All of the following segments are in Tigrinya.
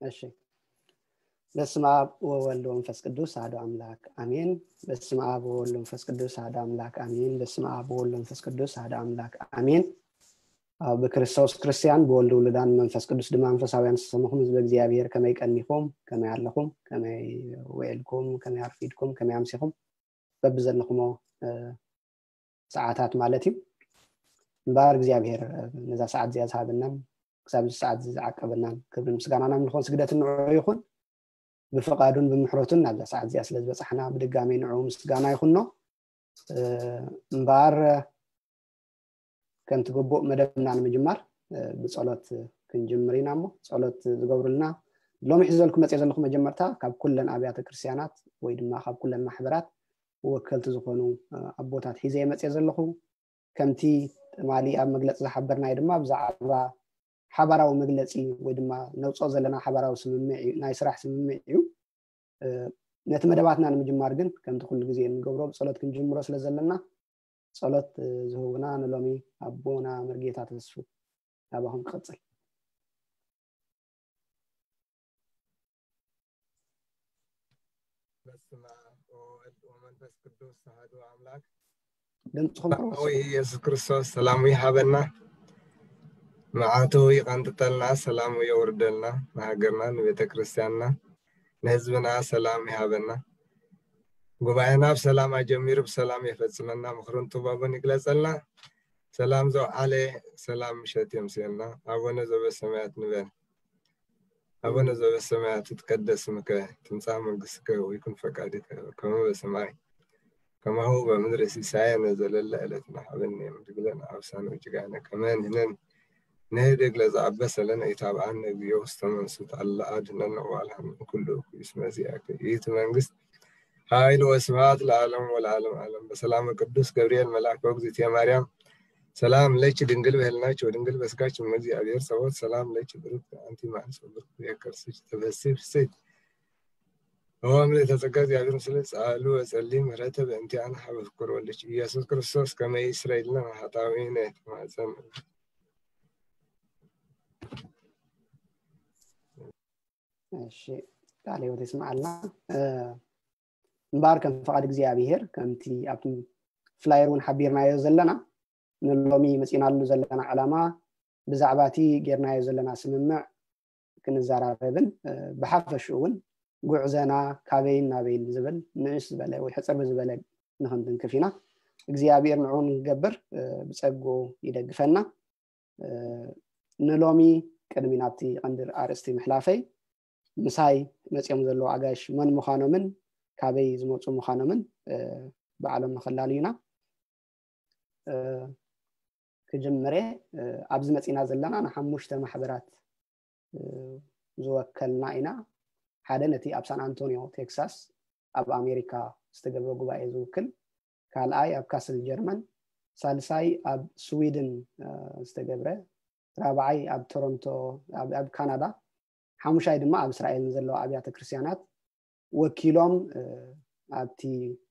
እሺ። በስመ አብ ወወልድ ወመንፈስ ቅዱስ አሐዱ አምላክ አሜን። በስመ አብ ወወልድ ወመንፈስ ቅዱስ አሐዱ አምላክ አሜን። በስመ አብ ወወልድ ወመንፈስ ቅዱስ አሐዱ አምላክ አሜን። ኣብ ብክርስቶስ ክርስቲያን፣ ብወልድ ውሉዳን መንፈስ ቅዱስ ድማ መንፈሳውያን ዝተሰመኹም ህዝበ እግዚኣብሔር፣ ከመይ ቀኒኹም? ከመይ ኣለኹም? ከመይ ውዒልኩም? ከመይ ኣርፊድኩም? ከመይ ኣምሲኹም? በብዘለኹሞ ሰዓታት ማለት እዩ። እምበኣር እግዚኣብሔር ነዛ ሰዓት እዚኣ ዝሃበናን ክሳብ እዚ ሰዓት እዚ ዝዓቀበናን ክብርን ምስጋናን ኣምልኾን ስግደትን ንዕኡ ይኹን። ብፍቓዱን ብምሕረቱን ናብዛ ሰዓት እዚኣ ስለ ዝበጻሕና ብድጋሚ ንዕኡ ምስጋና ይኹኖ። እምበኣር ከምቲ ግቡእ መደብና ንምጅማር ብጸሎት ክንጅምር ኢና። እሞ ጸሎት ዝገብሩልና ሎሚ ሒዘልኩ መጽእ ዘለኹ መጀመርታ ካብ ኩለን ኣብያተ ክርስቲያናት ወይ ድማ ካብ ኩለን ማሕበራት ወከልቲ ዝኾኑ ኣቦታት ሒዘ እየ መጽእ ዘለኹ። ከምቲ ትማሊ ኣብ መግለጺ ዝሓበርናዮ ድማ ብዛዕባ ሓባራዊ መግለጺ ወይ ድማ ነውጽኦ ዘለና ሓባራዊ ስምምዕ እዩ፣ ናይ ስራሕ ስምምዕ እዩ። ነቲ መደባትና ንምጅማር ግን ከምቲ ኩሉ ግዜ እንገብሮ ብጸሎት ክንጅምሮ ስለ ዘለና ጸሎት ዝህቡና ንሎሚ ኣቦና መርጌታ ተስፉ ናባኹም ክቐጽል። በስመ አብ ወወልድ ወመንፈስ ቅዱስ አሐዱ አምላክ። ድምፅኹም ሰማያዊ ኢየሱስ ክርስቶስ ሰላሙ ይሃበና፣ መዓቱ ይቐንጥጠልና፣ ሰላሙ የውርደልና፣ ንሃገርና፣ ንቤተ ክርስቲያንና፣ ንህዝብና ሰላም ይሃበና። ጉባኤና ብሰላም ኣጀሚሩ ብሰላም የፈጽመና፣ ምኽሩን ጥበቡን ይግለጸልና። ሰላም ዘውዓለ ሰላም ምሸት የምስየልና። ኣቡነ ዘበሰማያት ንበል። ኣቡነ ዘበሰማያት ይትቀደስ ስምከ፣ ትምጻእ መንግስትከ፣ ወይኩን ፈቃድከ ከመ በሰማይ ከማሁ በምድሪ። ሲሳየነ ዘለለ ዕለትነ ሀበነ ዮም፣ ህድግ ለነ አበሳነ ወጌጋየነ ከመ ንሕነን ንህድግ ለዘአበሰ ለነ፣ ኢታብአነ እግዚኦ ውስተ መንሱት አላ አድህነነ ወአልሃነ እምኩሉ እኩይ፣ እስመ ዚአከ ይእቲ መንግስት ኃይል ወስብሐት ለዓለም ወለዓለም ዓለም። በሰላመ ቅዱስ ገብርኤል መልአከ እግዝእትየ ማርያም ሰላም ለኪ ድንግል በህልናኪ ወድንግል በስጋኪ እመ እግዚአብሔር ጸባኦት ሰላም ለኪ ብሩክት አንቲ እም አንስት ወብሩክ ፍሬ ከርሥኪ ተፈሥሒ ፍሥሕት ኦ ምልዕተ ጸጋ እግዚአብሔር ምስለ ጻሉ ወጸሊ ምህረተ በእንቲአነ ሀበ ፍቁር ወልድኪ ኢየሱስ ክርስቶስ ከመ ይስረይ ለነ ኃጣውኢነ ተማጸን። እሺ ቃለ ሕይወት ይስምዓልና። እምበኣር ከም ፍቓድ እግዚኣብሔር ከምቲ ኣብቲ ፍላየር እውን ሓቢርናዮ ዘለና ንሎሚ መፂናሉ ዘለና ዕላማ ብዛዕባ እቲ ጌርናዮ ዘለና ስምምዕ ክንዘራረብን ብሓፈሽኡ እውን ጉዕዘና ካበይን ናበይን ዝብል ንእስ ዝበለ ወይ ሕፅር ብዝበለ ንክንትንክፍ ኢና። እግዚኣብሔር ንዕኡ ንክገብር ብፀግኡ ይደግፈና። ንሎሚ ቅድሚ ናብቲ ቀንዲ ኣርእስቲ ምሕላፈይ ምሳይ መፂኦም ዘለዉ ኣጋይሽ መን ምዃኖምን ካበይ ዝመፁ ምዃኖምን ባዕሎም ንከላልዩና ክጅምር እየ። ኣብዚ መፂና ዘለና ንሓሙሽተ ማሕበራት ዝወከልና ኢና። ሓደ ነቲ ኣብ ሳን ኣንቶኒዮ ቴክሳስ ኣብ ኣሜሪካ ዝተገብረ ጉባኤ ዝውክል፣ ካልኣይ ኣብ ካስል ጀርመን፣ ሳልሳይ ኣብ ስዊድን ዝተገብረ፣ ራብዓይ ኣብ ቶሮንቶ ኣብ ካናዳ፣ ሓሙሻይ ድማ ኣብ እስራኤል ንዘለዋ ኣብያተ ክርስቲያናት ወኪሎም ኣብቲ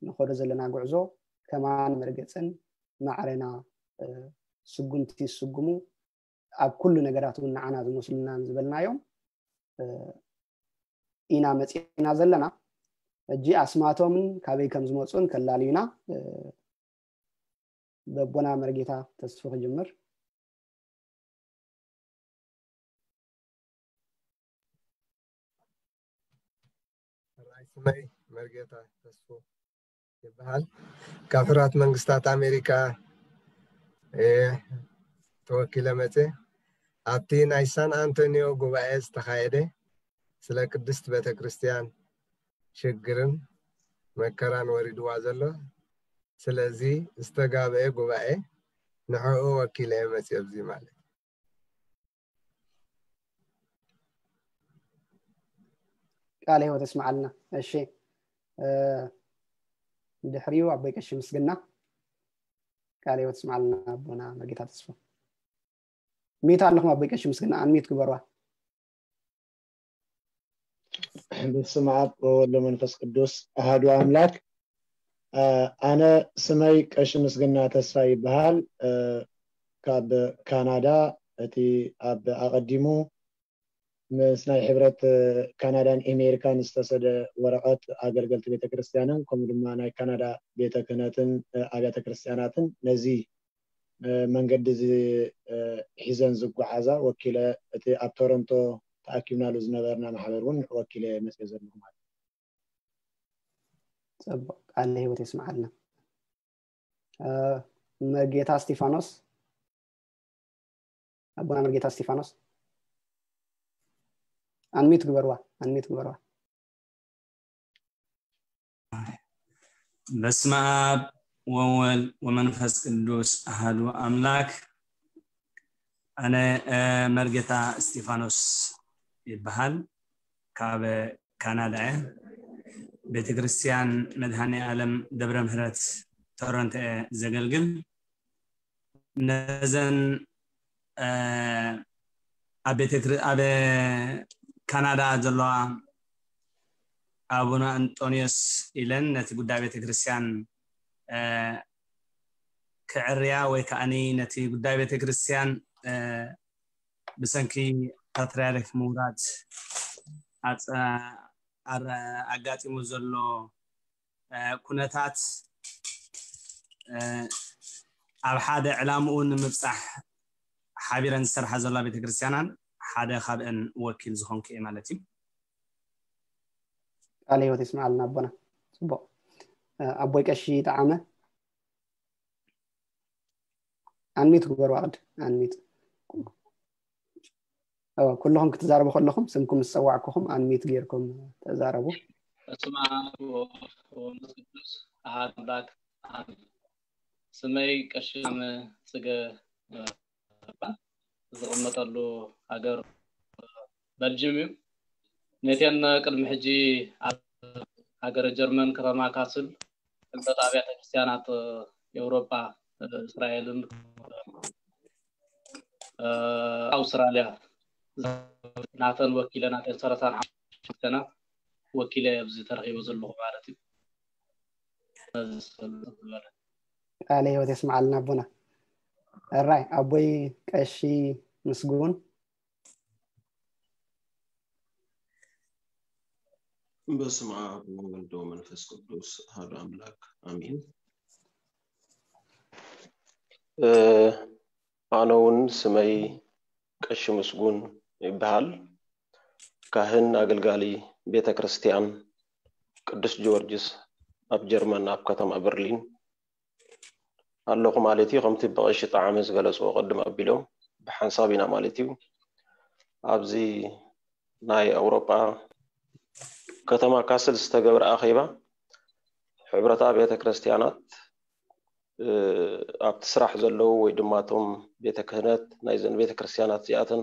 ንኸዶ ዘለና ጉዕዞ ከማን መርገፅን ማዕረና ስጉምቲ ዝስጉሙ ኣብ ኩሉ ነገራት እውን ንዓና ዝመስሉናን ዝበልናዮም ኢና መፂና ዘለና። ሕጂ ኣስማቶምን ካበይ ከም ዝመፁን ከላልዩና በቦና መርጌታ ተስፉ ክጅምር። ራይ ስመይ መርጌታ ተስፉ ይበሃል። ካብ ሕራት መንግስታት ኣሜሪካ ተወኪለ መፀ። ኣብቲ ናይ ሳን ኣንቶኒዮ ጉባኤ ዝተኻየደ ስለ ቅድስት ቤተ ክርስቲያን ሽግርን መከራን ወሪድዋ ዘሎ፣ ስለዚ ዝተጋበኤ ጉባኤ ንዕኡ ወኪለ መፅእ ኣብዚ ማለት። ቃለ ህይወት እስማዓልና። እሺ፣ ድሕሪኡ ኣቦይ ቀሺ ምስግና። ቃለ ህይወት እስማዓልና ኣቦና መርጌታ ተስፋ። ሚት ኣለኹም ኣቦይ ቀሺ ምስግና፣ ኣንሚት ግበርዋ። በስመ አብ ወወልድ ወመንፈስ ቅዱስ አሐዱ አምላክ። ኣነ ስመይ ቀሺ ምስግና ተስፋ ይበሃል። ካብ ካናዳ እቲ ኣብ ኣቐዲሙ ምስ ናይ ሕብረት ካናዳን ኣሜሪካን ዝተሰደ ወረቐት ኣገልገልቲ ቤተክርስትያንን ከምኡ ድማ ናይ ካናዳ ቤተ ክህነትን ኣብያተ ክርስትያናትን ነዚ መንገዲ እዚ ሒዘን ዝጓዓዛ ወኪለ፣ እቲ ኣብ ቶሮንቶ ተኣኪብናሉ ዝነበርና ማሕበር እውን ወኪለ መፅየ ዘለኹ ማለት እዩ። ፅቡቅ፣ ቃለ ህይወት የስምዓልና። መርጌታ እስጢፋኖስ፣ ኣቦና መርጌታ እስጢፋኖስ፣ ኣንሚት ግበርዋ፣ ኣንሚት ግበርዋ። በስመ ኣብ ወወልድ ወመንፈስ ቅዱስ ኣሃዱ ኣምላክ። ኣነ መርጌታ እስጢፋኖስ ይበሃል። ካብ ካናዳ እየ። ቤተክርስትያን መድሃኔ ዓለም ደብረ ምህረት ቶሮንቶ እየ ዘገልግል። ነዘን ኣብ ቤተክር ኣብ ካናዳ ዘለዋ ኣቡነ ኣንጦንዮስ ኢለን ነቲ ጉዳይ ቤተክርስትያን ክዕርያ ወይ ከዓኒ ነቲ ጉዳይ ቤተክርስትያን ብሰንኪ ፓትርያርክ ምውራድ ኣጋጢሙ ዘሎ ኩነታት ኣብ ሓደ ዕላምኡ ንምብፃሕ ሓቢረን ዝሰርሓ ዘላ ቤተክርስትያናን ሓደ ካብአን ወኪል ዝኾንኩ እየ ማለት እዩ። ቃለ ህይወት ይስምዓልና ኣቦና። ፅቡቅ። ኣቦይ ቀሺ ጠዓመ፣ ኣንሚት ግበሩ። ኣቅድ ኣንሚት። ኩልኹም ክትዛረቡ ከለኹም ስምኩም ምስ ፀዋዕኩኹም ኣንሚት ጌርኩም ተዛረቡ። በስመ ኣብ ወወልድ ወመንፈስ ቅዱስ ኣሐዱ ኣምላክ ኣሜን። ስመይ ቀሺ ጠዓመ ፅገ ዝቕመጠሉ ሃገር በልጅም እዩ። ነቴን ቅድሚ ሕጂ ኣብ ሃገረ ጀርመን ከተማ ካስል ፍልጠት ኣብያተ ክርስቲያናት ኤውሮጳ እስራኤልን ኣውስትራልያ ናተን ወኪለ ናተን ሰላሳን ሓሙሽተን ወኪለ ኣብዚ ተረኺበ ዘለኹ ማለት እዩ። ቃለ ህይወት የስምዓልና ኣቦና። እራይ ኣቦይ ቀሺ ምስጉን። በስመ ኣብ ወወልድ ወመንፈስ ቅዱስ ኣሐዱ ኣምላክ ኣሜን። ኣነ እውን ስመይ ቀሺ ምስጉን ይበሃል። ካህን ኣገልጋሊ ቤተ ክርስቲያን ቅዱስ ጊዮርጊስ ኣብ ጀርመን ኣብ ከተማ በርሊን ኣለኹ ማለት እዩ። ከምቲ ብቐሺ ጣዕመ ዝገለፅዎ ቅድም ኣቢሎም ብሓንሳብ ኢና ማለት እዩ። ኣብዚ ናይ ኣውሮጳ ከተማ ካስል ዝተገብረ ኣኼባ ሕብረት ኣብያተ ክርስቲያናት ኣብቲ ስራሕ ዘለዉ ወይ ድማ እቶም ቤተ ክህነት ናይዘን ቤተ ክርስቲያናት እዚኣተን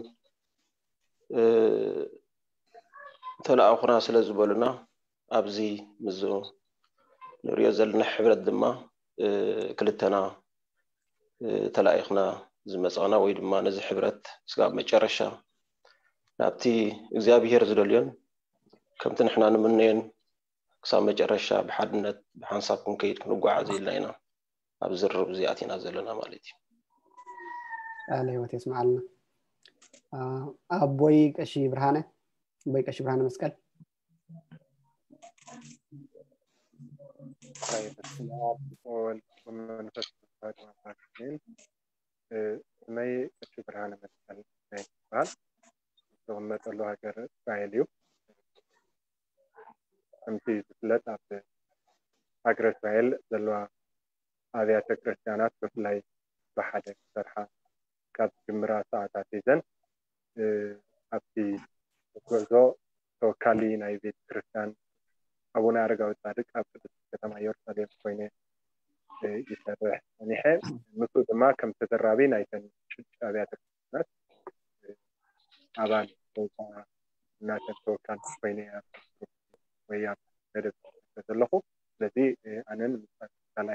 ተለኣኹና ስለ ዝበሉና ኣብዚ ምዞ ንሪኦ ዘለና ሕብረት ድማ ክልተና ተላኢኽና ዝመፃና ወይ ድማ ነዚ ሕብረት ስጋብ መጨረሻ ናብቲ እግዚኣብሄር ዝደልዮን ከምቲ ንሕና ንምነዮን ክሳብ መጨረሻ ብሓድነት ብሓንሳብ ክንከይድ ክንጓዓዝ ኢልና ኢና ኣብ ዝርርብ እዚ ኣቲና ዘለና ማለት እዩ። ቃለ ህይወት የስምዓልና። ኣቦይ ቀሺ ብርሃነ፣ ኣቦይ ቀሺ ብርሃነ መስቀል። በስመ ኣብ ወወልድ ወመንፈስ ቅዱስ ኣሐዱ ኣምላክ ኣሜን። ስመይ ቀሺ ብርሃነ መስቀል ይበሃል። ዝቕመጠሉ ሃገር እስራኤል እዩ። ከምቲ ዝፍለጥ ኣብ ሃገረ እስራኤል ዘለዋ ኣብያተ ክርስቲያናት ብፍላይ ብሓደ ክሰርሓ ካብ ዝጅምራ ሰዓታት ሒዘን ኣብቲ ጉዕዞ ተወካሊ ናይ ቤተ ክርስቲያን ኣቡነ ኣረጋዊ ጻድቅ ኣብ ቅድስቲ ከተማ ኢየሩሳሌም ኮይነ ይሰርሕ ጸኒሐ። ምስኡ ድማ ከም ተደራቢ ናይተን ሽዱሽተ ኣብያተ ክርስቲያናት ኣባል ወይ ከዓ እናተን ተወካል ኮይነ ወያ መደብ ዘለኹ። ስለዚ ኣነን ምሳሌ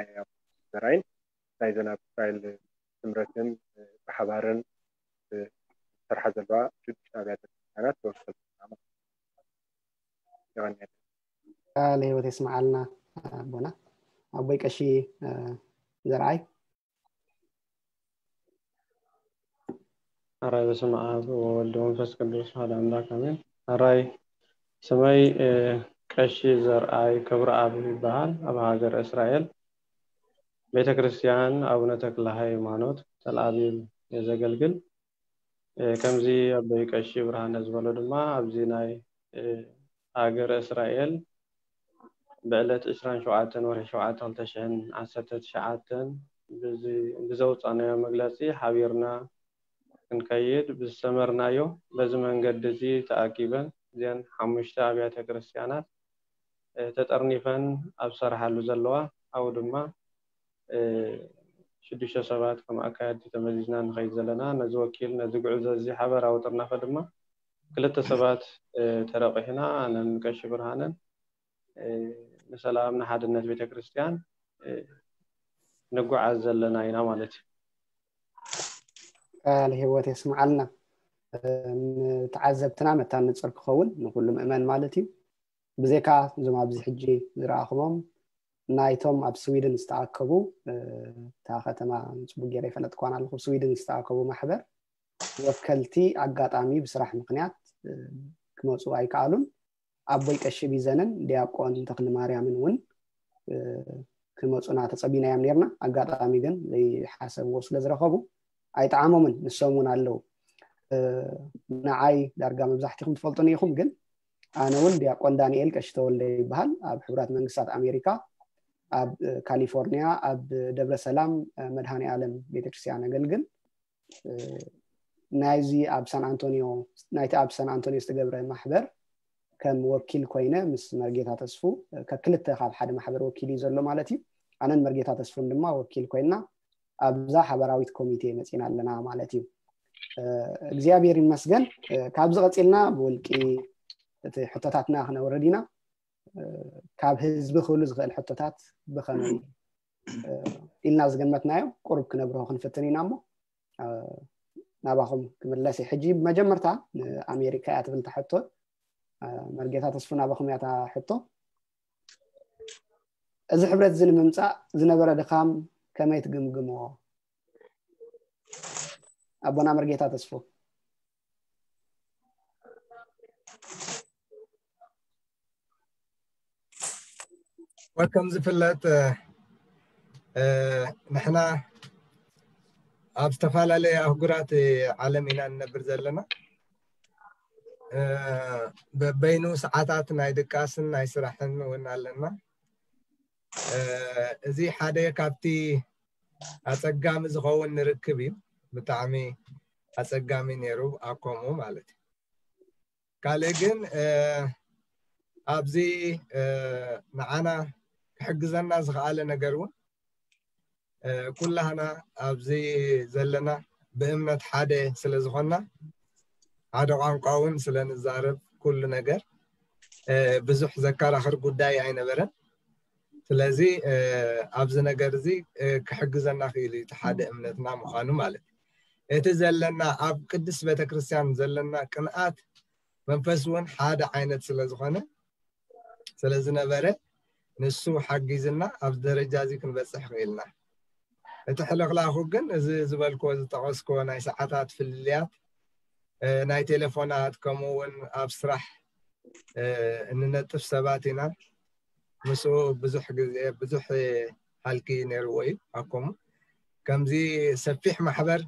ዘራይን ናይዘን ኣብ እስራኤል ስምረትን ብሓባርን ዝሰርሓ ዘለዋ ሽዱሽተ ኣብያተ ክርስቲያናት ተወከልቲ ኢና ማለት እዩ። የቐንየለይ። ቃለ ህይወት የስምዓልና ኣቦና። ኣቦይ ቀሺ ዘርኣይ። ሕራይ በስመ ኣብ ወወልድ ወመንፈስ ቅዱስ ሓደ ኣምላክ ኣሜን። ሕራይ ስመይ ቀሺ ዘርኣይ ክብረኣብ ይበሃል። ኣብ ሃገር እስራኤል ቤተ ክርስቲያን ኣቡነ ተክለ ሃይማኖት ተልኣቢብ እየ ዘገልግል። ከምዚ ኣቦይ ቀሺ ብርሃነ ዝበሎ ድማ ኣብዚ ናይ ሃገረ እስራኤል ብዕለት ዕስራን ሸውዓተን ወርሒ ሸውዓተ ክልተ ሽሕን ዓሰርተ ትሽዓተን ብዘውፃእናዮ መግለፂ ሓቢርና ክንከይድ ብዝሰመርናዮ በዚ መንገዲ እዚ ተኣኪበን እዘን ሓሙሽተ ኣብያተ ክርስቲያናት ተጠርኒፈን ኣብ ዝሰርሓሉ ዘለዋ ኣብኡ ድማ ሽዱሽተ ሰባት ከም ኣካየድቲ ተመዚዝና ንኸይድ ዘለና ነዚ ወኪል ነዚ ጉዕዞ እዚ ሓበራዊ ጥርናፈ ድማ ክልተ ሰባት ተረቂሕና ኣነን ቀሺ ብርሃነን ንሰላም ንሓድነት ቤተክርስትያን ንጓዓዝ ዘለና ኢና ማለት እዩ። ቃል ህይወት የስምዓልና። ንተዓዘብትና መታን ንፅር ክኸውን ንኩሉ ምእመን ማለት እዩ። ብዘይካ እዞም ኣብዚ ሕጂ ዝረኣኹሞም ናይቶም ኣብ ስዊድን ዝተኣከቡ እታ ከተማ ፅቡቅ ገይረ ይፈለጥኳን ኣለኹ ስዊድን ዝተኣከቡ ማሕበር ወከልቲ ኣጋጣሚ ብስራሕ ምክንያት ክመፁ ኣይከኣሉን። ኣቦይ ቀሺ ቢዘንን ዲያቆን ተክሊ ማርያምን እውን ክመፁና ተፀቢናዮም ነርና። ኣጋጣሚ ግን ዘይሓሰብዎ ስለ ዝረኸቡ ኣይጠዓሞምን። ንሶም እውን ኣለዉ። ንዓይ ዳርጋ መብዛሕትኹም ትፈልጡኒ ኢኹም፣ ግን ኣነ እውን ዲያቆን ዳንኤል ቀሺ ተወልደ ይበሃል። ኣብ ሕቡራት መንግስታት ኣሜሪካ ኣብ ካሊፎርኒያ ኣብ ደብረ ሰላም መድሃኒ ኣለም ቤተክርስትያን ኣገልግል። ናይዚ ኣብ ሳን ኣንቶኒዮ ናይቲ ኣብ ሳን ኣንቶኒዮ ዝተገብረ ማሕበር ከም ወኪል ኮይነ ምስ መርጌታ ተስፉ ከክልተ ካብ ሓደ ማሕበር ወኪል እዩ ዘሎ ማለት እዩ። ኣነን መርጌታ ተስፉን ድማ ወኪል ኮይና ኣብዛ ሓበራዊት ኮሚቴ መፂና ኣለና ማለት እዩ። እግዚኣብሔር ይመስገን። ካብዚ ቀፂልና ብውልቂ እቲ ሕቶታትና ክነውርድ ኢና። ካብ ህዝቢ ክህሉ ዝኽእል ሕቶታት ብኸመይ ኢልና ዝገመትናዮ ቁሩብ ክነብርሆ ክንፍትን ኢና እሞ ናባኹም ክምለስ እዩ። ሕጂ መጀመርታ ንኣሜሪካ እያ ትብል ሕቶ። መርጌታ ተስፉ ናባኹም እያ ሕቶ። እዚ ሕብረት እዚ ንምምፃእ ዝነበረ ድኻም ከመይ ትግምግምዎ? ኣቦና መርጌታ ተስፉ። ወከም ዝፍለጥ ንሕና ኣብ ዝተፈላለየ ኣህጉራት ዓለም ኢና ንነብር ዘለና። በበይኑ ሰዓታት ናይ ድቃስን ናይ ስራሕን እውን ኣለና። እዚ ሓደ ካብቲ ኣፀጋሚ ዝኸውን ንርክብ እዩ። ብጣዕሚ ኣፀጋሚ ነይሩ ኣኮሙ ማለት እዩ። ካልእ ግን ኣብዚ ንዓና ክሕግዘና ዝኸኣለ ነገር እውን ኩላህና ኣብዚ ዘለና ብእምነት ሓደ ስለ ዝኾንና ሓደ ቋንቋ እውን ስለ ንዛረብ ኩሉ ነገር ብዙሕ ዘከራኽር ጉዳይ ኣይነበረን። ስለዚ ኣብዚ ነገር እዚ ክሕግዘና ክኢሉ እቲ ሓደ እምነትና ምዃኑ ማለት እዩ። እቲ ዘለና ኣብ ቅድስት ቤተክርስትያን ዘለና ቅንኣት መንፈስ እውን ሓደ ዓይነት ስለ ዝኾነ ስለ ዝነበረ ንሱ ሓጊዝና ኣብ ደረጃ እዚ ክንበፅሕ ክኢልና። እቲ ሕልኽላኹ ግን እዚ ዝበልክዎ ዝጠቐስክዎ ናይ ሰዓታት ፍልልያት ናይ ቴሌፎናት ከምኡ እውን ኣብ ስራሕ እንነጥፍ ሰባት ኢና። ምስኡ ብዙሕ ግዜ ብዙሕ ሃልኪ ነይርዎ እዩ ኣኮሙ። ከምዚ ሰፊሕ ማሕበር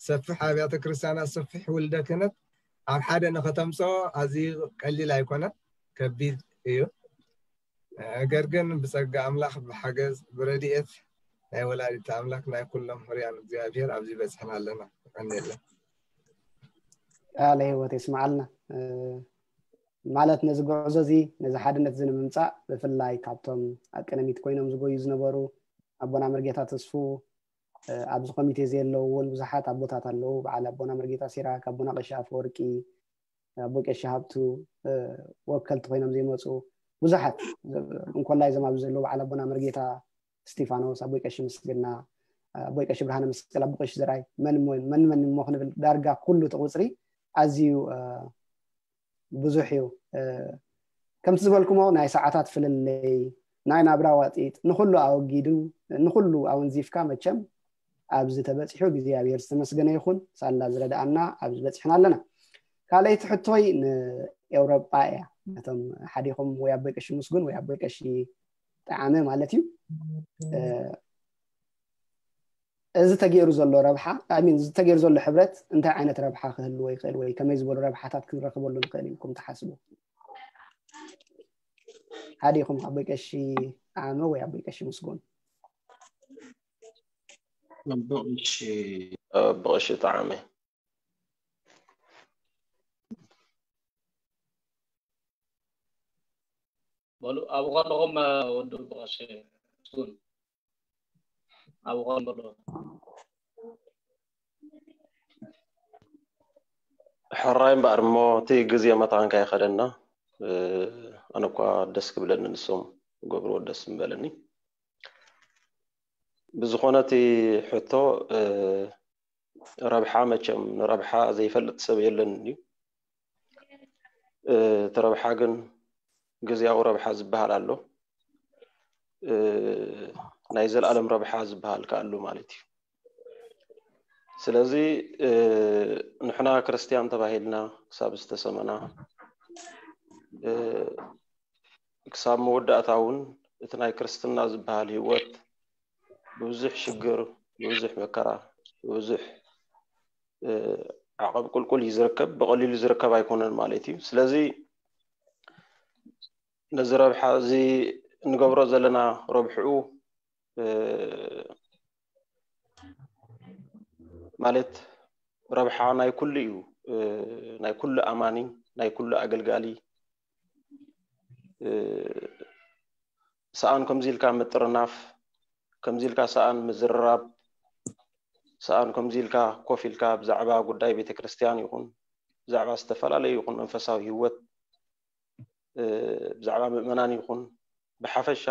ሰፊሕ ኣብያተ ክርስቲያናት ሰፊሕ ውልደ ክህነት ኣብ ሓደ ንኸተምፅኦ ኣዝዩ ቀሊል ኣይኮነን፣ ከቢድ እዩ። ነገር ግን ብፀጋ ኣምላኽ ብሓገዝ ብረድኤት ናይ ወላዲት ኣምላክ ናይ ኩሎም ህርያን እግዚኣብሔር ኣብዚ በፅሕና ኣለና። ቀኒለን ቃለ ህይወት የስምዓልና። ማለት ነዚ ጉዕዞ እዚ ነዚ ሓድነት እዚ ንምምፃእ ብፍላይ ካብቶም ኣብ ቅድሚት ኮይኖም ዝጎዩ ዝነበሩ ኣቦና መርጌታ ተስፉ ኣብዚ ኮሚቴ እዚ ዘለዉ እውን ብዙሓት ኣቦታት ኣለዉ። በዓል ኣቦና መርጌታ ሲራክ፣ ኣቦና ቀሺ ኣፈወርቂ፣ ኣቦ ቀሺ ሃብቱ ወከልቲ ኮይኖም ዘይመፁ ብዙሓት እንኮላይ እዞም ኣብዚ ዘለዉ በዓል ኣቦና መርጌታ እስቲፋኖስ፣ ኣቦይ ቀሺ ምስግና፣ ኣቦይ ቀሺ ብርሃነ መስቀል፣ ኣቦ ቀሺ ዘርኣይ መን መን መን እሞ ክንብል ዳርጋ ኩሉ እቲ ቁፅሪ ኣዝዩ ብዙሕ እዩ። ከምቲ ዝበልኩሞ ናይ ሰዓታት ፍልልይ ናይ ናብራ ዋጢጥ ንኩሉ ኣወጊዱ ንኩሉ ኣወንዚፍካ መቸም ኣብዚ ተበፂሑ እግዚኣብሔር ዝተመስገነ ይኹን። ሳላ ዝረድኣና ኣብዚ በፂሕና ኣለና። ካልኣይቲ ሕቶይ ንኤውሮጳ እያ። ነቶም ሓዲኹም ወይ ኣቦይ ቀሺ ምስጉን ወይ ኣቦይ ቀሺ ጠዓመ ማለት እዩ። እዚ ተገይሩ ዘሎ ረብሓ ሚን እዚ ተገይሩ ዘሎ ሕብረት እንታይ ዓይነት ረብሓ ክህልዎ ይኽእል ወይ ከመይ ዝበሉ ረብሓታት ክንረክበሉ ንኽእል ኢልኩም ትሓስቡ? ሓዲኹም ኣቦይ ቀሺ ጠዓመ ወይ ኣቦይ ቀሺ ምስጉን? ብቐሺ ጠዓመ። በሉ ኣብኡ ከለኹም ወዲ ብቐሺ ምስጉን ኣብኡ ከለኹም። ሕራይ እምበኣር እሞ እቲ ግዜ መታንካ ይኸደና። ኣነ እኳ ደስ ክብለኒ ንሶም ገብርዎ ደስ ምበለኒ። ብዝኾነ እቲ ሕቶ ረብሓ መቸም ንረብሓ ዘይፈልጥ ሰብ የለን እዩ። እቲ ረብሓ ግን ግዜያዊ ረብሓ ዝበሃል ኣሎ፣ ናይ ዘለኣለም ረብሓ ዝበሃል ከኣ ኣሎ ማለት እዩ። ስለዚ ንሕና ክርስትያን ተባሂልና ክሳብ ዝተሰመና ክሳብ መወዳእታ እውን እቲ ናይ ክርስትና ዝበሃል ህይወት ብብዙሕ ሽግር፣ ብብዙሕ መከራ፣ ብብዙሕ ዓቐብ ቁልቁል እዩ ዝርከብ፣ ብቐሊሉ ዝርከብ ኣይኮነን ማለት እዩ። ስለዚ ነዚ ረብሓ እዚ እንገብሮ ዘለና ረብሕኡ ማለት ረብሓ ናይ ኩሉ እዩ፣ ናይ ኩሉ ኣማኒ፣ ናይ ኩሉ ኣገልጋሊ። ሰኣን ከምዚ ኢልካ ምጥርናፍ፣ ከምዚ ኢልካ ሰኣን ምዝርራብ፣ ሰኣን ከምዚ ኢልካ ኮፍ ኢልካ ብዛዕባ ጉዳይ ቤተክርስትያን ይኹን ብዛዕባ ዝተፈላለዩ ይኹን መንፈሳዊ ህይወት ብዛዕባ ምእመናን ይኹን ብሓፈሻ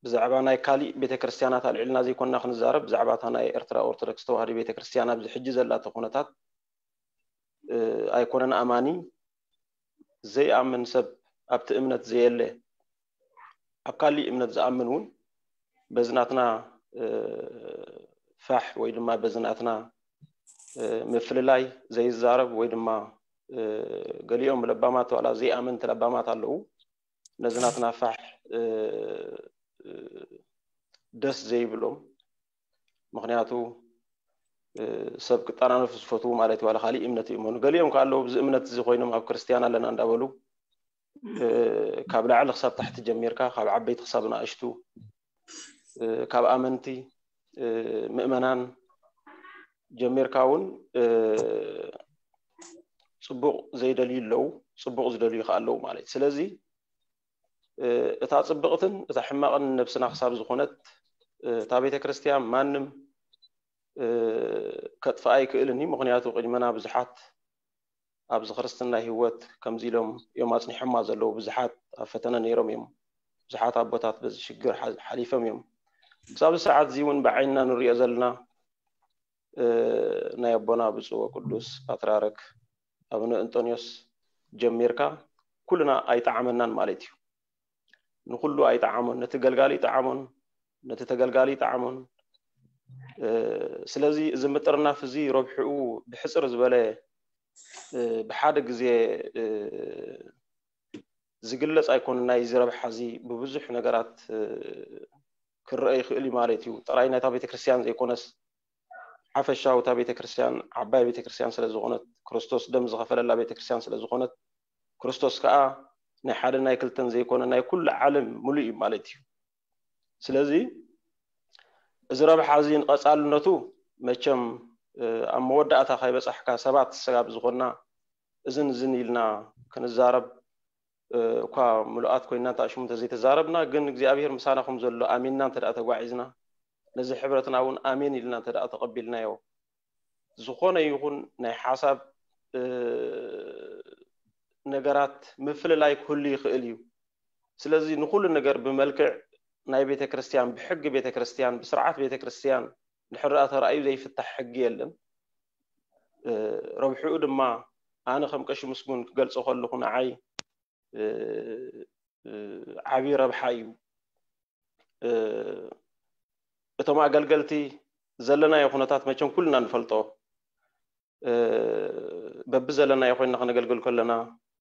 ብዛዕባ ናይ ካሊእ ቤተክርስትያናት ኣልዒልና ዘይኮንና ክንዛረብ፣ ብዛዕባ እታ ናይ ኤርትራ ኦርቶዶክስ ተዋህዶ ቤተክርስትያን ኣብዚ ሕጂ ዘላቶ ኩነታት ኣይኮነን ኣማኒ ዘይኣምን ሰብ ኣብቲ እምነት ዘየለ ኣብ ካሊእ እምነት ዝኣምን እውን በዚ ናትና ፋሕ ወይ ድማ በዚ ናትና ምፍልላይ ዘይዛረብ ወይ ድማ ገሊኦም ለባማት ዋላ ዘይኣመንቲ ለባማት ኣለዉ። ነዚ ናትና ፋሕ ደስ ዘይብሎም፣ ምኽንያቱ ሰብ ክጠናነፉ ዝፈትዉ ማለት ዋላ ካሊእ እምነት ይእመኑ። ገሊኦም ከ ኣለዉ ብዚ እምነት እዚ ኮይኖም ኣብ ክርስትያን ኣለና እንዳበሉ ካብ ላዕሊ ክሳብ ታሕቲ ጀሚርካ ካብ ዓበይቲ ክሳብ ንኣሽቱ ካብ ኣመንቲ ምእመናን ጀሚርካ እውን ፅቡቕ ዘይደልዩ ኣለዉ፣ ፅቡቕ ዝደልዩ ከዓ ኣለዉ ማለት እዩ። ስለዚ እታ ፅብቕትን እታ ሕማቕን ነብስና ክሳብ ዝኾነት እታ ቤተ ክርስትያን ማንም ከጥፍኣ ኣይክእልን እዩ። ምኽንያቱ ቅድመና ብዙሓት ኣብዚ ክርስትና ህይወት ከምዚ ኢሎም እዮም ኣፅኒሖማ ዘለዉ። ብዙሓት ኣብ ፈተነ ነይሮም እዮም። ብዙሓት ኣቦታት በዚ ሽግር ሓሊፎም እዮም። ክሳብ ሰዓት እዚ እውን ብዓይንና ንሪኦ ዘለና ናይ ኣቦና ብፁዕ ወቅዱስ ፓትርያርክ ኣቡነ እንጦንዮስ ጀሚርካ ኩልና ኣይጠዓመናን ማለት እዩ። ንኩሉ ኣይጠዓሞን፣ ነቲ ገልጋሊ ይጠዓሞን ነቲ ተገልጋሊ ይጠዓሞን። ስለዚ እዚ ምጥርናፍ እዚ ረብሕኡ ብሕፅር ዝበለ ብሓደ ግዜ ዝግለፅ ኣይኮነን። ናይ እዚ ረብሓ እዚ ብብዙሕ ነገራት ክረአ ይኽእል እዩ ማለት እዩ። ጥራይ ናይታ ቤተክርስትያን ዘይኮነስ ሓፈሻዊ እታ ቤተክርስትያን ዓባይ ቤተክርስትያን ስለዝኾነት ክርስቶስ ደም ዝኸፈለላ ቤተክርስትያን ስለዝኾነት ክርስቶስ ከዓ ናይ ሓደ ናይ ክልተን ዘይኮነ ናይ ኩሉ ዓለም ሙሉእ እዩ ማለት እዩ። ስለዚ እዚ ረብሓ እዚ ንቐፃልነቱ መቸም ኣብ መወዳእታ ካይበፃሕካ ሰባት ስጋብ ዝኾንና እዝን እዝን ኢልና ክንዛረብ እኳ ምሉኣት ኮይና እንተ ሽሙ እንተዘይተዛረብና ግን እግዚኣብሔር ምሳና ከም ዘሎ ኣሚንና እንተ ተጓዒዝና ነዚ ሕብረትና እውን ኣሜን ኢልና እንተ ተቐቢልናዮ ዝኾነ ይኹን ናይ ሓሳብ ነገራት ምፍልላይ ክህሉ ይኽእል እዩ። ስለዚ ንኩሉ ነገር ብመልክዕ ናይ ቤተ ክርስትያን ብሕጊ ቤተ ክርስትያን ብስርዓት ቤተ ክርስትያን ድሕር ተራእዩ ዘይፍታሕ ሕጊ የለን። ረብሕኡ ድማ ኣነ ከም ቀሺ ምስጉን ክገልጾ ከለኹ ንዓይ ዓብዪ ረብሓ እዩ። እቶም ኣገልገልቲ ዘለናዮ ኩነታት መቸም ኩልና ንፈልጦ። በቢ ዘለናዮ ኮይና ከነገልግል ከለና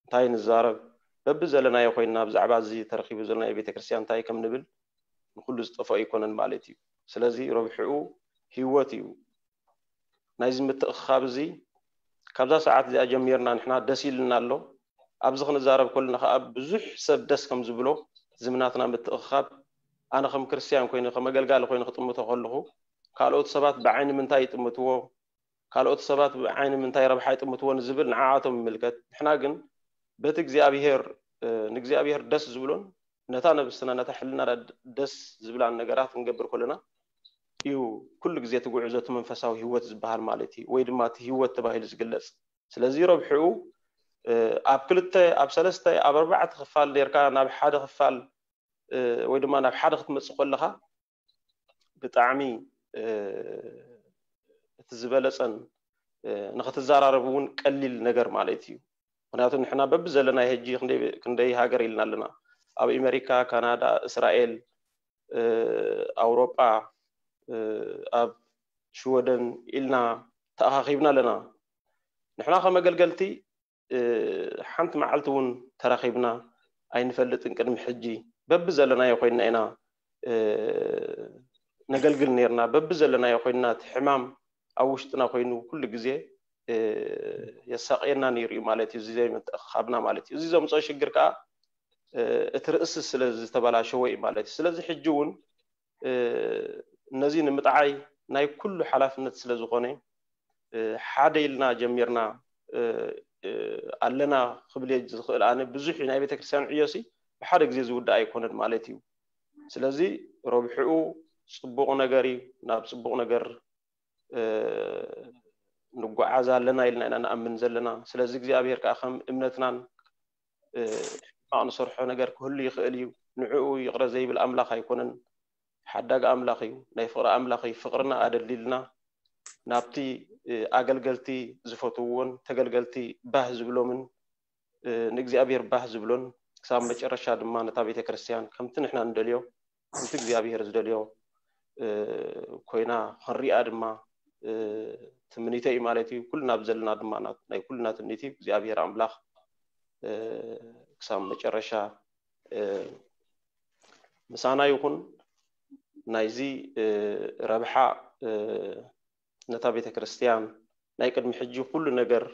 እንታይ ንዛረብ፣ በቢ ዘለናዮ ኮይና ብዛዕባ እዚ ተረኪቡ ዘሎ ናይ ቤተክርስትያን እንታይ ከም ንብል ንኩሉ ዝጠፍኦ ኣይኮነን ማለት እዩ። ስለዚ ረብሕኡ ህይወት እዩ። ናይዚ ምትእኽኻብ እዚ ካብዛ ሰዓት እዚኣ ጀሚርና ንሕና ደስ ኢልና ኣሎ። ኣብዚ ክንዛረብ ከለና ከዓ ብዙሕ ሰብ ደስ ከም ዝብሎ ዝምናትና ምትእኽኻብ ኣነ ከም ክርስትያን ኮይኑ ከም ኣገልጋሊ ኮይኑ ክጥምቶ ከለኹ ካልኦት ሰባት ብዓይኒ ምንታይ ይጥምትዎ፣ ካልኦት ሰባት ብዓይኒ ምንታይ ረብሓ ይጥምትዎ ንዝብል ንዓኣቶም ይምልከት። ንሕና ግን በቲ እግዚኣብሔር ንእግዚኣብሔር ደስ ዝብሎን ነታ ነብስና ነታ ሕልና ደስ ዝብላን ነገራት ክንገብር ከለና እዩ ኩሉ ግዜ እቲ ጉዕዞ እቲ መንፈሳዊ ህይወት ዝበሃል ማለት እዩ፣ ወይ ድማ እቲ ህይወት ተባሂሉ ዝግለጽ። ስለዚ ረብሕኡ ኣብ ክልተ ኣብ ሰለስተ ኣብ ኣርባዕተ ክፋል ኔርካ ናብ ሓደ ክፋል ወይ ድማ ናብ ሓደ ክትመጽእ ከለኻ ብጣዕሚ እቲ ዝበለጸን ንክትዘራረቡ እውን ቀሊል ነገር ማለት እዩ። ምክንያቱ ንሕና በቢ ዘለናይ ሕጂ ክንደይ ሃገር ኢልና ኣለና። ኣብ ኣሜሪካ፣ ካናዳ፣ እስራኤል፣ ኣውሮጳ፣ ኣብ ሽወደን ኢልና ተኣኻኺብና ኣለና። ንሕና ከም ኣገልገልቲ ሓንቲ መዓልቲ እውን ተራኺብና ኣይንፈልጥን። ቅድሚ ሕጂ በቢ ዘለናዮ ኮይንና ኢና ነገልግል ነርና። በቢ ዘለናዮ ኮይንና እቲ ሕማም ኣብ ውሽጥና ኮይኑ ኩሉ ግዜ የሳቕየና ነይሩ እዩ ማለት እዩ። እዚ ዘይምትእኻብና ማለት እዩ። እዚ ዘምፅኦ ሽግር ከዓ እቲ ርእሲ ስለ ዝተበላሸወ እዩ ማለት እዩ። ስለዚ ሕጂ እውን ነዚ ንምጥዓይ ናይ ኩሉ ሓላፍነት ስለ ዝኾነ ሓደ ኢልና ጀሚርና ኣለና ክብል እየ ዝኽእል። ኣነ ብዙሕ ናይ ቤተክርስትያን ዕዮሲ ብሓደ ግዜ ዝውዳእ ኣይኮነን ማለት እዩ። ስለዚ ረብሕኡ ፅቡቕ ነገር እዩ። ናብ ፅቡቕ ነገር ንጓዓዝ ኣለና ኢልና ኢና ንኣምን ዘለና። ስለዚ እግዚኣብሔር ከዓ ከም እምነትናን ሕማቕ ንሰርሖ ነገር ክህሉ ይኽእል እዩ። ንዕኡ ይቕረ ዘይብል ኣምላኽ ኣይኮነን። ሓዳግ ኣምላኽ እዩ። ናይ ፍቕሪ ኣምላኽ እዩ። ፍቕርና ኣደልዲልና ናብቲ ኣገልገልቲ ዝፈትውዎን ተገልገልቲ ባህ ዝብሎምን ንእግዚኣብሔር ባህ ዝብሎን ክሳብ መጨረሻ ድማ ነታ ቤተ ክርስቲያን ከምቲ ንሕና ንደልዮ ከምቲ እግዚኣብሔር ዝደልዮ ኮይና ክንሪኣ ድማ ትምኒተይ እዩ ማለት እዩ። ኩልና ብዘለና ድማ ናይ ኩልና ትምኒት እዩ። እግዚኣብሔር ኣምላኽ ክሳብ መጨረሻ ምሳና ይኹን። ናይዚ ረብሓ ነታ ቤተ ክርስቲያን ናይ ቅድሚ ሕጂ ኩሉ ነገር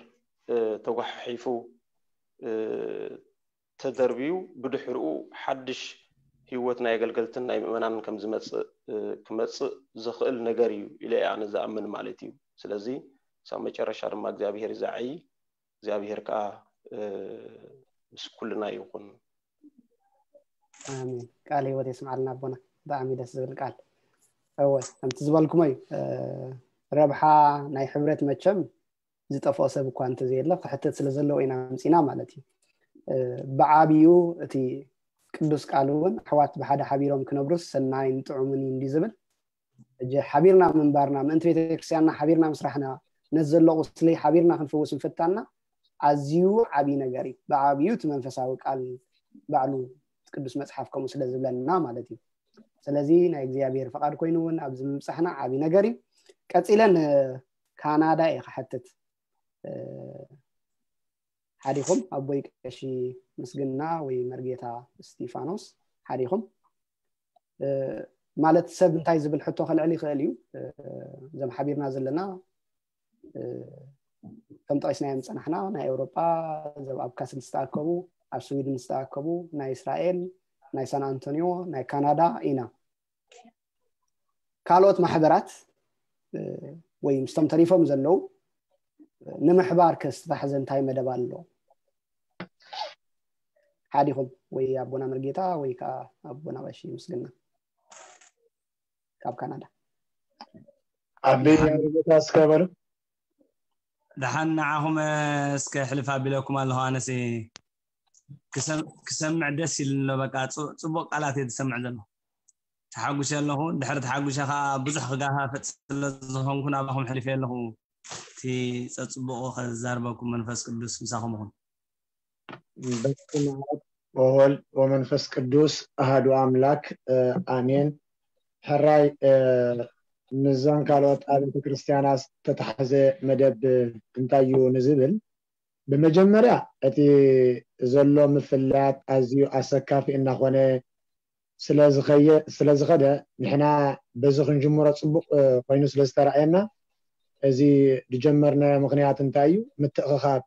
ተጓሓሒፉ ተደርብዩ ብድሕርኡ ሓድሽ ህይወት ናይ ኣገልገልትን ናይ ምእመናንን ከም ዝመፅእ ክመፅእ ዝኽእል ነገር እዩ ኢለ እየ ኣነ ዝኣምን ማለት እዩ። ስለዚ ክሳብ መጨረሻ ድማ እግዚኣብሔር ይዛዓይ። እግዚኣብሔር ከዓ ምስ ኩልና ይኹን። ኣሜን። ቃል ህይወት የስምዓልና ኣቦና። ብጣዕሚ ደስ ዝብል ቃል። እወ ከምቲ ዝበልኩሞ እዩ። ረብሓ ናይ ሕብረት መቸም ዝጠፍኦ ሰብ እኳ እንተዘየለ ክሕተት ስለ ዘለዎ ኢና ምፂና ማለት እዩ። ብዓብዩ እቲ ቅዱስ ቃል እውን ኣሕዋት ብሓደ ሓቢሮም ክነብሩስ ሰናይን ጥዑምን እዩ እንዲ ዝብል ሕጂ ሓቢርና ምንባርና ምእንቲ ቤተክርስትያንና ሓቢርና ምስራሕና ነዚ ዘሎ ቁስሊ ሓቢርና ክንፍውስ ምፍታንና ኣዝዩ ዓብዪ ነገር እዩ። ብዓብዩ እቲ መንፈሳዊ ቃል ባዕሉ ቅዱስ መፅሓፍ ከምኡ ስለ ዝብለና ማለት እዩ። ስለዚ ናይ እግዚኣብሔር ፍቓድ ኮይኑ እውን ኣብዚ ምብፃሕና ዓብዪ ነገር እዩ። ቀፂለ ንካናዳ እየ ክሓትት። ሓዲኹም ኣቦይ ቀሺ ምስግና ወይ መርጌታ እስጢፋኖስ ሓዲኹም ማለት ሰብ እንታይ ዝብል ሕቶ ከልዕል ይኽእል እዩ። እዞም ሓቢርና ዘለና ከም ጠቂስናዮም ዝፀናሕና ናይ ኤውሮጳ እዞም ኣብ ካስል ዝተኣከቡ ኣብ ስዊድን ዝተኣከቡ ናይ እስራኤል ናይ ሳን ኣንቶኒዮ ናይ ካናዳ ኢና። ካልኦት ማሕበራት ወይ ምስቶም ተሪፎም ዘለዉ ንምሕባር ከስታሕዘ እንታይ መደብ ኣሎ? ሓዲኹም ወይ ኣቦና መርጌታ ወይ ከዓ ኣቦና ቀሺ ምስግና ካብ ካናዳ። ኣቢ መርጌታ እስከ በሉ። ደሓን ንዓኹም እስከ ሕልፍ ኣቢለኩም ኣለኹ። ኣነሲ ክሰምዕ ደስ ኢሉ ኣሎ። በቃ ፅቡቅ ቃላት እየ ዝሰምዕ ዘሎ። ተሓጉሸ ኣለኹ። ድሕሪ ተሓጉሸ ከዓ ብዙሕ ክጋፋፍጥ ስለ ዝኾንኩ ናባኹም ሕልፍ ኣለኹ። እቲ ፀፅቡቁ ከዛርበኩም መንፈስ ቅዱስ ምሳኹም ይኹን። በስመ ኣብ ወወልድ ወመንፈስ ቅዱስ ኣሃዱ ኣምላክ ኣሜን። ሕራይ ምስዞን ካልኦት ኣብያተ ክርስትያናት ዝተታሕዘ መደብ እንታይ እዩ ንዝብል፣ ብመጀመርያ እቲ ዘሎ ምፍላያት ኣዝዩ ኣሰካፊ እናኾነ ስለዝኸደ፣ ንሕና በዚ ክንጅምሮ ፅቡቕ ኮይኑ ስለዝተረኣየና፣ እዚ ዝጀመርናዮ ምኽንያት እንታይ እዩ? ምትእኽኻብ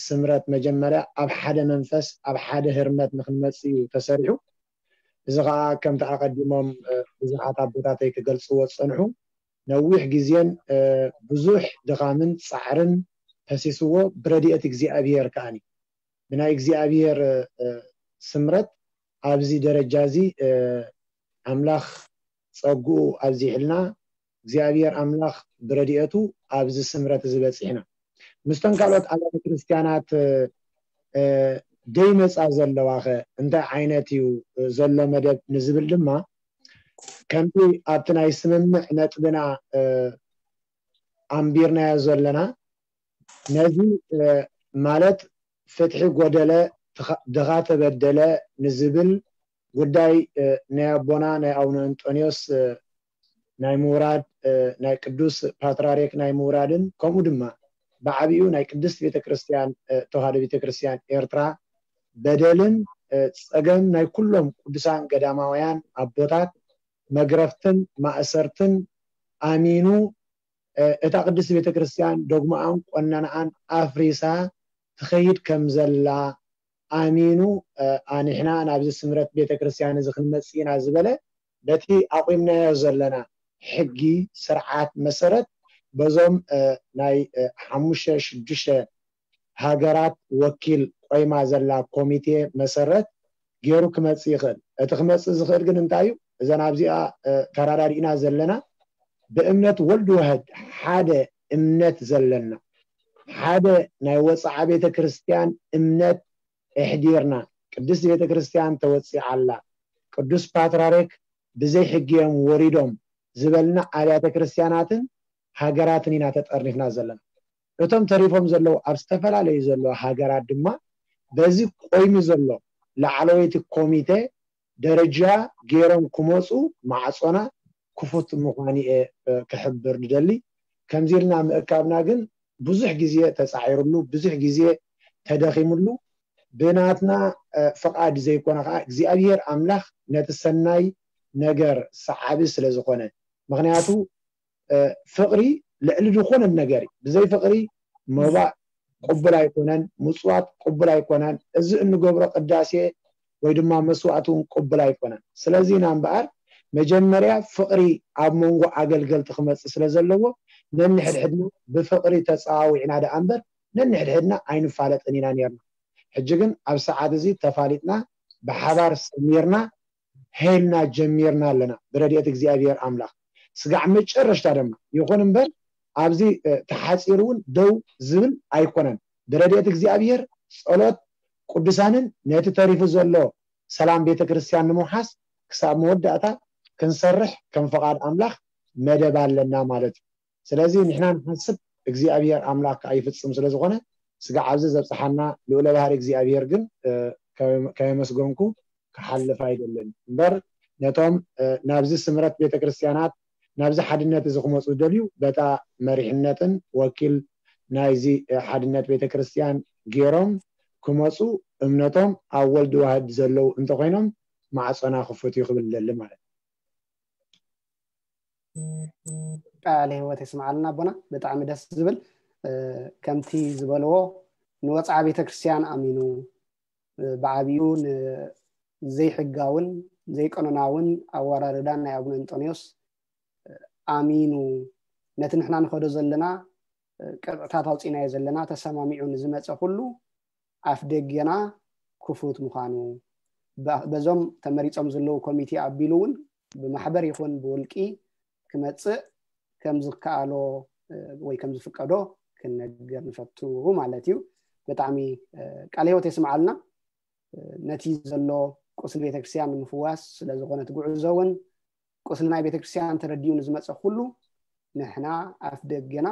ስምረት መጀመርያ ኣብ ሓደ መንፈስ ኣብ ሓደ ህርመት ንክንመፅእ እዩ ተሰሪሑ። እዚ ከዓ ከምቲ ኣቐዲሞም ብዙሓት ኣቦታተይ ክገልፅዎ ዝፀንሑ፣ ነዊሕ ግዜን ብዙሕ ድኻምን ፃዕርን ፈሲስዎ፣ ብረድኤት እግዚኣብሔር ከዓኒ ብናይ እግዚኣብሔር ስምረት ኣብዚ ደረጃ እዚ ኣምላኽ ጸግኡ ኣብዚሕልና፣ እግዚኣብሔር ኣምላኽ ብረድኤቱ ኣብዚ ስምረት እዚ በጺሕና። ምስቶም ካልኦት ኣብያተ ክርስትያናት ደይመጻ ዘለዋኸ እንታይ ዓይነት እዩ ዘሎ መደብ ንዝብል ድማ፣ ከምቲ ኣብቲ ናይ ስምምዕ ነጥብና ኣንቢርናዮ ዘለና፣ ነዚ ማለት ፍትሒ ጎደለ፣ ድኻ ተበደለ ንዝብል ጉዳይ ናይ ኣቦና ናይ ኣቡነ እንጦንዮስ ናይ ምውራድ፣ ናይ ቅዱስ ፓትራርክ ናይ ምውራድን፣ ከምኡ ድማ ብዓቢኡ ናይ ቅድስት ቤተክርስትያን ተዋህዶ ቤተክርስትያን ኤርትራ በደልን ጸገም ናይ ኩሎም ቅዱሳን ገዳማውያን ኣቦታት መግረፍትን ማእሰርትን ኣሚኑ፣ እታ ቅድስት ቤተክርስትያን ዶግማኣን ቆነንኣን ኣፍሪሳ ትኸይድ ከም ዘላ ኣሚኑ፣ ኣንሕና ናብዚ ስምረት ቤተክርስትያን እዚ ክንመጽእ ኢና ዝበለ፣ በቲ ኣቑምናዮ ዘለና ሕጊ ስርዓት መሰረት፣ በዞም ናይ ሓሙሽተ ሽዱሽተ ሃገራት ወኪል ቆይማ ዘላ ኮሚቴ መሰረት ገይሩ ክመጽእ ይኽእል። እቲ ክመጽእ ዝኽእል ግን እንታይ እዩ? እዘን ኣብዚኣ ተራዳዲእና ዘለና፣ ብእምነት ወልድ ዋህድ ሓደ እምነት ዘለና፣ ሓደ ናይ ወፅዓ ቤተ ክርስቲያን እምነት እሕዲርና፣ ቅድስቲ ቤተ ክርስቲያን ተወፂዓ ኣላ፣ ቅዱስ ፓትራርክ ብዘይ ሕጊ እዮም ወሪዶም ዝበልና ኣብያተ ክርስቲያናትን ሃገራትን ኢና ተጠርኒፍና ዘለና። እቶም ተሪፎም ዘለዉ ኣብ ዝተፈላለዩ ዘለዉ ሃገራት ድማ በዚ ቆይሚ ዘሎ ላዕለወይቲ ኮሚቴ ደረጃ ገይሮም ክመፁ ማዕፆና ክፉት ምዃኑ እየ ክሕብር ንደሊ። ከምዚ ኢልና ምእካብና ግን ብዙሕ ግዜ ተፃዒርሉ፣ ብዙሕ ግዜ ተደኺምሉ፣ ብናትና ፍቓድ ዘይኮነ ከዓ እግዚኣብሔር ኣምላኽ ነቲ ሰናይ ነገር ሰዓቢ ስለ ዝኾነ። ምኽንያቱ ፍቕሪ ልዕሊ ዝኾነ ነገር እዩ። ብዘይ ፍቕሪ መባእ ቅቡል ኣይኮነን፣ ምፅዋት ቅቡል ኣይኮነን፣ እዚ እንገብሮ ቅዳሴ ወይ ድማ መስዋዕቲ እውን ቅቡል ኣይኮነን። ስለዚ ኢና እምበኣር መጀመርያ ፍቕሪ ኣብ መንጎ ኣገልገልቲ ክመፅእ ስለ ዘለዎ፣ ነንሕድሕድና ብፍቕሪ ተፀዋዊዕና ደኣ እምበር ነንሕድሕድና ኣይንፋለጥን ኢና ነርና። ሕጂ ግን ኣብ ሰዓት እዚ ተፋሊጥና ብሓባር ሰሚርና ሄልና ጀሚርና ኣለና ብረድኤት እግዚኣብሔር ኣምላኽ። ስጋዕ መጨረሽታ ድማ ይኹን እምበር ኣብዚ ተሓፂሩ እውን ደው ዝብል ኣይኮነን። ብረድኤት እግዚኣብሔር ጸሎት ቅዱሳንን ነቲ ተሪፉ ዘሎ ሰላም ቤተ ክርስቲያን ንምውሓስ ክሳብ መወዳእታ ክንሰርሕ ከም ፈቓድ ኣምላኽ መደብ ኣለና ማለት እዩ። ስለዚ ንሕና ንሓስብ እግዚኣብሔር ኣምላኽ ከዓ ይፍጽም ስለ ዝኾነ ስጋዕ ኣብዚ ዘብፅሓና ልኡለ ባህሪ እግዚኣብሔር ግን ከየመስገንኩ ክሓልፍ ኣይደልን እምበር ነቶም ናብዚ ስምረት ቤተክርስትያናት ናብዚ ሓድነት እዚ ክመፁ ዝደልዩ በታ መሪሕነትን ወኪል ናይዚ ሓድነት ቤተክርስትያን ገይሮም ክመፁ እምነቶም ኣብ ወልድ ዋህድ ዘለዉ እንተኮይኖም ማዕፆና ክፉት እዩ ክብል ደሊ ማለት ቃለ ህይወት የስምዓልና ኣቦና። ብጣዕሚ ደስ ዝብል ከምቲ ዝበልዎ ንወፅዓ ቤተክርስትያን ኣሚኑ ብዓብዩ ንዘይሕጋውን ዘይቀኖናውን ኣወራርዳን ናይ ኣቡነ እንጦንዮስ ኣሚኑ ነቲ ንሕና ንኸዶ ዘለና ቅጥዕታት ኣውፂናዮ ዘለና ተሰማሚዑ ንዝመፀ ኩሉ ኣፍ ደገና ክፉት ምዃኑ በዞም ተመሪፆም ዘለዉ ኮሚቴ ኣቢሉ እውን ብማሕበር ይኹን ብውልቂ ክመፅእ ከም ዝከኣሎ ወይ ከም ዝፍቀዶ ክንነግር ንፈቱ ማለት እዩ። ብጣዕሚ ቃለ ህይወት የስምዓልና። ነቲ ዘሎ ቁስሊ ቤተክርስትያን ንምፍዋስ ስለዝኾነ እቲ ጉዕዞ እውን ቁስሊ ናይ ቤተክርስትያን ተረዲኡ ንዝመፀ ኩሉ ንሕና ኣፍ ደገና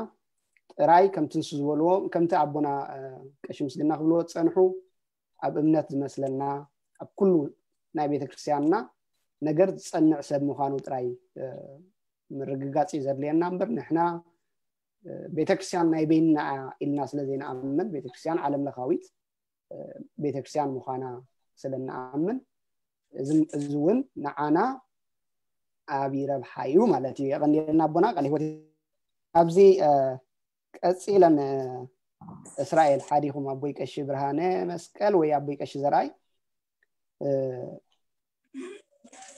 ጥራይ ከምቲ ንሱ ዝበልዎ ከምቲ ኣቦና ቀሺ ምስግና ክብልዎ ዝፀንሑ ኣብ እምነት ዝመስለና ኣብ ኩሉ ናይ ቤተክርስትያንና ነገር ዝጸንዕ ሰብ ምዃኑ ጥራይ ምርግጋጽ እዩ ዘድልየና እምበር፣ ንሕና ቤተክርስትያን ናይ በይንና ኢልና ስለ ዘይንኣምን፣ ቤተክርስትያን ዓለም ለኻዊት ቤተክርስትያን ምዃና ስለ እንኣምን፣ እዚ እውን ንዓና ዓቢ ረብሓ እዩ ማለት እዩ። የቐንየልና ኣቦና፣ ቃል ህይወት። ኣብዚ ቀጺለን እስራኤል ሓዲኹም ኣቦይ ቀሺ ብርሃነ መስቀል ወይ ኣቦይ ቀሺ ዘርኣይ፣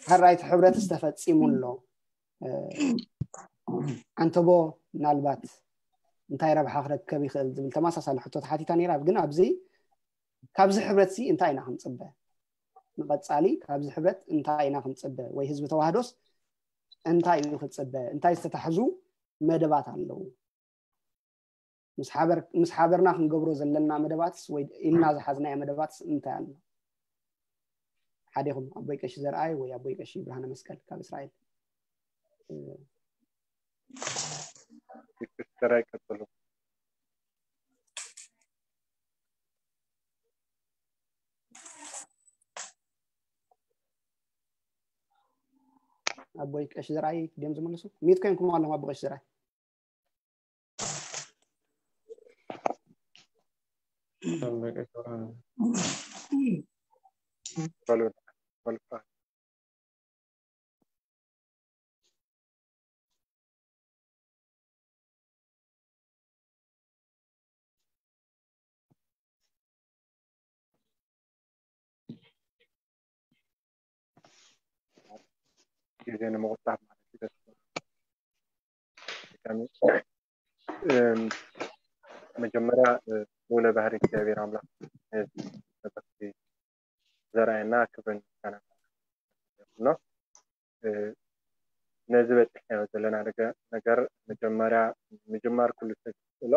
ሕራይ እቲ ሕብረትስ ተፈጺሙ ኣሎ፣ ኣንተቦ ምናልባት እንታይ ረብሓ ክረከብ ይኽእል ዝብል ተመሳሳሊ ሕቶ ተሓቲታ ነይራ። ግን ኣብዚ ካብዚ ሕብረት ሲ እንታይ ኢና ክንጽበ? ንቐጻሊ ካብዚ ሕብረት እንታይ ኢና ክንጽበ? ወይ ህዝቢ ተዋህዶስ እንታይ እዩ ክጽበ? እንታይ ዝተታሕዙ መደባት ኣለዉ? ምስ ሓበርና ክንገብሮ ዘለና መደባትስ ወይ ኢልና ዝሓዝናዮ መደባትስ እንታይ ኣሎ? ሓዲኹም ኣቦይ ቀሺ ዘርኣይ ወይ ኣቦይ ቀሺ ብርሃነ መስቀል ካብ እስራኤል። ዘርኣይ ቀጽሉ። ኣቦይ ቀሺ ዘርኣይ ድዮም ዝመልሱ? ሚት ኮይንኩም ኣለኹም ኣቦ ቀሺ ዘርኣይ። ግዜ ንምቑጣብ ማለት እዩ። ደስ መጀመርያ ልዑለ ባህሪ እግዚኣብሔር ኣምላኽ ነዚ መድረኽ ዘርኣየና ክብርን ምስጋናን ይኹኖ። ነዚ በፂሕናዮ ዘለና ነገር መጀመርያ ምጅማር ኩሉ ሰብ ይኽእሎ።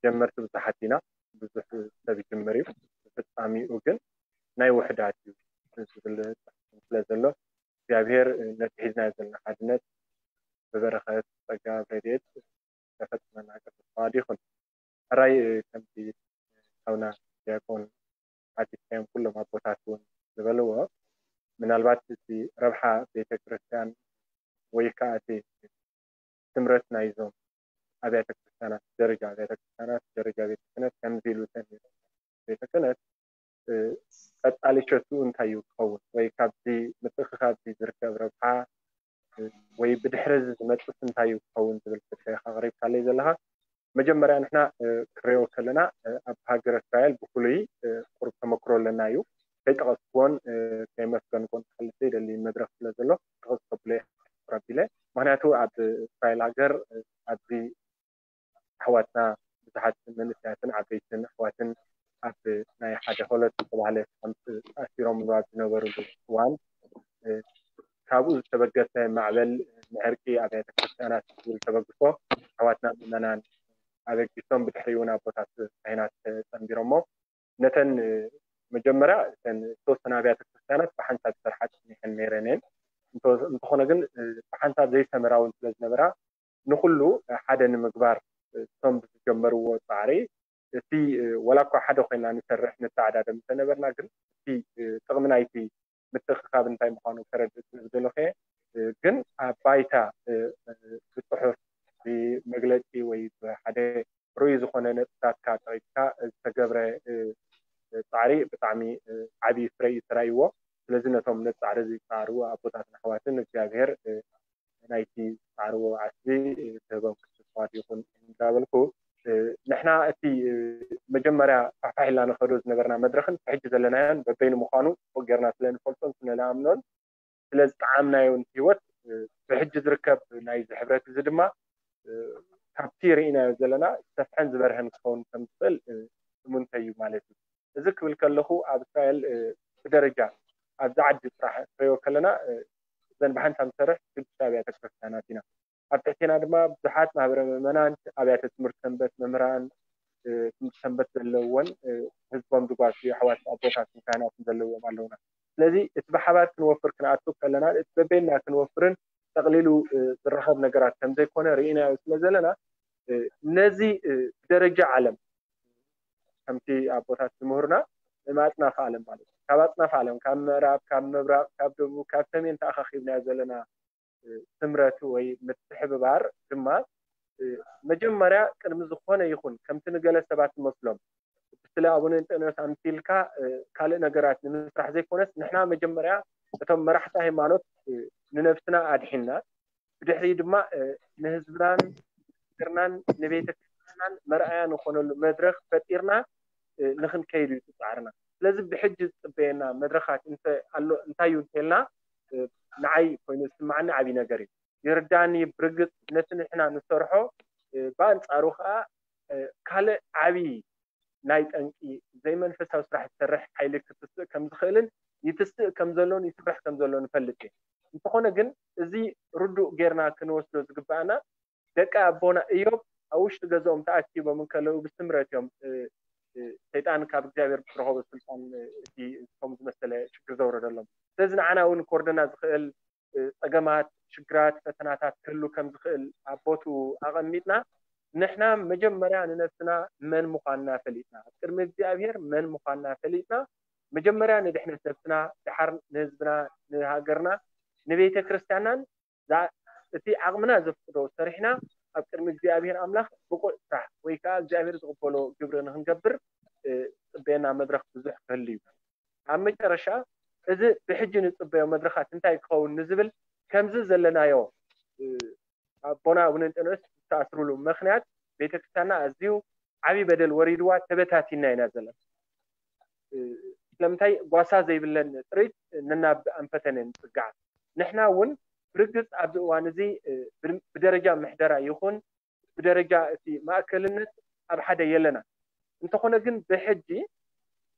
ጀመርቲ ብዙሓት ኢና፣ ብዙሕ ሰብ ይጅምር እዩ፣ ፍፃሚኡ ግን ናይ ውሕዳት እዩ ዝብል ስለ ዘሎ እግዚኣብሔር ነቲ ሒዝናዮ ዘለና ሓድነት ብበረኸት ጸጋ ረድኤት ከፈጽመና ቅዱስ ፍቓድ ይኹን። ሕራይ ከምቲ ሓውና ዲያቆን ሓቲትካዮም ኩሎም ኣቦታት እውን ዝበልዎ ምናልባት እቲ ረብሓ ቤተ ክርስቲያን ወይ ከዓ እቲ ስምረት ናይዞም ኣብያተ ክርስቲያናት ደረጃ ኣብያተ ክርስቲያናት ደረጃ ቤተ ክህነት ከምዚ ኢሉ ተነይሩ ቤተ ክህነት ቀጣሊ ሸቱ እንታይ እዩ ክኸውን ወይ ካብዚ ምትእኽኻብ ዝርከብ ረብሓ ወይ ብድሕሪ እዚ ዝመፅስ እንታይ እዩ ክኸውን ዝብል ሕቶ ኢኻ ኣቕሪብካለይ ዘለኻ። መጀመርያ ንሕና ክሪኦ ከለና ኣብ ሃገረ እስራኤል ብፍሉይ ቁሩብ ተመክሮ ኣለና እዩ። ከይጠቐስክዎን ከየመስገንክዎን ክሓልፍ ዘይደሊ መድረኽ ስለ ዘሎ ጠቐስ ከብሎ ኣቢለ። ምክንያቱ ኣብ እስራኤል ሃገር ኣብዚ ኣሕዋትና ብዙሓት መንእሰያትን ዓበይትን ኣሕዋትን ኣብ ናይ ሓደ ሆለት ዝተባህለ ካምፕ ተኣሲሮም ኣብ ዝነበሩሉ እዋን ካብኡ ዝተበገሰ ማዕበል ንዕርቂ ኣብያተ ክርስቲያናት ዝብል ተበግሶ ኣሕዋትና ምእመናን ኣበጊሶም ብድሕሪኡ እውን ኣቦታት ካህናት ተጸንቢሮሞ ነተን መጀመርያ እተን ዝተወሰነ ኣብያተ ክርስቲያናት ብሓንሳብ ዝሰርሓ ጸኒሐን ነይረን እየን። እንተኾነ ግን ብሓንሳብ ዘይሰመራ እውን ስለ ዝነበራ ንኩሉ ሓደ ንምግባር እቶም ብዝጀመርዎ ጻዕሪ እቲ ወላ እኳ ሓደ ኮይና ንሰርሕ ንተዓዳደም እንተነበርና ግን እቲ ጥቕሚ ናይቲ ምትእኽኻብ እንታይ ምዃኑ ከረድእ ስለ ዝደለኹ እየ። ግን ኣብ ባይታ ብፅሑፍ ብመግለፂ ወይ ብሓደ ርኡይ ዝኾነ ነጥብታትካ ጠቒስካ ዝተገብረ ፃዕሪ ብጣዕሚ ዓብዪ ፍረ እዩ ተራእይዎ። ስለዚ ነቶም ነቲ ፃዕሪ እዚ ዝፃዕርዎ ኣቦታትን ኣሕዋትን እግዚኣብሔር ናይቲ ዝፃዕርዎ ዓስቢ ክህቦም ቅዱስ ፍቓድ ይኹን እንዳበልኩ ንሕና እቲ መጀመርያ ፋሕፋሕ ኢልና ንኸዶ ዝነበርና መድረኽን ሕጂ ዘለናዮን በበይኑ ምዃኑ ጌርና ስለ ንፈልጦን ስለ ንኣምኖን ስለ ዝጠዓምናዮን ህይወት ብሕጂ ዝርከብ ናይዚ ሕብረት እዚ ድማ ካብቲ ርኢናዮ ዘለና ዝሰፍሐን ዝበርሀን ክኸውን ከም ዝኽእል እሙንተይ እዩ ማለት እዩ። እዚ ክብል ከለኹ ኣብ እስራኤል ብደረጃ ኣብዚ ዓዲ ጥራሕ ክሪኦ ከለና እዘን ብሓንሳብ ንሰርሕ ሽዱሽተ ኣብያተ ክርስቲያናት ኢና። ኣብ ትሕቴና ድማ ብዙሓት ማህበረ ምእመናን ኣብያተ ትምህርቲ ሰንበት መምህራን ትምህርቲ ሰንበት ዘለውዎን ህዝቦም ዝጓስዩ ኣሕዋት ኣቦታትን ካህናትን ዘለዎም ኣለውና። ስለዚ እቲ ብሓባር ክንወፍር ክንኣቱ ከለና እቲ በበይንና ክንወፍርን ጠቕሊሉ ዝረኸብ ነገራት ከም ዘይኮነ ርኢናዮ ስለ ዘለና ነዚ ብደረጃ ዓለም ከምቲ ኣቦታት ዝምህሩና ኣጽናፈ ዓለም ማለት እዩ። ካብ ኣጽናፈ ዓለም፣ ካብ ምዕራብ፣ ካብ ምብራቕ፣ ካብ ደቡብ፣ ካብ ሰሜን ተኣኻኺብናዮ ዘለና ስምረት ወይ ምትሕብባር ድማ መጀመርያ ቅድሚ ዝኾነ ይኹን፣ ከምቲ ንገለ ሰባት ዝመስሎም፣ ስለ ኣቡነ እንጠንዮስ ኣምሲልካ ካልእ ነገራት ንምስራሕ ዘይኮነስ፣ ንሕና መጀመርያ እቶም መራሕቲ ሃይማኖት ንነብስና ኣድሒንና፣ ብድሕሪ ድማ ንህዝብናን ሃገርናን ንቤተ ክርስቲያንናን መርኣያ ንኾነሉ መድረኽ ፈጢርና ንኽንከይድ እዩ ፃዕርና። ስለዚ ብሕጂ ዝፅበየና መድረኻት እንተ ኣሎ እንታይ እዩ እንተልና፣ ንዓይ ኮይኑ ዝስማዓኒ ዓብዪ ነገር እዩ። ይርዳኒ ብርግፅ ነቲ ንሕና ንሰርሖ ብኣንፃሩ ከዓ ካልእ ዓብዪ ናይ ጠንቂ ዘይመንፈሳዊ ስራሕ ዝሰርሕ ሓይሊ ክትስእ ከም ዝኽእልን ይትስእ ከም ዘሎን ይስራሕ ከም ዘሎን እፈልጥ እየ። እንተኾነ ግን እዚ ርዱእ ጌርና ክንወስዶ ዝግባኣና ደቂ ኣቦና እዮብ ኣብ ውሽጢ ገዝኦም ተኣኪቦም እንከለዉ ብስምረት እዮም ሰይጣን ካብ እግዚኣብሔር ዝረኸቦ ስልጣን እቲ ከም ዝመሰለ ሽግር ዘውረደሎም። ስለዚ ንዓና እውን ክወርደና ዝኽእል ፀገማት፣ ሽግራት፣ ፈተናታት ክህሉ ከም ዝኽእል ኣብ ቦትኡ ኣቐሚጥና ንሕና መጀመርያ ንነብስና መን ምዃንና ፈሊጥና ኣብ ቅድሚ እግዚኣብሔር መን ምዃንና ፈሊጥና መጀመርያ ንድሕነት ነብስና ድሓር ንህዝብና ንሃገርና ንቤተ ክርስቲያናን እቲ ዓቕምና ዘፍቅዶ ሰሪሕና ኣብ ቅድሚ እግዚኣብሔር ኣምላኽ ብቑዕ ስራሕ ወይ ከዓ እግዚኣብሔር ዝቕበሎ ግብሪ ንክንገብር ፅበየና መድረኽ ብዙሕ ክህሉ እዩ። ኣብ መጨረሻ እዚ ብሕጂ ንፅበዮ መድረኻት እንታይ ክኸውን ንዝብል ከምዚ ዘለናዮ ኣቦና ኣቡነ እንጠንዮስ ዝተኣስሩሉ ምክንያት ቤተክርስቲያንና ኣዝዩ ዓብዪ በደል ወሪድዋ ተበታቲና ኢና ዘለና። ስለምንታይ ጓሳ ዘይብለን ጥሪት ነናብ ኣንፈተን ንፅግዓ። ንሕና እውን ብርግፅ ኣብዚ እዋን እዚ ብደረጃ ምሕደራ ይኹን ብደረጃ እቲ ማእከልነት ኣብ ሓደ የለና። እንተኾነ ግን ብሕጂ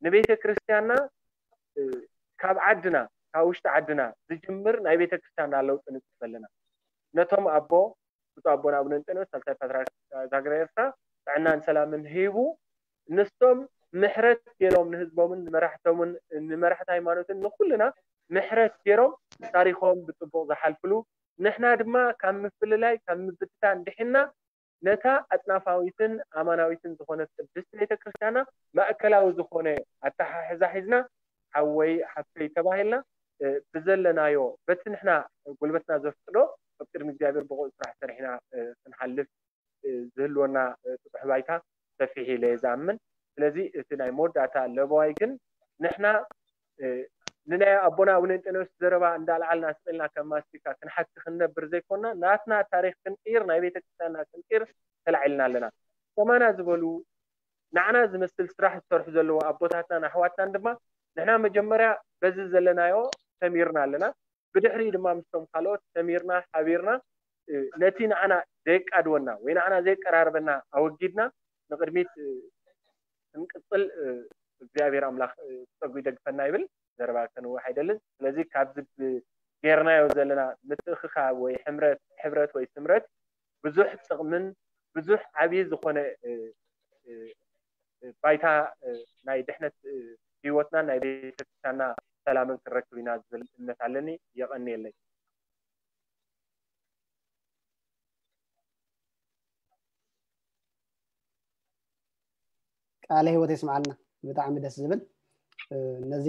ንቤተ ክርስቲያንና ካብ ዓድና ካብ ውሽጢ ዓድና ዝጅምር ናይ ቤተ ክርስቲያንና ለውጢ ንፅበ ኣለና። ነቶም ኣቦ ብፁዕ ኣቦና ኣቡነ እንጠንዮስ ሳልሳይ ፓትርያርክ ሃገረ ኤርትራ ጥዕናን ሰላምን ሂቡ ንሶም ምሕረት ገይሮም ንህዝቦምን ንመራሕቶምን ንመራሕቲ ሃይማኖትን ንኩልና ምሕረት ገይሮም ታሪኾም ብፅቡቕ ዝሓልፍሉ ንሕና ድማ ካብ ምፍልላይ ካብ ምብትታን ድሒና ነታ ኣጽናፋዊትን ኣማናዊትን ዝኾነት ቅድስቲ ቤተ ክርስቲያና ማእከላዊ ዝኾነ ኣተሓሕዛ ሒዝና ሓወይ ሓፍተይ ተባሂልና ብዘለናዮ በቲ ንሕና ጉልበትና ዘፍቅዶ ኣብ ቅድሚ እግዚኣብሔር ብቑዕ ስራሕ ሰሪሕና ክንሓልፍ ዝህልወና ጥጡሕ ባይታ ሰፊሕ ኢለ እየ ዝኣምን። ስለዚ እቲ ናይ መወዳእታ ለበዋይ ግን ንሕና ንናይ ኣቦና ኣቡነ እንጠንዮስ ዘረባ እንዳልዓልና ስቕ ኢልና ከም ማስቲካ ክንሓኪ ክንነብር ዘይኮንና ናትና ታሪኽ ክንቅይር ናይ ቤተክርስትያንና ክንቅይር ተላዒልና ኣለና። ከማና ዝበሉ ንዓና ዝመስል ስራሕ ዝሰርሑ ዘለዉ ኣቦታትናን ኣሕዋትናን ድማ ንሕና መጀመርያ በዚ ዘለናዮ ሰሚርና ኣለና። ብድሕሪኡ ድማ ምስቶም ካልኦት ሰሚርና ሓቢርና ነቲ ንዓና ዘየቃድወና ወይ ንዓና ዘየቀራርበና ኣወጊድና ንቕድሚት ክንቅፅል እግዚኣብሔር ኣምላኽ ፀጉ ይደግፈና ይብል። ዘረባ ከንውሕ ኣይደልን። ስለዚ ካብዚ ጌርናዮ ዘለና ምትእኽኻብ ወይ ሕምረት ሕብረት ወይ ስምረት ብዙሕ ጥቕምን ብዙሕ ዓብዪ ዝኾነ ባይታ ናይ ድሕነት ህይወትና ናይ ቤተክርስትያንና ሰላምን ክንረክብ ኢና ዝብል እምነት ኣለኒ። የቐንየለይ። ቃለ ህይወት የስምዓልና። ብጣዕሚ ደስ ዝብል። ነዚ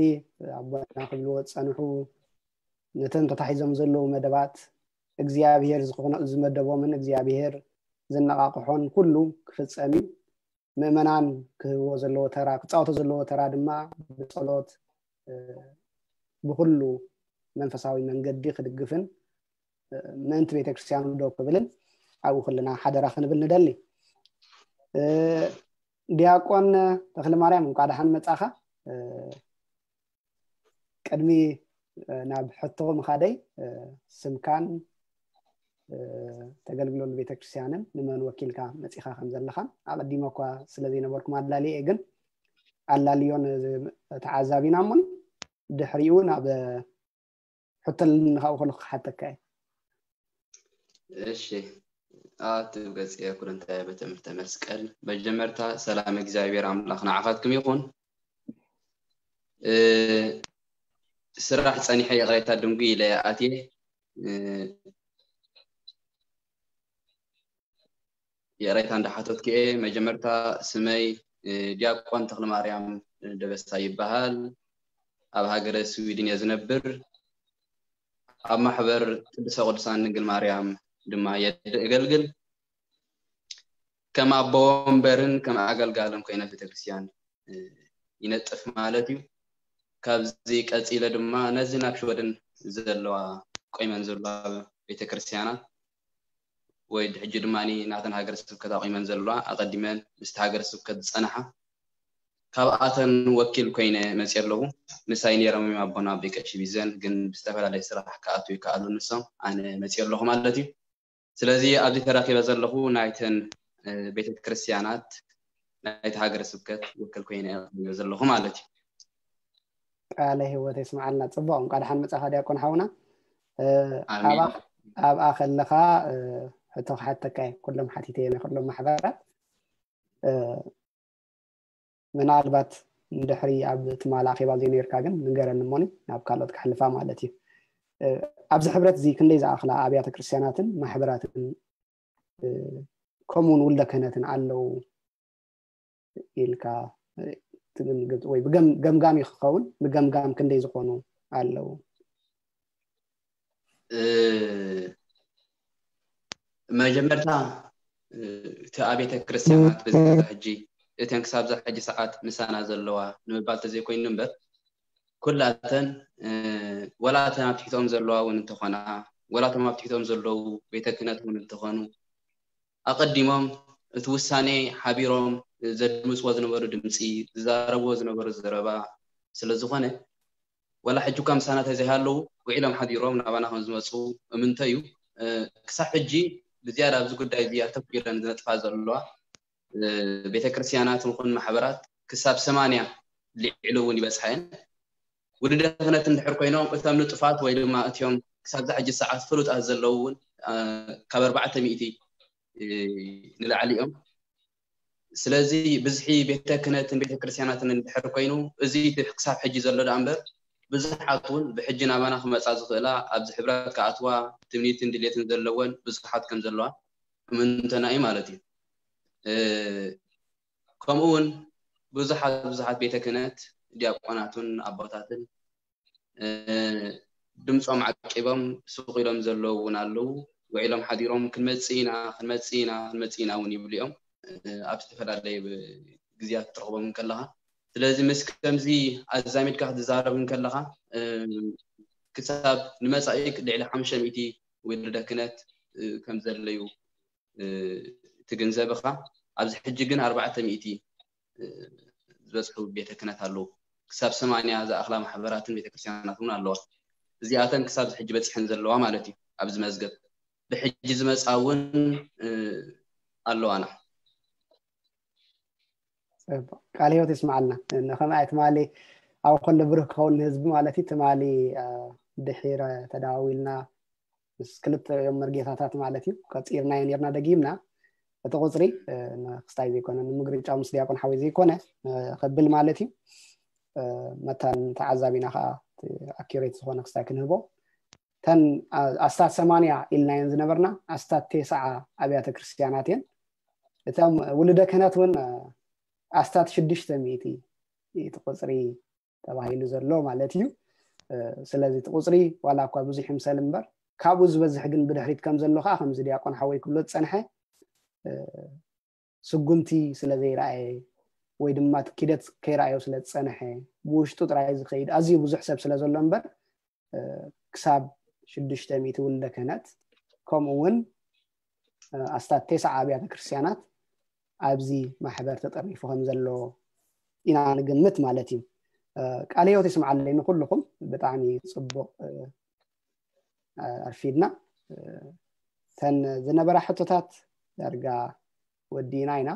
ኣቦና ክብልዎ ዝፀንሑ ነተን ተታሒዞም ዘለዉ መደባት እግዚኣብሔር ዝኾነ ዝመደቦምን እግዚኣብሔር ዘነቓቕሖን ኩሉ ክፍፀም እዩ። ምእመናን ክህብዎ ዘለዎ ተራ ክፃወቶ ዘለዎ ተራ ድማ ብፀሎት ብኩሉ መንፈሳዊ መንገዲ ክድግፍን ምእንቲ ቤተክርስትያኑ ደው ክብልን ኣብኡ ኩልና ሓደራ ክንብል ንደሊ። ዲያቆን ተክለ ማርያም እንኳዕ ደሓን መጻኻ። ቅድሚ ናብ ሕቶ ምኻደይ ስምካን ተገልግለሉ ቤተክርስትያንን ንመን ወኪልካ መጺኻ ከም ዘለኻን ኣቐዲመ እኳ ስለ ዘይነበርኩም ኣላልየ ግን ኣላልዮን ተዓዛቢና እሞን ድሕሪኡ ናብ ሕቶ ኣለኒ ካብኡ ከለኹ ክሓተካ እየ። እሺ ኣትብ ገጽ የኩርንታይ በትምህርተ መስቀል መጀመርታ ሰላም እግዚኣብሔር ኣምላኽ ንዓኻትኩም ይኹን። ስራሕ ጸኒሐ ይቕሬታ ድንጉ ኢለ ኣትየ ይቕሬታ እንዳሓተትኩ እየ። መጀመርታ ስመይ ዲያቆን ተክለማርያም ደበሳ ይበሃል። ኣብ ሃገረ ስዊድን እየ ዝነብር። ኣብ ማሕበር ቅድስተ ቅዱሳን ድንግል ማርያም ድማ የገልግል። ከም ኣቦ ወንበርን ከም ኣገልጋልን ኮይነ ቤተክርስትያን ይነጥፍ ማለት እዩ። ካብዚ ቀፂለ ድማ ነዚ ናብ ሽወደን ዘለዋ ቆይመን ዘለዋ ቤተክርስትያናት ወይ ሕጂ ድማ ናተን ሃገረ ስብከት ኣቑመን ዘለዋ ኣቐዲመን ምስቲ ሃገረ ስብከት ዝፀንሓ ካብኣተን ወኪል ኮይነ መፅየ ኣለኹ። ምሳይ ነይሮም እዮም ኣቦና ኣቦይ ቀሺ ቢዘን፣ ግን ብዝተፈላለየ ስራሕ ክኣትዉ ይከኣሉ ንሶም፣ ኣነ መፅየ ኣለኹ ማለት እዩ። ስለዚ ኣብዚ ተረኪበ ዘለኹ ናይተን ቤተክርስትያናት ናይቲ ሃገረ ስብከት ወኪል ኮይነ እየ ዘለኹ ማለት እዩ። ቃለ ህይወት የስምዓልና። ፅቡቅ፣ እንኳ ደሓን መፃኻ ዲያቆን ሓውና። ኣብኣ ከለኻ ሕቶ ክሓተካ እየ። ኩሎም ሓቲተ እየ ናይ ኩሎም ማሕበራት። ምናልባት እንድሕሪ ኣብ ትማል ኣኼባ ዘይነርካ ግን ንገረኒ እሞኒ ናብ ካልኦት ክሕልፋ ማለት እዩ። ኣብዚ ሕብረት እዚ ክንደይ ዝኣኽላ ኣብያተ ክርስትያናትን ማሕበራትን ከምኡውን ውልደ ክህነትን ኣለዉ ኢልካ ትግምግም ወይ ብገምጋም ክኸውን ብገምጋም ክንደይ ዝኾኑ ኣለዉ? መጀመርታ እቲ ኣብያተ ክርስትያናት በዚ ሕጂ እተን ክሳብዛ ሕጂ ሰዓት ምሳና ዘለዋ ንምባል ተዘይኮይኑ እምበር ኩላተን ወላተን ኣብ ትሕትኦም ዘለዋ እውን እንተኾና ወላቶም ኣብ ትሕትኦም ዘለዉ ቤተ ክህነት እውን እንተኾኑ ኣቐዲሞም እቲ ውሳኔ ሓቢሮም ዘድምፅዎ ዝነበሩ ድምፂ ዝዛረብዎ ዝነበሩ ዘረባ ስለዝኾነ ወላ ሕጂ እኳ ምሳና ተዘይሃለዉ ውዒሎም ሓዲሮም ናባና ከም ዝመፁ እምንቶ እዩ። ክሳብ ሕጂ ብዝያዳ ኣብዚ ጉዳይ እዚ ኣተኲረን ዝነጥፋ ዘለዋ ቤተክርስትያናት ንኹን ማሕበራት ክሳብ ሰማንያ ልዕሊ እውን ይበፅሓ እየን። ውልደ ክህነት እንድሕር ኮይኖም እቶም ንጡፋት ወይ ድማ እትዮም ክሳብ ዛ ሕጂ ሰዓት ፍሉጣት ዘለዉ እውን ካብ ኣርባዕተ ሚእቲ ንላዕሊ እዮም። ስለዚ ብዝሒ ቤተ ክህነትን ቤተ ክርስቲያናትን እንድሕር ኮይኑ እዚ ክሳብ ሕጂ ዘሎ ደኣ እምበር ብዙሓት እውን ብሕጂ ናባና ክመፃ ዝኽእላ ኣብዚ ሕብረት ክኣትዋ ትምኒትን ድሌትን ዘለወን ብዙሓት ከም ዘለዋ እምንቶና እዩ ማለት እዩ። ከምኡ እውን ብዙሓት ብዙሓት ቤተ ክህነት ዲያቆናትን ኣቦታትን ድምፆም ዓቂቦም ስቕ ኢሎም ዘለዉ እውን ኣለዉ። ውዒሎም ሓዲሮም ክንመፅእ ኢና ክንመፅእ ኢና ክንመፅእ ኢና እውን ይብሉ እዮም ኣብ ዝተፈላለየ ግዜያት ክትረኽቦም ከለኻ። ስለዚ ምስ ከምዚ ኣዛሚድካ ክትዛረብ ከለኻ ክሳብ ንመፃኢ ልዕሊ ሓሙሽተ ሚእቲ ውልደ ክህነት ከም ዘለዩ ትግንዘብ ኢኻ። ኣብዚ ሕጂ ግን ኣርባዕተ ሚእቲ ዝበፅሑ ቤተ ክህነት ኣለዉ። ክሳብ ሰማንያ ዝኣኽላ ማሕበራትን ቤተክርስትያናት እውን ኣለዋ። እዚኣተን ክሳብ ሕጂ በፂሐን ዘለዋ ማለት እዩ። ኣብዚ መዝገብ ብሕጂ ዝመፃ እውን ኣለዋና። ቃል ህይወት ይስምዓልና። ንኸምኣ ትማሊ ኣብ ከሎ ብሩህ ክኸውን ንህዝቢ ማለት እዩ። ትማሊ ድሒረ ተደዋዊልና ምስ ክልተ እዮም መርጌታታት ማለት እዩ ቀፂርናዮ ነርና። ደጊምና እቲ ቁፅሪ ንክስታይ ዘይኮነ ንምግርጫው ምስ ዲያቆን ሓወይ ዘይኮነ ከብል ማለት እዩ። መታን ተዓዛቢና ከዓ ኣኪሬት ዝኾነ ክስታይ ክንህቦ ተን ኣስታት ሰማንያ ኢልናየን ዝነበርና ኣስታት ቴስዓ ኣብያተ ክርስትያናት እየን። እቶም ውልደ ክህነት እውን ኣስታት ሽዱሽተ ሚእቲ እቲ ቁፅሪ ተባሂሉ ዘሎ ማለት እዩ። ስለዚ እቲ ቁፅሪ ዋላ እኳ ብዙሕ ይምሰል እምበር ካብኡ ዝበዝሕ ግን ብድሕሪት ከም ዘሎ ከዓ ከምዚ ዲያቆን ሓወይ ክብሎ ዝፀንሐ ስጉምቲ ስለ ዘይረኣየ ወይ ድማ ኪደት ከይረኣዮ ስለ ዝፀንሐ ብውሽጡ ጥራይ ዝኸይድ ኣዝዩ ብዙሕ ሰብ ስለ ዘሎ እምበር ክሳብ ሽዱሽተ ሚእቲ ውልደ ክህነት ከምኡ እውን ኣስታት ቴስዓ ኣብያተ ክርስትያናት ኣብዚ ማሕበር ተጠርኒፉ ከም ዘሎ ኢና ንግምት ማለት እዩ። ቃለ ህይወት ይስምዓለይ ንኩልኹም። ብጣዕሚ ፅቡቕ ኣርፊድና። ተን ዝነበራ ሕቶታት ዳርጋ ወዲእና ኢና።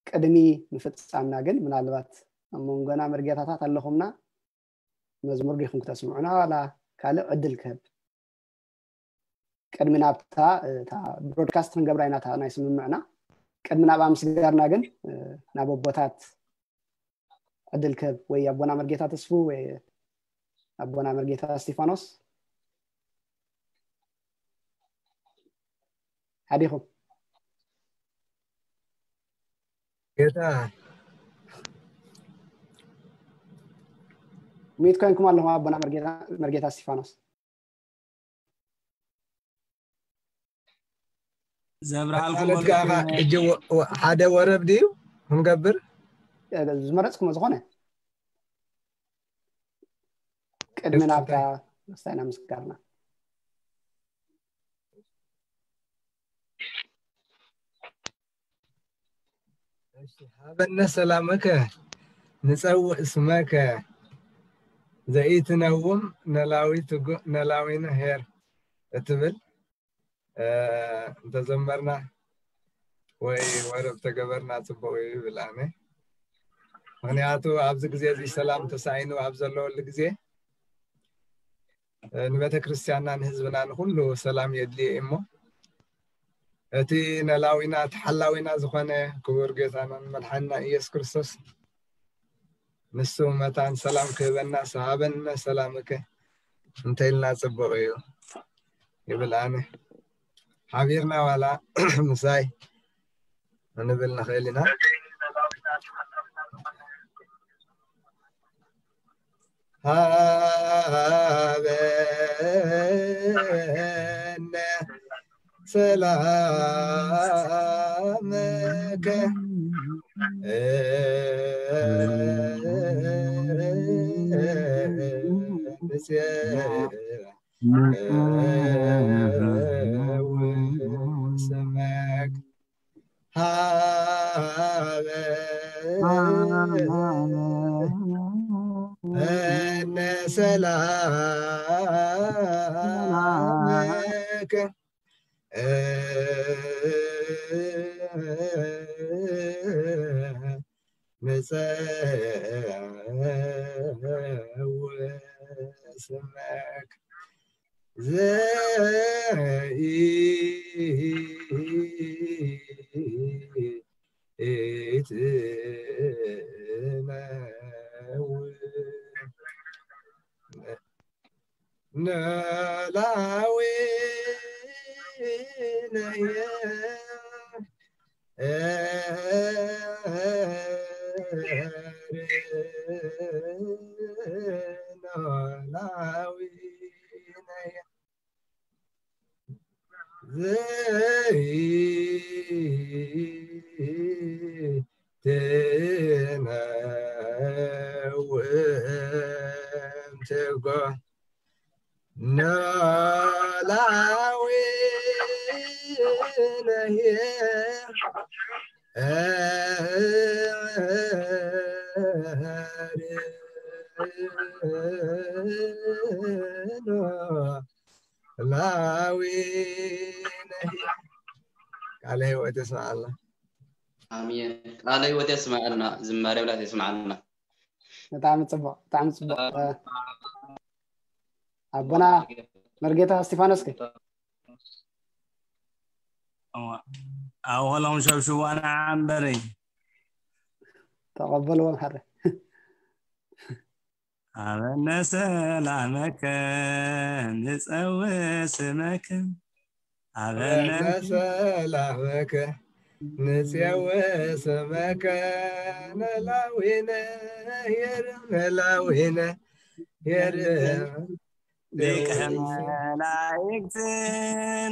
ቅድሚ ምፍፃምና ግን ምናልባት ኣብ መንጎና መርጌታታት ኣለኹምና መዝሙር ዲኹም ክተስምዑና ዋላ ካልእ ዕድል ክህብ ቅድሚ ናብታ እታ ብሮድካስት ክንገብራ ኢና እታ ናይ ስምምዕና ቅድሚ ናብኣ ምስጋርና ግን ናብ ኣቦታት ዕድል ክህብ ወይ ኣቦና መርጌታ ተስፉ ወይ ኣቦና መርጌታ እስቲፋኖስ ሓዲኹም ጌታ ሚት ኮይንኩም ኣለኹም ኣቦና መርጌታ፣ መርጌታ እስቲፋኖስ። ዘብርሃልኩም ማለት በሉ። ከኣ ሕጂ ወ- ወ- ሓደ ወረብ ድዩ ክንገብር? ዝመረፅኩሞ ዝኾነ ቅድሚ ደስ ናብታ እንታይ? ክስታይና ምስጋርና። እሺ፣ ሃበነ ሰላምከ ንጸውእ ስመከ ዘኢትነውም ነላዊት ጎ-፣ ነላዊነ ኄር እትብል፣ እ፣ እንተዘመርና ወይ ወረብ ተገበርና ጽቡቕ እዩ ይብል ኣነ። ምኽንያቱ ኣብዚ ግዜ እዚ ሰላም ተሳኢኑ ኣብ ዘለወሉ ግዜ፣ እ፣ ንቤተ ክርስቲያንና ንህዝብና ንኹሉ ሰላም የድልዮ እዩ እሞ፣ እቲ ነላዊና ተሓላዊና ዝኾነ ክቡር ጌታናን መድሓንና ኢየሱስ ክርስቶስ ንሱ መታን ሰላም ክህበና ሃበነ ሰላምከ እንተኢልና ጽቡቕ እዩ ይብል ኣነ። ሓቢርና ዋላ ምሳይ ክንብል ንኽእል ኢና። ሃበነ ሰላምከ ንጸውእ ስመክ ሃበነ ሰላምከ ንጸውእ ስመክ ዘኢትነውም ነላዊነየ ነላዊነየ ዘይትነውም ትጎ ነላዊነየ ላዊ ቃለ ህይወት የስምዓልና። ኣሜን። ቃለ ህይወት የስምዓልና። ዝማሬ ብላት የስምዓልና። ብጣዕሚ ጽቡቕ፣ ብጣዕሚ ጽቡቕ። ኣቦና መርጌታ እስቲፋኖስ ከ? ኣብኸሎም ሸብሽቡ ኣነ ዓንበረይ ተቐበልዎም ሓረ። ሃበነ ሰላመከ ንጸውእ ስመከ ሃበነ ሰላመከ ንጽውእ ስመከ ነላዊነ የርም ነላዊነ የርም ሊቀ መላእክት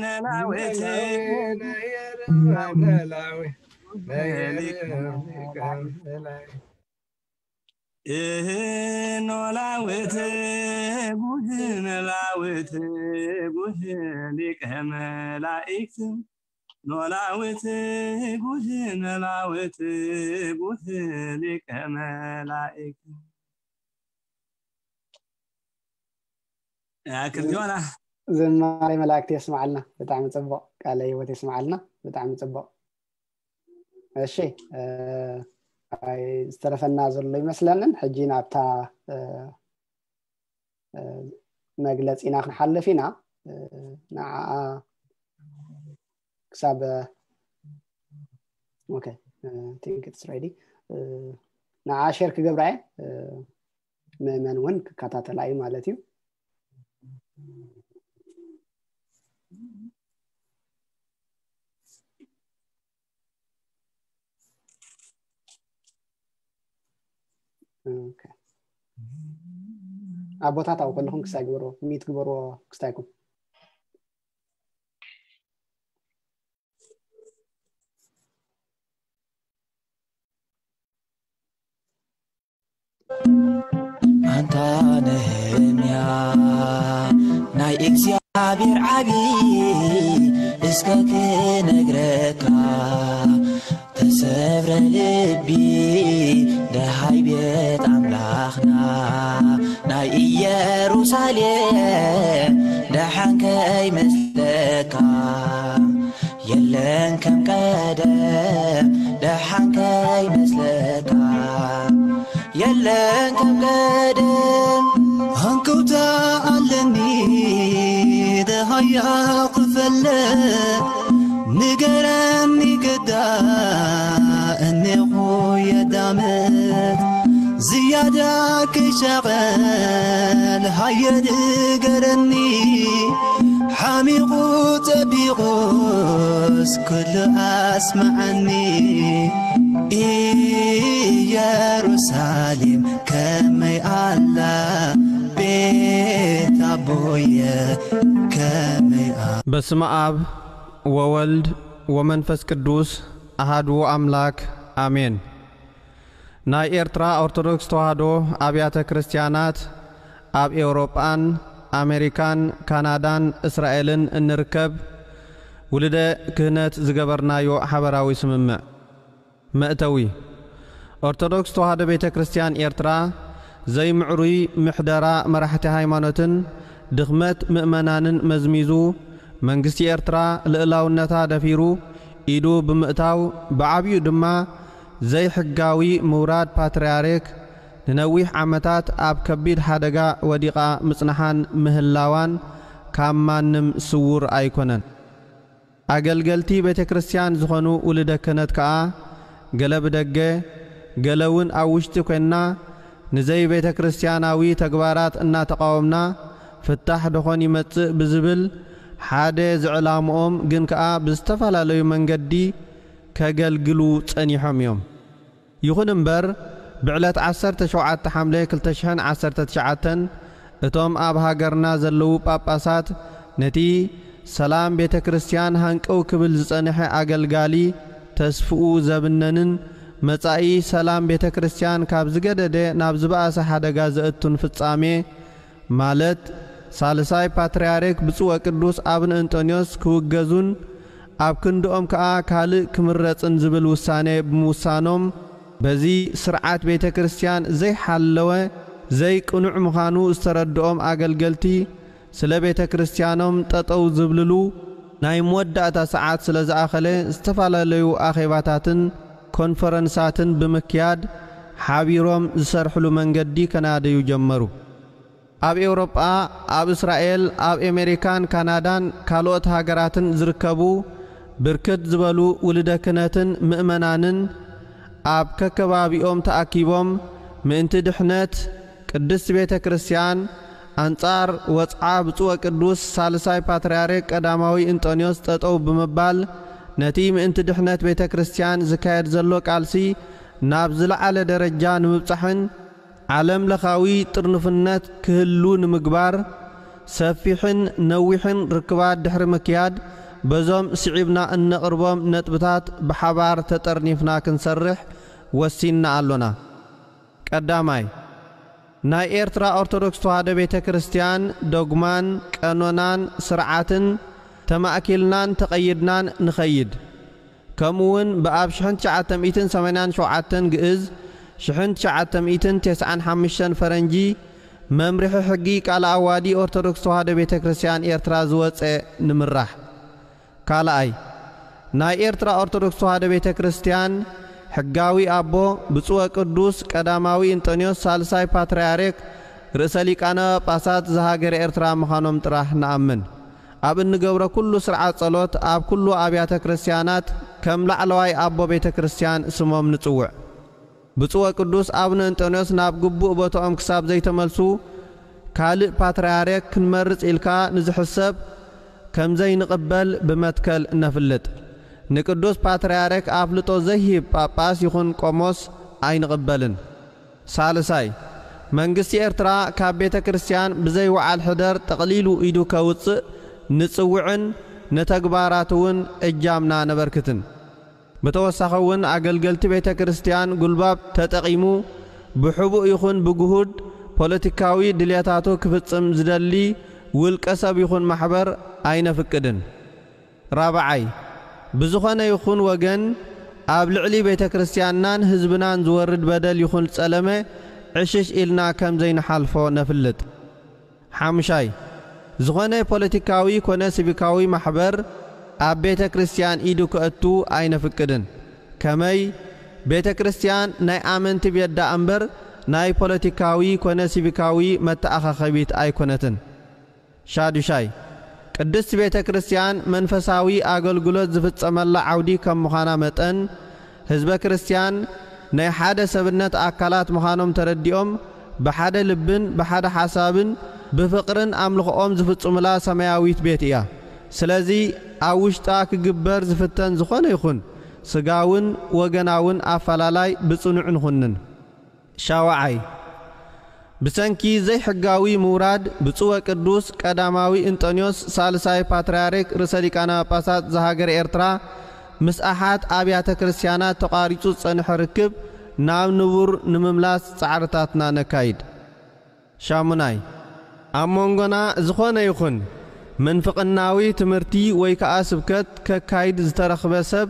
ነላዊት ነላዊነ የርም ነላዊነ የርም ሊቀ መላእክት እህ ኖላዊት ጉህ ነላዊት ጉህ ሊቀ መላእክት ኖላዊት ጉህ ነላዊት ጉህ ሊቀ መላእክት ያክል ዲዋና ዝማሬ መላእክት የስምዓልና። ብጣዕሚ ጽቡቕ ቃለ ህይወት የስምዓልና። ብጣዕሚ ጽቡቕ። እሺ፣ እ፣ ኣይ፣ ዝተረፈና ዘሎ ይመስለንን። ሕጂ ናብታ፣ እ፣ እ፣ መግለጺና ክንሓልፍ ኢና። እ፣ ንዓኣ ክሳብ፣ ኦኬ፣ እ፣ think it's ready። እ፣ ንዓኣ ሼር ክገብራ እየ። እ፣ ምእመን እውን ክከታተላ እዩ ማለት እዩ። ኦኬ። ኣቦታት ኣብኡ ከለኹም ክስታይ ግበርዎ፣ ሚት ግበርዎ ክስታይኩም። ኣንታ ነህምያ ናይ እግዚኣብሔር ዓቢ እስከ ክነግረካ ተሰብረ ልቢ ደሃይ ቤት ኣምላኽና ናይ ኢየሩሳሌም ደሓን ከይመስለካ የለን ከም ቀደም ደሓን ከይመስለካ የለን ከም ቀደም ሃንቀውታ ኣለኒ ደሃያ ክፈለ ንገረኒ ግዳ እኔኹ የዳምት ዝያዳ ክሻቐል ሃየ ንገረኒ ሓሚቑ ጸቢቑስ ኩሉ ኣስምዓኒ ኢየሩሳሌም ከመይ ኣላ ቤት ኣቦየ ከመይ ኣ በስመ ኣብ ወወልድ ወመንፈስ ቅዱስ ኣሃዱ ኣምላክ ኣሜን። ናይ ኤርትራ ኦርቶዶክስ ተዋህዶ ኣብያተ ክርስትያናት ኣብ ኤውሮጳን ኣሜሪካን ካናዳን እስራኤልን እንርከብ ውልደ ክህነት ዝገበርናዮ ሓበራዊ ስምምዕ። መእተዊ ኦርቶዶክስ ተዋህዶ ቤተ ክርስትያን ኤርትራ ዘይምዕሩይ ምሕደራ መራሕቲ ሃይማኖትን ድኽመት ምእመናንን መዝሚዙ መንግስቲ ኤርትራ ልእላውነታ ደፊሩ ኢዱ ብምእታው ብዓብዩ ድማ ዘይሕጋዊ ምውራድ ፓትርያርክ ንነዊሕ ዓመታት ኣብ ከቢድ ሓደጋ ወዲቓ ምጽንሓን ምህላዋን ካብ ማንም ስውር ኣይኮነን። ኣገልገልቲ ቤተ ክርስትያን ዝኾኑ ውልደ ክህነት ከኣ ገለ ብደገ ገለ እውን ኣብ ውሽጢ ኮይንና ንዘይ ቤተ ክርስትያናዊ ተግባራት እናተቓወምና ፍታሕ ደኾን ይመጽእ ብዝብል ሓደ ዝዕላምኦም ግን ከኣ ብዝተፈላለዩ መንገዲ ከገልግሉ ጸኒሖም እዮም። ይኹን እምበር ብዕለት ዓሰርተ ሸውዓተ ሓምለ ክልተ ሽሕን ዓሰርተ ትሽዓተን እቶም ኣብ ሃገርና ዘለዉ ጳጳሳት ነቲ ሰላም ቤተ ክርስትያን ሃንቀው ክብል ዝጸንሐ ኣገልጋሊ ተስፍኡ ዘብነንን መጻኢ ሰላም ቤተ ክርስትያን ካብ ዝገደደ ናብ ዝበኣሰ ሓደጋ ዘእቱን ፍጻሜ ማለት ሳልሳይ ፓትርያርክ ብፁዕ ወቅዱስ ኣቡነ እንጦንዮስ ክውገዙን ኣብ ክንድኦም ከኣ ካልእ ክምረጽን ዝብል ውሳኔ ብምውሳኖም በዚ ስርዓት ቤተ ክርስትያን ዘይሓለወ ዘይቅኑዕ ምዃኑ ዝተረድኦም ኣገልገልቲ ስለ ቤተ ክርስትያኖም ጠጠው ዝብልሉ ናይ መወዳእታ ሰዓት ስለ ዝኣኸለ ዝተፈላለዩ ኣኼባታትን ኮንፈረንሳትን ብምክያድ ሓቢሮም ዝሰርሕሉ መንገዲ ከናደዩ ጀመሩ። ኣብ ኤውሮጳ፣ ኣብ እስራኤል፣ ኣብ ኤሜሪካን ካናዳን ካልኦት ሃገራትን ዝርከቡ ብርክት ዝበሉ ውልደ ክህነትን ምእመናንን ኣብ ከከባቢኦም ተኣኪቦም ምእንቲ ድሕነት ቅድስት ቤተ ክርስቲያን ኣንጻር ወጽዓ ብፁዕ ወቅዱስ ሳልሳይ ፓትርያርክ ቀዳማዊ እንጦንዮስ ጠጠው ብምባል ነቲ ምእንቲ ድሕነት ቤተ ክርስቲያን ዝካየድ ዘሎ ቃልሲ ናብ ዝለዓለ ደረጃ ንምብጻሕን ዓለም ለኻዊ ጥርንፍነት ክህሉ ንምግባር ሰፊሕን ነዊሕን ርክባት ድሕሪ ምክያድ በዞም ስዒብና እነቕርቦም ነጥብታት ብሓባር ተጠርኒፍና ክንሰርሕ ወሲንና ኣሎና። ቀዳማይ፣ ናይ ኤርትራ ኦርቶዶክስ ተዋህዶ ቤተ ክርስቲያን ዶግማን ቀኖናን ስርዓትን ተማእኪልናን ተቐይድናን ንኸይድ። ከምኡ እውን ብኣብ ሽሕን ትሽዓተ ሚእትን ሰማንያን ሸውዓተን ግእዝ ሽሕን ትሽዓተ ሚእትን ተስዓን ሓሙሽተን ፈረንጂ መምርሒ ሕጊ ቃለ ኣዋዲ ኦርቶዶክስ ተዋህዶ ቤተ ክርስቲያን ኤርትራ ዝወፀ ንምራሕ። ካልኣይ፣ ናይ ኤርትራ ኦርቶዶክስ ተዋህዶ ቤተ ክርስቲያን ሕጋዊ ኣቦ ብፁዕ ወቅዱስ ቀዳማዊ እንጦንዮስ ሳልሳይ ፓትርያርክ ርእሰ ሊቃነ ጳጳሳት ዘሃገረ ኤርትራ ምዃኖም ጥራሕ ንኣምን። ኣብ እንገብሮ ኩሉ ስርዓት ጸሎት ኣብ ኩሉ ኣብያተ ክርስቲያናት ከም ላዕለዋይ ኣቦ ቤተ ክርስቲያን ስሞም ንጽውዕ። ብፁዕ ወቅዱስ ኣቡነ እንጦንዮስ ናብ ግቡእ ቦታኦም ክሳብ ዘይተመልሱ ካልእ ፓትርያርክ ክንመርጽ ኢልካ ንዝሕሰብ ከም ዘይንቕበል ብመትከል ነፍልጥ። ንቅዱስ ፓትርያርክ ኣፍልጦ ዘይህብ ጳጳስ ይኹን ቆሞስ ኣይንቕበልን። ሳልሳይ፣ መንግስቲ ኤርትራ ካብ ቤተ ክርስቲያን ብዘይ ወዓል ሕደር ጠቕሊሉ ኢዱ ከውጽእ ንጽውዕን ንተግባራት እውን እጃምና ነበርክትን። ብተወሳኺ እውን ኣገልገልቲ ቤተ ክርስቲያን ጉልባብ ተጠቒሙ ብሕቡእ ይኹን ብግሁድ ፖለቲካዊ ድልየታቱ ክፍጽም ዝደሊ ውልቀ ሰብ ይኹን ማሕበር ኣይነፍቅድን። ራብዓይ፣ ብዝኾነ ይኹን ወገን ኣብ ልዕሊ ቤተ ክርስቲያንናን ህዝብናን ዝወርድ በደል ይኹን ጸለመ ዕሽሽ ኢልና ከም ዘይንሓልፎ ነፍልጥ። ሓምሻይ፣ ዝኾነ ፖለቲካዊ ኮነ ሲቪካዊ ማሕበር ኣብ ቤተ ክርስቲያን ኢዱ ከእቱ ኣይነፍቅድን። ከመይ? ቤተ ክርስቲያን ናይ ኣመንቲ ቤት ደኣ እምበር ናይ ፖለቲካዊ ኮነ ሲቪካዊ መተኣኻኸቢት ኣይኮነትን። ሻዱሻይ፣ ቅድስት ቤተ ክርስቲያን መንፈሳዊ ኣገልግሎት ዝፍጸመላ ዓውዲ ከም ምዃና መጠን፣ ህዝበ ክርስቲያን ናይ ሓደ ሰብነት ኣካላት ምዃኖም ተረዲኦም፣ ብሓደ ልብን ብሓደ ሓሳብን ብፍቕርን ኣምልኾኦም ዝፍጽሙላ ሰማያዊት ቤት እያ። ስለዚ ኣብ ውሽጣ ክግበር ዝፍተን ዝኾነ ይኹን ስጋውን ወገናውን ኣፈላላይ ብጽኑዕ ንኹንን። ሻውዓይ፣ ብሰንኪ ዘይሕጋዊ ምውራድ ብፁዕ ወቅዱስ ቀዳማዊ እንጠንዮስ ሳልሳይ ፓትርያርክ ርእሰ ሊቃነ ጳጳሳት ዘሃገረ ኤርትራ፣ ምስ ኣሓት ኣብያተ ክርስቲያናት ተቋሪጹ ዝጸንሐ ርክብ ናብ ንቡር ንምምላስ ጻዕርታትና ነካይድ። ሻሙናይ፣ ኣብ መንጎና ዝኾነ ይኹን ምንፍቕናዊ ትምህርቲ ወይ ከኣ ስብከት ከካይድ ዝተረኽበ ሰብ፣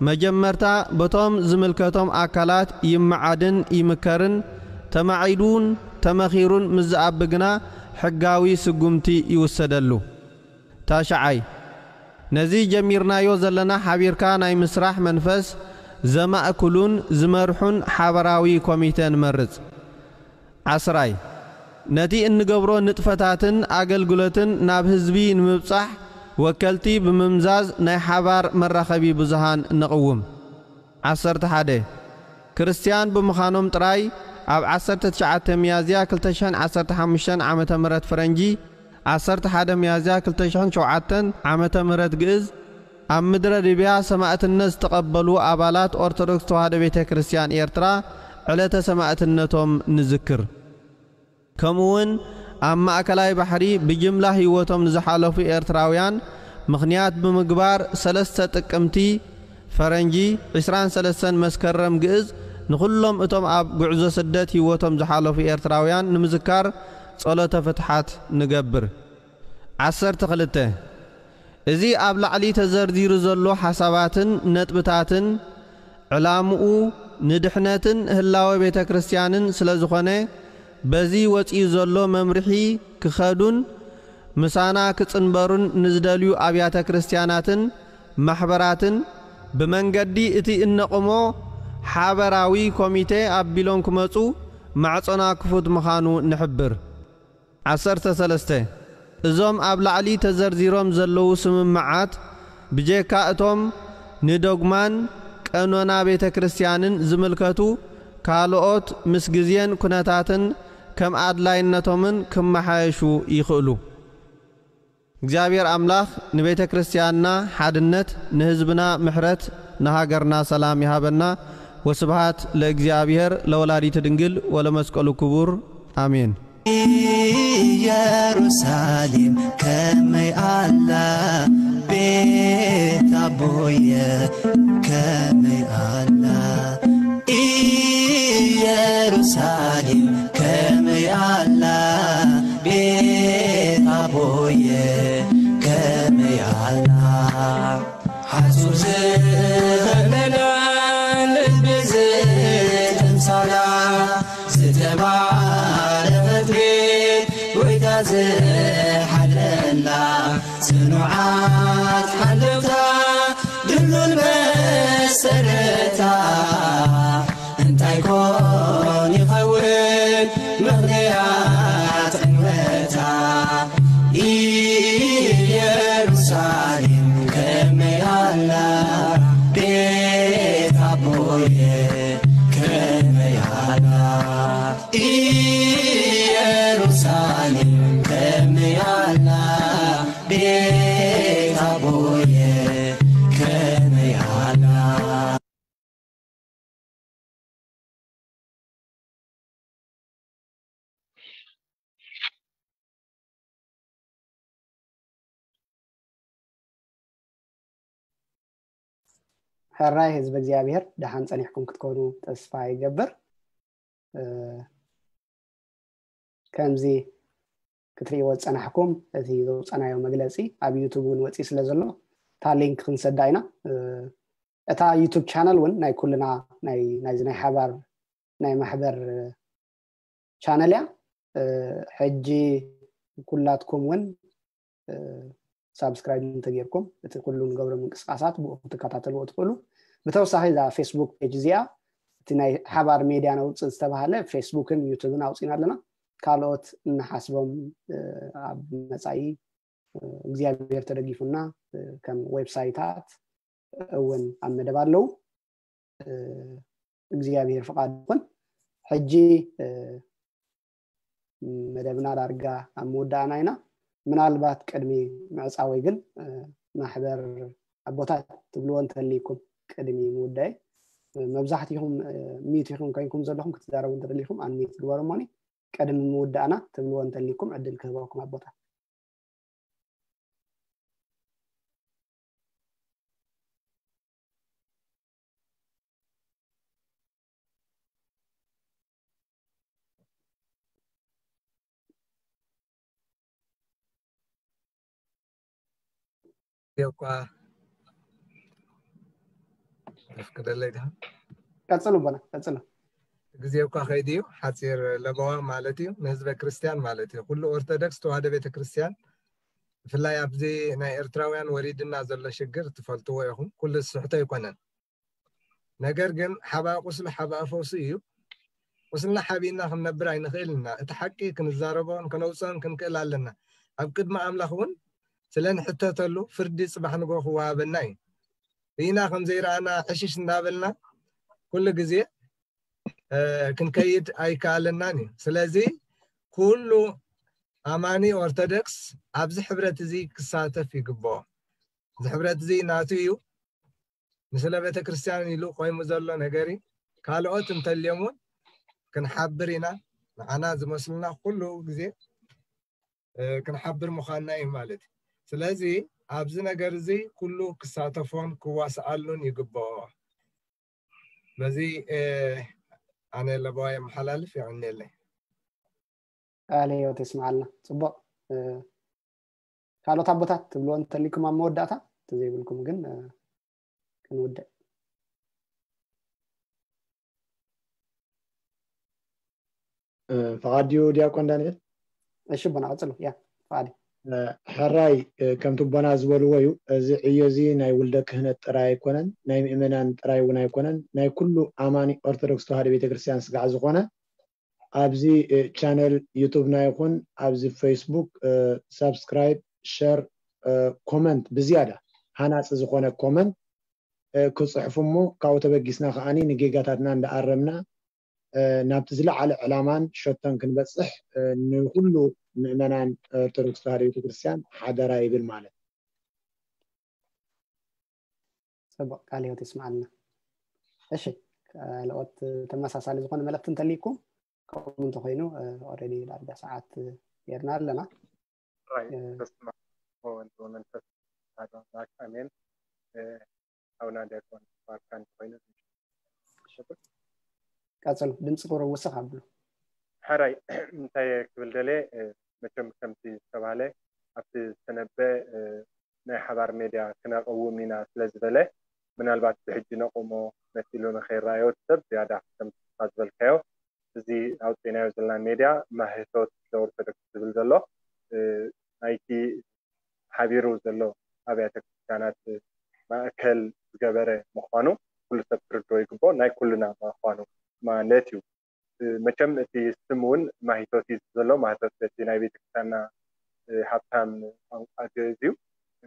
መጀመርታ በቶም ዝምልከቶም ኣካላት ይመዓድን ይምከርን፣ ተማዒዱን ተመኺሩን ምስ ዝኣቢ ግና ሕጋዊ ስጉምቲ ይውሰደሉ። ታሽዓይ፣ ነዚ ጀሚርናዮ ዘለና ሓቢርካ ናይ ምስራሕ መንፈስ ዘማእክሉን ዝመርሑን ሓባራዊ ኮሚተ ንመርጽ። ዓስራይ፣ ነቲ እንገብሮ ንጥፈታትን ኣገልግሎትን ናብ ህዝቢ ንምብጻሕ ወከልቲ ብምምዛዝ ናይ ሓባር መራኸቢ ብዙሃን ነቕውም። ዓሰርተ ሓደ፣ ክርስትያን ብምዃኖም ጥራይ ኣብ ዓሰርተ ትሽዓተ ሚያዝያ ክልተ ሽሕን ዓሰርተ ሓሙሽተን ዓመተ ምህረት ፈረንጂ፣ ዓሰርተ ሓደ ሚያዝያ ክልተ ሽሕን ሸውዓተን ዓመተ ምህረት ግእዝ፣ ኣብ ምድረ ሊብያ ሰማእትነት ዝተቐበሉ ኣባላት ኦርቶዶክስ ተዋህዶ ቤተ ክርስቲያን ኤርትራ ዕለተ ሰማእትነቶም ንዝክር። ከምኡውን ኣብ ማእከላይ ባሕሪ ብጅምላ ህይወቶም ንዝሓለፉ ኤርትራውያን ምኽንያት ብምግባር ሰለስተ ጥቅምቲ ፈረንጂ ዒስራን ሰለስተን መስከረም ግእዝ ንኹሎም እቶም ኣብ ጉዕዞ ስደት ህይወቶም ዝሓለፉ ኤርትራውያን ንምዝካር ጸሎተ ፍትሓት ንገብር። ዓሰርተ ክልተ፣ እዚ ኣብ ላዕሊ ተዘርዚሩ ዘሎ ሓሳባትን ነጥብታትን ዕላምኡ ንድሕነትን ህላወ ቤተ ክርስቲያንን ስለ ዝኾነ፣ በዚ ወጺኡ ዘሎ መምርሒ ክኸዱን ምሳና ክጽንበሩን ንዝደልዩ ኣብያተ ክርስቲያናትን ማሕበራትን ብመንገዲ እቲ እነቕሞ ሓበራዊ ኮሚቴ ኣቢሎም ክመጹ ማዕጾና ክፉት ምዃኑ ንሕብር። ዓሰርተ ሰለስተ፣ እዞም ኣብ ላዕሊ ተዘርዚሮም ዘለዉ ስምምዓት፣ ብጀካ እቶም ንዶግማን ቀኖና ቤተ ክርስቲያንን ዝምልከቱ ካልኦት፣ ምስ ግዜን ኩነታትን ከም ኣድላይነቶምን ክመሓየሹ ይኽእሉ። እግዚኣብሔር ኣምላኽ ንቤተ ክርስቲያንና ሓድነት፣ ንህዝብና ምሕረት፣ ንሃገርና ሰላም ይሃበና። ወስብሃት ለእግዚኣብሔር ለወላዲቱ ድንግል ወለመስቀሉ ክቡር። ኣሜን። ኢየሩሳሌም ከመይ ኣላ ቤት ኣቦየ ከመይ ኣላ። ኢየሩሳሌም ከመይ ኣላ ቤት ኣቦየ ከመይ ኣላ። ሓጹር ዝኸለላ ልቢ ዝጥምሳላ ዝተባረኸት ቤት ጎይታ ዝሓድረላ ጽኑዓት ሓለውታ ድልዱል መሰረታ እንታይ ኮን ይኸውን ምኽንያት ዕንወታ? ኢየሩሳሌም ከመይ ኣላ ቤት ኣቦየ ከመይ ኣላ። ኢየሩሳሌም ከመይ ኣላ ቤት ኣቦየ ከመይ ኣላ። ሕራይ ህዝቢ እግዚኣብሔር፣ ደሓን ጸኒሕኩም ክትኮኑ ተስፋ ይገብር። እ፣ ከምዚ ክትርእይዎ ዝጸናሕኩም፣ እቲ ዘውጻናዮ መግለጺ ኣብ ዩቱብ እውን ወጺኡ ስለ ዘሎ፣ እታ ሊንክ ክንሰዳ ኢና። እ፣ እታ ዩቱብ ቻነል እውን ናይ ኩልና፣ ናይ፣ ናይዚ ናይ ሓባር ናይ ማሕበር ቻነል እያ። እ፣ ሕጂ ኩላትኩም እውን፣ እ፣ ሳብስክራይብ እንተጌርኩም፣ እቲ ኩሉ ንገብሮ ምንቅስቃሳት ብኡ ክትከታተልዎ ትኽእሉ። ብተወሳኺ እዛ ፌስቡክ ፔጅ እዚኣ፣ እቲ ናይ ሓባር ሜድያ ነውፅእ ዝተባሃለ ፌስቡክን ዩቱብን ኣውፂና ኣለና። ካልኦት እንሓስቦም፣ እ፣ ኣብ መጻኢ፣ እ፣ እግዚኣብሔር ተደጊፉና፣ እ፣ ከም ዌብሳይታት እውን ኣብ መደብ ኣለዉ። እ፣ እግዚኣብሔር ፍቓድ ይኹን። ሕጂ፣ እ፣ መደብና ዳርጋ ኣብ ምውዳእና ኢና። ምናልባት ቅድሚ ምዕጻወይ ግን፣ እ፣ ማሕበር ኣቦታት ትብልዎ እንተልይኩም ቅድሚ ምውዳይ፣ እ፣ መብዛሕትኹም፣ እ፣ ሚዩት ኢኹም ኮይንኩም ዘለኹም ክትዛረቡ እንተደሊኹም ኣንሚዩት ግበሩ እሞኒ፣ ቅድሚ ምውዳእና ትብልዎ እንተልይኩም ዕድል ክህበኩም ኣቦታት። ግዜ እኳ ተፍቅደለይ ድኻ? ቀጽሉ ኣቦና፣ ቀጽሉ። ግዜ እኳ ከይዱ እዩ፣ ሓጺር ለበዋ ማለት እዩ፣ ንህዝበ ክርስቲያን ማለት እዩ። ኩሉ ኦርቶዶክስ ተዋህዶ ቤተክርስትያን፣ ብፍላይ ኣብዚ ናይ ኤርትራውያን ወሪድና ዘሎ ሽግር ትፈልጥዎ ኢኹም። ኩሉ ዝስሕቶ ኣይኮነን። ነገር ግን ሓባ ቁስሊ ሓባ ፈውሲ እዩ። ቁስልና ሓቢእና ክንነብር ኣይንኽእል ኢና። እቲ ሓቂ ክንዛረቦን ከነውፅኦን ክንክእል ኣለና። ኣብ ቅድሚ ኣምላኽ እውን ስለ ንሕተተሉ ፍርዲ ጽባሕ ንግሆ ክወሃበና እዩ። ርኢና ከም ዘይረኣና ዕሽሽ እንዳበልና ኩሉ ግዜ፣ እ፣ ክንከይድ ኣይከኣለናን እዩ። ስለዚ ኩሉ ኣማኒ ኦርቶዶክስ ኣብዚ ሕብረት እዚ ክሳተፍ ይግብኦ። እዚ ሕብረት እዚ ናቱ እዩ። ንስለ ቤተክርስትያን ኢሉ ቆይሙ ዘሎ ነገር እዩ። ካልኦት እንተልዮም እውን ክንሓብር ኢና። ንዓና ዝመስሉና ኩሉ ግዜ፣ እ፣ ክንሓብር ምዃንና እዩ ማለት እዩ። ስለዚ ኣብዚ ነገር እዚ ኩሉ ክሳተፎን ክዋስኣሉን ይግብኦ። በዚ፣ እ፣ ኣነ ለበዋ የመሓላልፍ። የቐንየለይ። ቃለ ህይወት የስምዓልና። ጽቡቕ። እ፣ ካልኦት ኣቦታት ትብልዎ እንተሊኩም ኣብ መወዳእታ፣ እንተዘይብልኩም ግን፣ እ፣ ክንውድእ። እ፣ ፍቓድ ድዩ ዲያቆን ዳንኤል? እሺ ኣቦና፣ ቀጽሉ። ያ፣ ፍቓድ እዩ። እ፣ ሕራይ፣ እ፣ ከምቲ ኣቦና ዝበልዎ እዩ። እዚ ዕዮ እዚ ናይ ውልደ ክህነት ጥራይ ኣይኮነን፣ ናይ ምእመናን ጥራይ እውን ኣይኮነን፣ ናይ ኩሉ ኣማኒ ኦርቶዶክስ ተዋህዶ ቤተክርስትያን ስጋዕ ዝኾነ ኣብዚ፣ እ፣ ቻነል ዩቱብና ይኹን ኣብዚ ፌስቡክ፣ እ፣ ሳብስክራይብ፣ ሸር፣ እ፣ ኮመንት፣ ብዝያዳ ሃናፂ ዝኾነ ኮመንት፣ እ፣ ክፅሕፉ እሞ ካብኡ ተበጊስና ከዓኒ ንጌጋታትና እንዳኣረምና፣ እ፣ ናብቲ ዝለዓለ ዕላማን ሸቶን ክንበፅሕ፣ እ፣ ንኩሉ ምእመናን ኦርቶዶክስ ተዋህዶ ቤተክርስትያን ሓደራ ይብል ማለት። ጽቡቕ፣ ቃለ ህይወት የስምዓልና። እሺ፣ ካልኦት ተመሳሳሊ ዝኾነ መልእኽቲ እንተልይኩም፣ ከምኡ እንተኾይኑ፣ እ፣ ኦልሬዲ ዳርጋ ሰዓት ጌርና ኣለና። ራይ እ፣ በስመ ኣብ ወወልድ ወመንፈስ ቅዱስ ኣሐዱ ኣምላክ ኣሜን። እ፣ ኣቡና ዲያቆን ባርካ እንተኾይኑ። ቀጽሉ፣ ድምፂ ቁሩብ ውስኽ ኣብሉ። ሕራይ እንታይ ክብል ደልየ፣ እ፣ መቸም ከምቲ ዝተባህለ ኣብቲ ዝተነበ፣ እ፣ ናይ ሓባር ሜድያ ክነቐውም ኢና ስለ ዝበለ፣ ምናልባት ብሕጂ ነቑሞ መሲሉ ንኸይረኣዮ እቲ ሰብ ዝያዳ ከምቲ ዝበልካዮ፣ እዚ ኣውፂእናዮ ዘለና ሜድያ ማህቶት ዘኦርቶዶክስ ዝብል ዘሎ፣ እ፣ ናይቲ ሓቢሩ ዘሎ ኣብያተ ክርስቲያናት ማእከል ዝገበረ ምዃኑ ኩሉ ሰብ ክርድኦ ይግብኦ፣ ናይ ኩልና ምዃኑ ማለት እዩ። እ፣ መቸም እቲ ስም እውን ማሂቶት እዩ ዘሎ፣ ማህቶት በቲ ናይ ቤተክርስትያንና፣ እ፣ ሃብታም ቋንቋ ግእዝ እዩ፣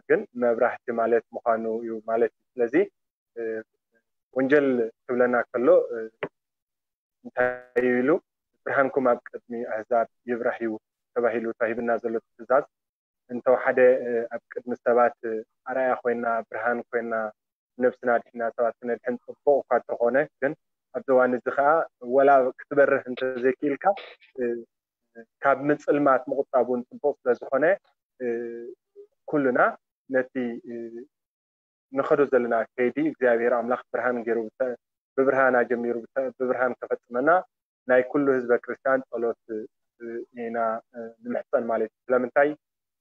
ግን መብራህቲ ማለት ምዃኑ እዩ ማለት እዩ። ስለዚ፣ እ፣ ወንጀል ክብለና ከሎ፣ እ፣ እንታይ ኢሉ፣ "ብርሃንኩም ኣብ ቅድሚ ኣህዛብ ይብራህ እዩ" ተባሂሉ ተዋሂብና ዘሎ ትእዛዝ፣ እንተወሓደ፣ እ፣ ኣብ ቅድሚ ሰባት፣ እ፣ ኣርኣያ ኮይና፣ ብርሃን ኮይና፣ ነብስና ኣድሒና ሰባት ክነድሕን ጽቡቕ እኳ እንተኾነ፣ ግን ኣብዚ እዋን እዚ ኸኣ ወላ ክትበርህ እንተዘይክኢልካ፣ እ፣ ካብ ምጽልማት ምቑጣብ እውን ጽቡቕ ስለ ዝኾነ፣ እ፣ ኩልና ነቲ፣ እ፣ ንኸዶ ዘለና ከይዲ እግዚኣብሔር ኣምላኽ ብርሃን ገይሩ ብተ- ብብርሃን ኣጀሚሩ ብተ- ብብርሃን ከፈጽመና ናይ ኩሉ ህዝበ ክርስቲያን ጸሎት እ፣ ኢና እ፣ ንምሕጸን ማለት እዩ። ስለምንታይ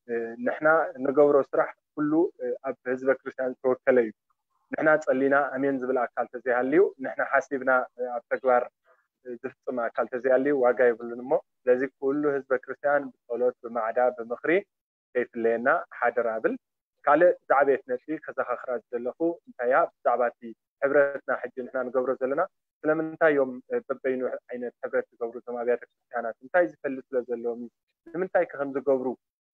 እ፣ ንሕና ንገብሮ ስራሕ ኩሉ እ፣ ኣብ ህዝበ ክርስቲያን ዝተወከለ እዩ። ንሕና ጸሊና ኣሜን ዝብል ኣካል ተዘይሃልዩ ንሕና ሓሲብና እ፣ ኣብ ተግባር እ፣ ዝፍጽም ኣካል ተዘይሃልዩ ዋጋ የብሉን እሞ ስለዚ ኩሉ ህዝበ ክርስቲያን ብጸሎት ብማዕዳ ብምኽሪ ከይፍለየና ሓደራ ብል። ካልእ ዝዓበየት ነጥቢ ከዘኻኽራ ዝደለኹ እንታይ እያ ብዛዕባ እቲ ሕብረትና ሕጂ ንሕና ንገብሮ ዘለና ስለምንታይ እዮም በበይኑ ዓይነት ሕብረት ዝገብሩ እዞም ኣብያተ ክርስቲያናት እንታይ ዝፈሊ ስለ ዘለዎም እዩ ንምንታይ ከ ከም ዝገብሩ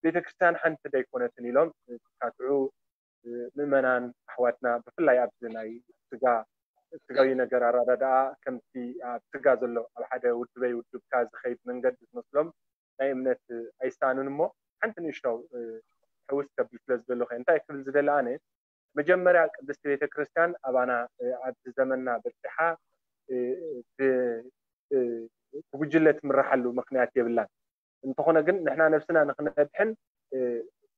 ቤተክርስትያን ሓንቲ ዶ ኣይኮነትን ኢሎም ዝካትዑ ምእመናን ኣሕዋትና ብፍላይ ኣብዚ ናይ ስጋ ስጋዊ ነገር ኣረዳድኣ ከምቲ ኣብ ስጋ ዘሎ ኣብ ሓደ ውድበይ ውድብካ ዝኸይድ መንገዲ ዝመስሎም ናይ እምነት ኣይሳኑን እሞ ሓንቲ ንእሽቶ ሕውስ ከብል ስለ ዝደለኹ እንታይ ክብል ዝደለ ኣነ መጀመርያ ቅድስቲ ቤተክርስትያን ኣባና ኣብዚ ዘመንና በፂሓ ብጉጅለ ትምራሓሉ ምክንያት የብላን እንተኾነ ግን ንሕና ነብስና ንክነድሕን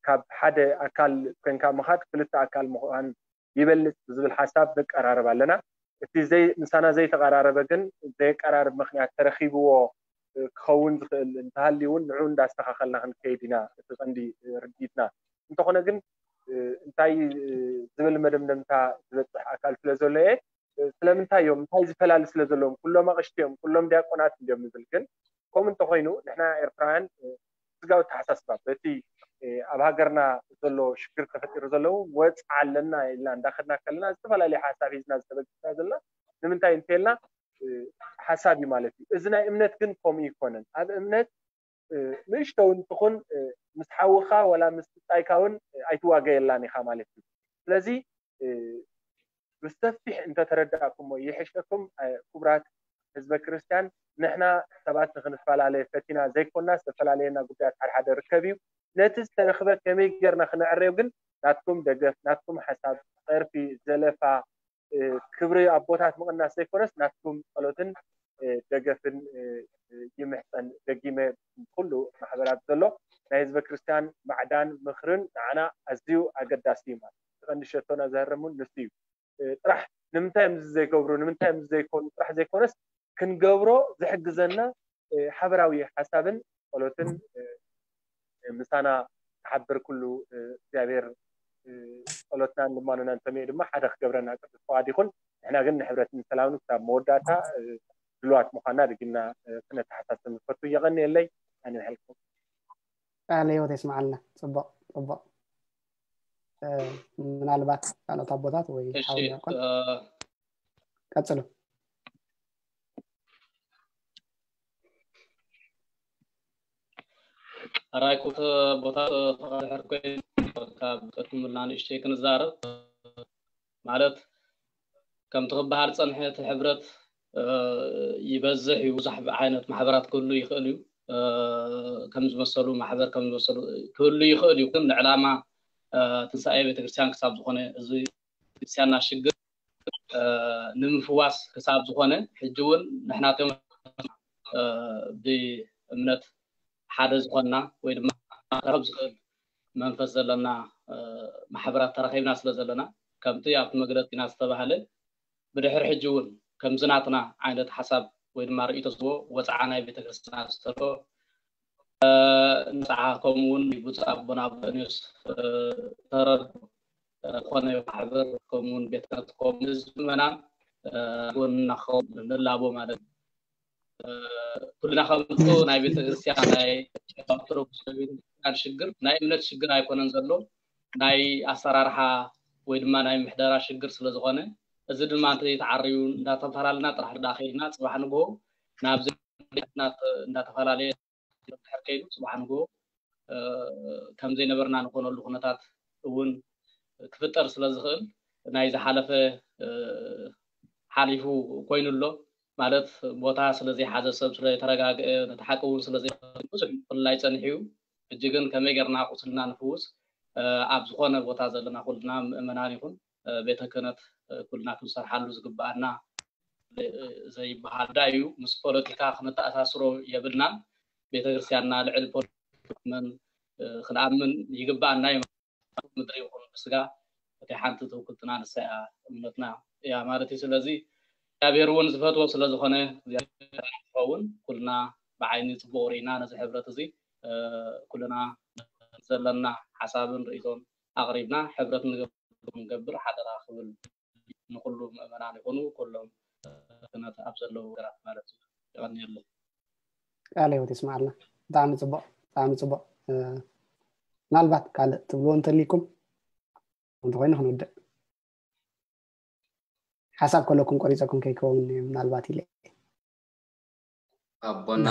ካብ ሓደ ኣካል ኮንካ ምኻድ ክልተ ኣካል ምዃን ይበልፅ ብዝብል ሓሳብ ንቀራረብ ኣለና እቲ ዘይ ምሳና ዘይተቀራረበ ግን ዘየቀራርብ ምክንያት ተረኪብዎ ክኸውን ዝኽእል እንተሃልዩ እውን ንዑ እንዳስተኻኸልና ክንከይድ ኢና እቲ ቀንዲ ርድኢትና እንተኾነ ግን እንታይ ዝብል መደምደምታ ዝበፅሕ ኣካል ስለ ዘሎ እየ ስለምንታይ እዮም እንታይ ዝፈላሊ ስለ ዘለዎም ኩሎም ኣቅሽቲ እዮም ኩሎም ዲያቆናት እንዲዮም ንብል ግን ከምኡ እንተኮይኑ ንሕና ኤርትራውያን ስጋዊ ተሓሳስባ በቲ ኣብ ሃገርና ዘሎ ሽግር ተፈጢሩ ዘለዉ ወፅዓ ኣለና ኢልና እንዳከድና ከለና ዝተፈላለዩ ሓሳብ ሒዝና ዝተበግስና ዘለና ንምንታይ እንተልና ሓሳብ እዩ ማለት እዩ እዚ ናይ እምነት ግን ከምኡ ይኮነን ኣብ እምነት ንእሽቶ እውን ትኹን ምስ ሓውኻ ወላ ምስ ብጻይካ እውን ኣይትዋገየላን ኢኻ ማለት እዩ ስለዚ ብሰፊሕ እንተተረዳእኩሞ ይሕሸኩም ክቡራት ህዝበ ክርስትያን ንሕና ሰባት ንክንፈላለየ ፈቲና ዘይኮና ዝተፈላለየና ጉዳያት ሓደሓደ ርከብ እዩ ነቲ ዝተረክበ ከመይ ገርና ክነዕረዮ ግን ናትኩም ደገፍ ናትኩም ሓሳብ ፀርፊ ዘለፋ ክብሪ ኣቦታት ምቕናስ ዘይኮነስ ናትኩም ጸሎትን ደገፍን ይምሕጸን ደጊመ ኩሉ ማሕበራት ዘሎ ናይ ህዝበ ክርስቲያን ማዕዳን ምኽርን ንዓና ኣዝዩ ኣገዳሲ እዩ ማለት ቀንዲ ሸቶና ዘህርሙን ንሱ እዩ ጥራሕ ንምንታይ እዮም ዘይገብሩ ንምንታይ እዮም ዘይኮኑ ጥራሕ ዘይኮነስ ክንገብሮ ዝሕግዘና ሓበራዊ ሓሳብን ጸሎትን ምሳና ክሓብር ኩሉ እግዚኣብሔር ጸሎትናን ልማኖናን ሰሚዑ ድማ ሓደ ክገብረና ቅዱስ ፍቓድ ይኹን ንሕና ግን ንሕብረትን ሰላምን ክሳብ መወዳእታ ድልዋት ምዃንና ድግና ክነተሓሳስብ ንፈቱ የቐንየለይ ኣነ ይሕልኩም ቃለ ህይወት የስምዓልና ጽቡቕ ጽቡቕ ምናልባት ካልኦት ኣቦታት ወይ ሓውያቆን ቀጽሉ ሕራይ ክልተ ቦታ ተቐድሐር ኮይኑ ካብ ቀድሙልና ንእሽተይ ክንዛረብ ማለት ከምቲ ክበሃል ፀንሐ እቲ ሕብረት ይበዝሕ እዩ ብዙሕ ዓይነት ማሕበራት ክህሉ ይኽእል እዩ ከም ዝመሰሉ ማሕበር ከም ዝመሰሉ ክህሉ ይኽእል እዩ ግን ንዕላማ ትንሳኤ ቤተክርስትያን ክሳብ ዝኾነ እዚ ቤተክርስትያንና ሽግር ንምፍዋስ ክሳብ ዝኾነ ሕጂ እውን ንሕና ከም ብእምነት ሓደ ዝኾንና ወይ ድማ ክረኸብ ዝኽእል መንፈስ ዘለና ማሕበራት ተረኺብና ስለ ዘለና ከምቲ ኣብቲ መግለፂና ዝተባህለ ብድሕሪ ሕጂ እውን ከምዚ ናትና ዓይነት ሓሳብ ወይ ድማ ርእይቶ ዝዎ ወፅዓ ናይ ቤተክርስትያን ዝተሎ ንፅዓ ከምኡ እውን ብፁዕ ኣቦና ብእንዮስ ተረዱ ዝኾነ ማሕበር ከምኡውን ቤተ ክህነት ከምኡ ህዝቢ ምእመናን ጎንና ክኸውን ንላቦ ማለት እዩ። ኩልና ከምቱ ናይ ቤተክርስትያን ናይ ኦርቶዶክስ ቤተክርስትያን ሽግር ናይ እምነት ሽግር ኣይኮነን ዘሎ ናይ ኣሰራርሓ ወይ ድማ ናይ ምሕደራ ሽግር ስለዝኾነ እዚ ድማ እንተዘይተዓርዩ እንዳተፈላለና ጥራሕ ዳ ከይድና ፅባሕ ንግሆ ናብ እንዳተፈላለየ ድሕር ከይዱ ፅባሕ ንግሆ ከም ዘይነበርና ንኾነሉ ኩነታት እውን ክፍጠር ስለ ዝኽእል ናይ ዝሓለፈ ሓሊፉ ኮይኑ ኣሎ ማለት ቦታ ስለ ዘይሓዘ ሰብ ስለ ዘይተረጋግአ ነቲ ሓቂ እውን ስለ ብዙሕ ምፍልላይ ፀኒሑ እዩ ሕጂ ግን ከመይ ጌርና ቁስልና ንፍውስ ኣብ ዝኾነ ቦታ ዘለና ኩልና ምእመናን ይኹን ቤተ ክህነት ኩልና ክንሰርሓሉ ዝግበኣና ዘይበሃል ዳ እዩ ምስ ፖለቲካ ክንተኣሳስሮ የብልናን ቤተክርስትያንና ልዕሊ ፖለቲካ ክነኣምን ይግበኣና እዩ ምድሪ ይኹን ብስጋ እቲ ሓንቲ ትውክልትና ንሳ እያ እምነትና እያ ማለት እዩ። ስለዚ እግዚኣብሔር እውን ዝፈትዎ ስለ ዝኾነ እግዚኣብሔር ክኸውን ኩልና ብዓይኒ ጽቡቕ ርኢና ነዚ ሕብረት እዚ ኩልና ዘለና ሓሳብን ርእይቶን ኣቕሪብና ሕብረት ንገብር ሓደራ ክብል ንኩሉ ምእመናን ይኹኑ ኩሎም ክህነት ኣብ ዘለዉ ገራት ማለት እዩ። ይቐንየለይ። ቃለ ህይወት ይስማዓልና። ብጣዕሚ ጽቡቕ፣ ብጣዕሚ ጽቡቕ። ምናልባት ካልእ ትብልዎ እንተሊኩም እንተኮይኑ ክንውድእ። ሓሳብ ከለኩም ቆሪፀኩም ከይከውን ምናልባት ኢለ። ኣቦና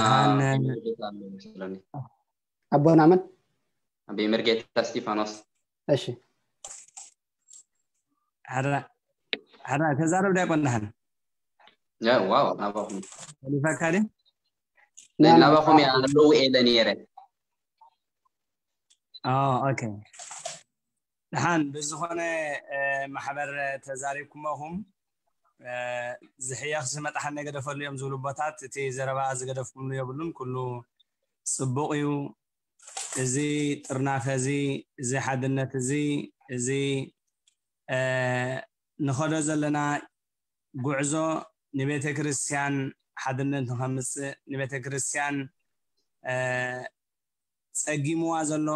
ኣቦና መን? ኣበይ መርጌታ እስጢፋኖስ። እሺ። ሓራ ተዛረብ ዳይ ቆንዳህን ዋው ናባኹም ሊፈካ ዲ ናባኹም እያ ኣለዉ ኢለ ነይረ። ኦኬ። ደሓን ብዝኾነ ማሕበር ተዛሪብኩሞኹም ዝሕየኽ ዝመጣሓን ገደፈሉ እዮም ዝብሉ ቦታት እቲ ዘረባ ዝገደፍኩምሉ የብሉን። ኩሉ ፅቡቕ እዩ። እዚ ጥርናፈ እዚ፣ እዚ ሓድነት እዚ፣ እዚ ንኸዶ ዘለና ጉዕዞ ንቤተ ክርስቲያን ሓድነት ንኸምፅእ፣ ንቤተ ክርስቲያን ፀጊምዋ ዘሎ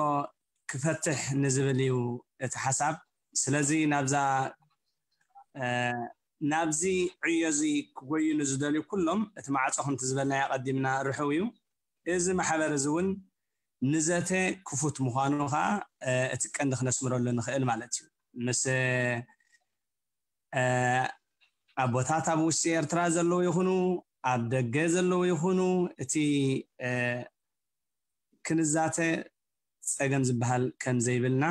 ክፈትሕ ንዝብል እዩ እቲ ሓሳብ። ስለዚ ናብዛ ናብዚ ዕዮ እዚ ክጎዩ ንዝደልዩ ኩሎም እቲ ማዕፆ ከምቲ ዝበልናዮ ኣቐዲምና ርሑው እዩ። እዚ ማሕበር እዚ እውን ንዘተ ክፉት ምዃኑ ከዓ እቲ ቀንዲ ክነስምረሉ ንኽእል ማለት እዩ። ምስ ኣቦታት ኣብ ውሽጢ ኤርትራ ዘለዉ ይኹኑ ኣብ ደገ ዘለዉ ይኹኑ እቲ ክንዛተ ፀገም ዝበሃል ከም ዘይብልና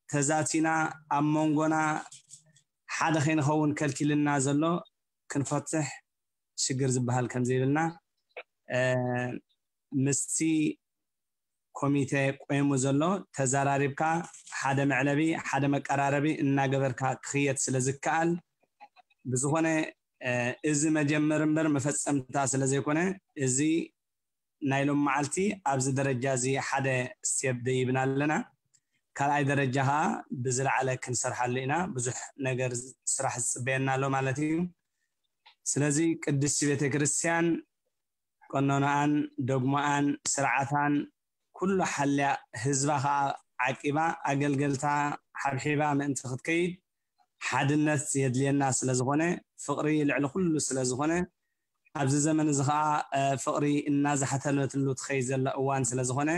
ተዛቲና ኣብ መንጎና ሓደ ከይንኸውን ከልኪልና ዘሎ ክንፈትሕ ሽግር ዝበሃል ከም ዘይብልና ምስቲ ኮሚቴ ቆይሙ ዘሎ ተዘራሪብካ ሓደ መዕለቢ ሓደ መቀራረቢ እናገበርካ ክኽየድ ስለ ዝከኣል ብዝኾነ እዚ መጀመር እምበር መፈፀምታ ስለ ዘይኮነ እዚ ናይ ሎም መዓልቲ ኣብዚ ደረጃ እዚ ሓደ ስቴፕ ደይብና ኣለና። ካልኣይ ደረጃ ከዓ ብዝለዓለ ክንሰርሓሉ ኢና። ብዙሕ ነገር ስራሕ ዝፅበየና ኣሎ ማለት እዩ። ስለዚ ቅድስቲ ቤተክርስትያን ቀኖናኣን ዶግማኣን ስርዓታን ኩሉ ሓልያ ህዝባ ከዓ ዓቂባ ኣገልገልታ ሓብሒባ ምእንቲ ክትከይድ ሓድነት የድልየና ስለ ዝኾነ ፍቕሪ ልዕሊ ኩሉ ስለ ዝኾነ ኣብዚ ዘመን እዚ ከዓ ፍቕሪ እናዛሕተለትሉ ትኸይድ ዘላ እዋን ስለ ዝኾነ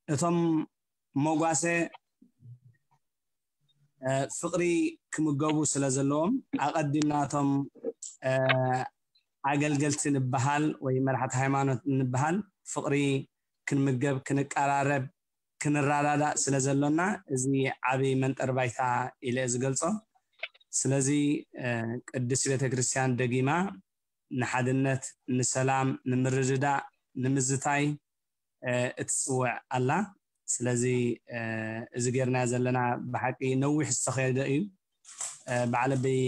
እቶም መጓሰ ፍቕሪ ክምገቡ ስለ ዘለዎም ኣቐዲምና እቶም ኣገልገልቲ ንበሃል ወይ መራሕቲ ሃይማኖት ንበሃል ፍቕሪ ክንምገብ ክንቀራረብ ክንረዳዳእ ስለ ዘሎና እዚ ዓብይ መንጠር ባይታ ኢለ ዝገልጾ። ስለዚ ቅድስቲ ቤተክርስትያን ደጊማ ንሓድነት፣ ንሰላም፣ ንምርድዳእ፣ ንምዝታይ እትፅውዕ ኣላ። ስለዚ እዚ ጌርናዮ ዘለና ብሓቂ ነዊሕ ዝተኸደ እዩ። በዓል ኣበይ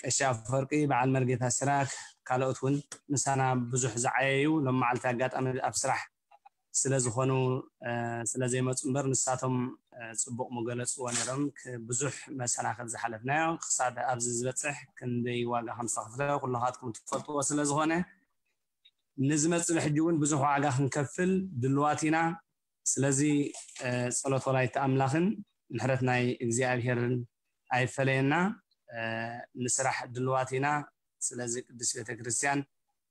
ቀሺ ኣፈወርቂ፣ በዓል መርጌታ ሲራክ፣ ካልኦት እውን ምሳና ብዙሕ ዝዓየዩ ሎም መዓልቲ ኣጋጣሚ ኣብ ስራሕ ስለ ዝኾኑ ስለ ዘይመፁ እምበር ንሳቶም ፅቡቕ ምገለፅዎ ነይሮም። ብዙሕ መሰናኽል ዝሓለፍናዮ ክሳብ ኣብዚ ዝበፅሕ ክንደይ ዋጋ ከም ዝተኸፍለ ኩልኻትኩም ትፈልጥዎ ስለ ዝኾነ ንዝመፅእ ሕጂ እውን ብዙሕ ዋጋ ክንከፍል ድልዋት ኢና። ስለዚ ጸሎት ወላዲተ ኣምላኽን ምሕረት ናይ እግዚኣብሄርን ኣይፈለየና። ንስራሕ ድልዋት ኢና። ስለዚ ቅድስት ቤተክርስትያን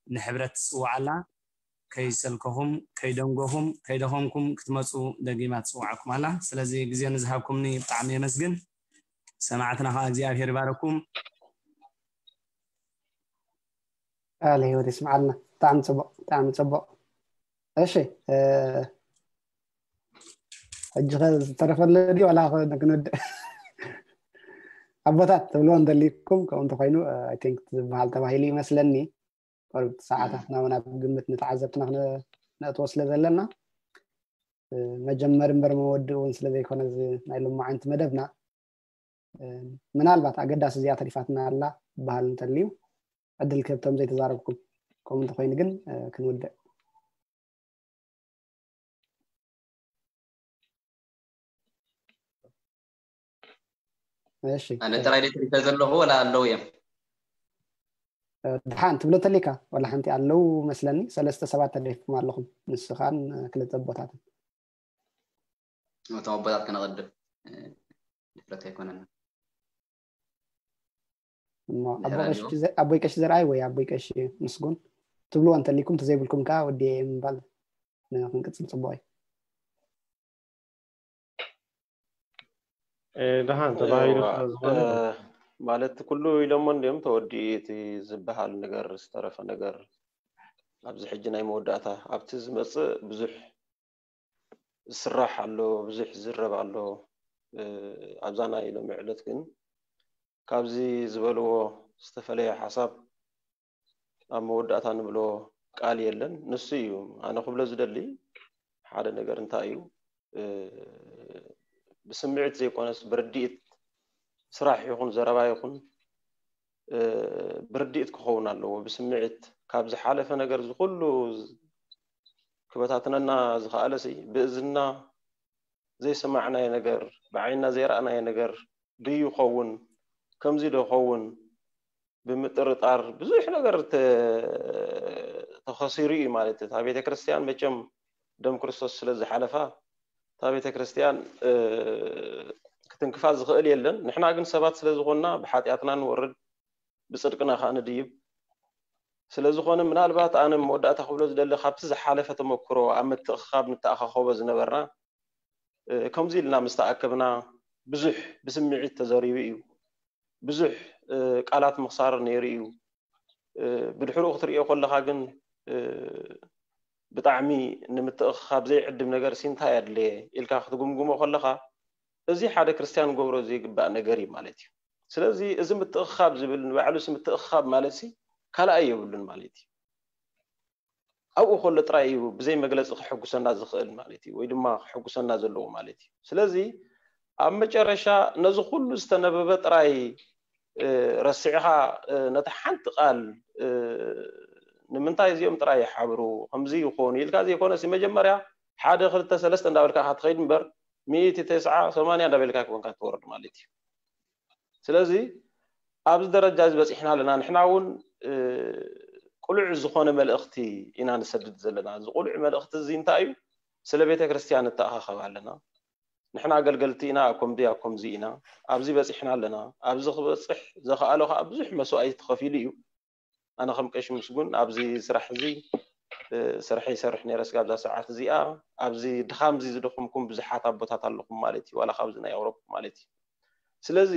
ንሕብረት ትጽውዓላ። ከይሰልከኹም፣ ከይደንጎኹም፣ ከይደኸምኩም ክትመጹ ደጊማ ትጽውዓኩም ኣላ። ስለዚ ግዜ ንዝሃብኩምኒ ብጣዕሚ የመስግን። ሰማዕትና ከዓ እግዚኣብሄር ይባረኩም። ቃለ ህይወት ይስምዓልና። ብጣዕሚ ጽቡቕ፣ ብጣዕሚ ጽቡቕ። እሺ ሕጂ ኸ ዝተረፈለ ድዩ ዋላ ክንወድእ? ኣቦታት ትብልዎ እንተሊኩም ከምኡ እንተኮይኑ I think ዝበሃል ተባሂሉ ይመስለኒ። ሰዓታትና እውን ኣብ ግምት ንተዓዘብትና ክነእትዎ ስለ ዘለና መጀመሪ እምበር መወድእ እውን ስለ ዘይኮነ ናይ ሎማዓንቲ መደብና ምናልባት ኣገዳሲ እዚኣ ተሪፋትና ኣላ ዝበሃል እንተልዩ ዕድል ክህብቶም ዘይተዛረብኩም ከምኡ እንተኮይኑ ግን ክንውድእ እሺ ኣነ ጥራይ ደ ተሪፈ ዘለኹ ወላ ኣለዉ እዮም? ድሓን ትብሎ ተሊካ ዋላ ሓንቲ ኣለዉ መስለኒ። ሰለስተ ሰባት ተሪፍኩም ኣለኹም፣ ንስኻን ክልተ ኣቦታትን። እቶም ኣቦታት ክነቐድም ድፍረት ኣይኮነና። እሞ ኣቦይ ቀሺ ዘርኣይ ወይ ኣቦይ ቀሺ ምስጉን ትብልዎ እንተሊኩም፣ ተዘይብልኩም ከዓ ወዲ ምባል ንክንቅፅል ፅቡቅ እዩ። ደሃን ተባሂሉ ዝኾነ ማለት ኩሉ ኢሎሞ እንዲም ተወዲኡ እቲ ዝበሃል ነገር ዝተረፈ ነገር ኣብዚ ሕጂ ናይ መወዳእታ ኣብቲ ዝመፅእ ብዙሕ ዝስራሕ ኣሎ፣ ብዙሕ ዝረብ ኣሎ። ኣብዛ ናይ ሎሚ ዕለት ግን ካብዚ ዝበልዎ ዝተፈለየ ሓሳብ ኣብ መወዳእታ ንብሎ ቃል የለን። ንሱ እዩ ኣነ ክብሎ ዝደሊ ሓደ ነገር እንታይ እዩ፣ ብስምዒት ዘይኮነስ ብርድኢት ስራሕ ይኹን ዘረባ ይኹን ብርድኢት ክኸውን ኣለዎ። ብስምዒት ካብ ዝሓለፈ ነገር ዝኩሉ ክበታትነና ዝኸኣለሲ ብእዝና ዘይሰማዕናዮ ነገር፣ ብዓይና ዘይረኣናዮ ነገር ድዩ ኸውን፣ ከምዚ ዶ ኸውን ብምጥርጣር ብዙሕ ነገር ተኸሲሩ እዩ ማለት እዩ። እታ ቤተክርስትያን መቸም ደም ክርስቶስ ስለ ዝሓለፋ እታ ቤተክርስትያን ክትንክፋ ዝኽእል የለን። ንሕና ግን ሰባት ስለ ዝኾንና ብሓጢኣትና ንወርድ፣ ብፅድቅና ከዓ ንድይብ። ስለዝኾነ ምናልባት ኣነ መወዳእታ ክብሎ ዝደሊ ካብቲ ዝሓለፈ ተመክሮ ኣብ ምትእኽኻብ ንተኣኻኸቦ ዝነበርና ከምዚ ኢልና ምስ ተኣከብና ብዙሕ ብስምዒት ተዘሪቡ እዩ። ብዙሕ ቃላት ምኽሳር ነይሩ እዩ። ብድሕሪኡ ክትርእዮ ከለኻ ግን ብጣዕሚ ንምትእኽኻብ ዘይዕድም ነገር ሲ እንታይ ኣድለየ ኢልካ ክትግምግሞ ከለኻ እዚ ሓደ ክርስትያን ክገብሮ ዘይግባእ ነገር እዩ ማለት እዩ። ስለዚ እዚ ምትእኽኻብ ዝብል ንባዕሉ ሲ ምትእኽኻብ ማለት ሲ ካልኣይ የብሉን ማለት እዩ። ኣብኡ ከሎ ጥራይ እዩ ብዘይ መግለፂ ክሕጉሰና ዝኽእል ማለት እዩ፣ ወይ ድማ ክሕጉሰና ዘለዎ ማለት እዩ። ስለዚ ኣብ መጨረሻ ነዚ ኩሉ ዝተነበበ ጥራይ ረሲዕኻ ነቲ ሓንቲ ቃል ንምንታይ እዚኦም ጥራይ ይሓብሩ ከምዚ ይኾኑ ኢልካ ዘይኮነሲ መጀመርያ ሓደ ክልተ ሰለስተ እንዳበልካ ኢኻ ትኸይድ እምበር ሚእቲ ተስዓ ሰማንያ እንዳበልካ ክኾንካ ትወርድ ማለት እዩ። ስለዚ ኣብዚ ደረጃ እዚ በፂሕና ኣለና። ንሕና እውን ቅሉዕ ዝኾነ መልእኽቲ ኢና ንሰድድ ዘለና። እዚ ቅሉዕ መልእኽቲ እዚ እንታይ እዩ? ስለ ቤተ ክርስቲያን ንተኣኻኸብ ኣለና። ንሕና ኣገልገልቲ ኢና፣ ኣብ ከምዚ ኣብ ከምዚ ኢና፣ ኣብዚ በፂሕና ኣለና። ኣብዚ ክበፅሕ ዘኽኣሎ ከዓ ብዙሕ መስዋእቲ ተኸፊሉ እዩ። ኣነ ከም ቀሺ ምስጉን ኣብዚ ስራሕ እዚ ስራሕ ይሰርሕ ነይረ። ስጋብ እዛ ሰዓት እዚኣ ኣብዚ ድኻም እዚ ዝደኸምኩም ብዙሓት ኣቦታት ኣለኹም ማለት እዩ፣ ዋላ ካብዚ ናይ ኣውሮፓ ማለት እዩ። ስለዚ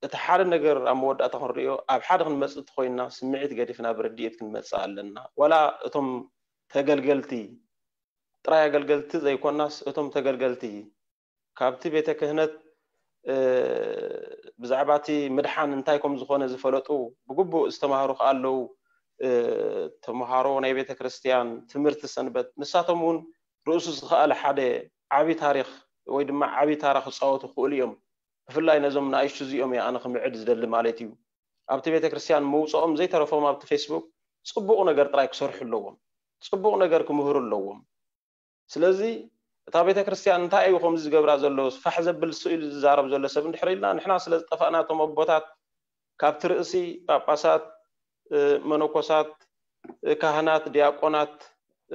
እቲ ሓደ ነገር ኣብ መወዳእታ ክንሪኦ ኣብ ሓደ ክንመፅእ እንተኮይንና ስምዒት ገዲፍና ብርድኢት ክንመፅእ ኣለና። ዋላ እቶም ተገልገልቲ ጥራይ ኣገልገልቲ ዘይኮናስ እቶም ተገልገልቲ ካብቲ ቤተ ክህነት ብዛዕባ እቲ ምድሓን እንታይ ከም ዝኾነ ዝፈለጡ ብግቡእ ዝተማሃሩ ከኣ ኣለዉ። ተምሃሮ ናይ ቤተ ክርስቲያን ትምህርቲ ሰንበት ንሳቶም እውን ርእሱ ዝኸኣለ ሓደ ዓቢ ታሪኽ ወይ ድማ ዓቢ ታራ ክፃወቱ ክኽእሉ እዮም። ብፍላይ ነዞም ንኣሽቱ እዚኦም እየ ኣነ ክምዕድ ዝደሊ ማለት እዩ። ኣብቲ ቤተ ክርስቲያን መውፅኦም ዘይተረፎም ኣብቲ ፌስቡክ ፅቡቕ ነገር ጥራይ ክሰርሑ ኣለዎም። ፅቡቕ ነገር ክምህሩ ኣለዎም። ስለዚ እታ ቤተ ክርስቲያን እንታይ እዩ ከምዚ ዝገብራ ዘሎ ፋሕ ዘብል ስኢሉ ዝዛረብ ዘሎ ሰብ እንድሕር ኢልና ንሕና ስለ ዝጠፋእና እቶም ኣቦታት ካብቲ ርእሲ ጳጳሳት፣ መነኮሳት፣ ካህናት፣ ዲያቆናት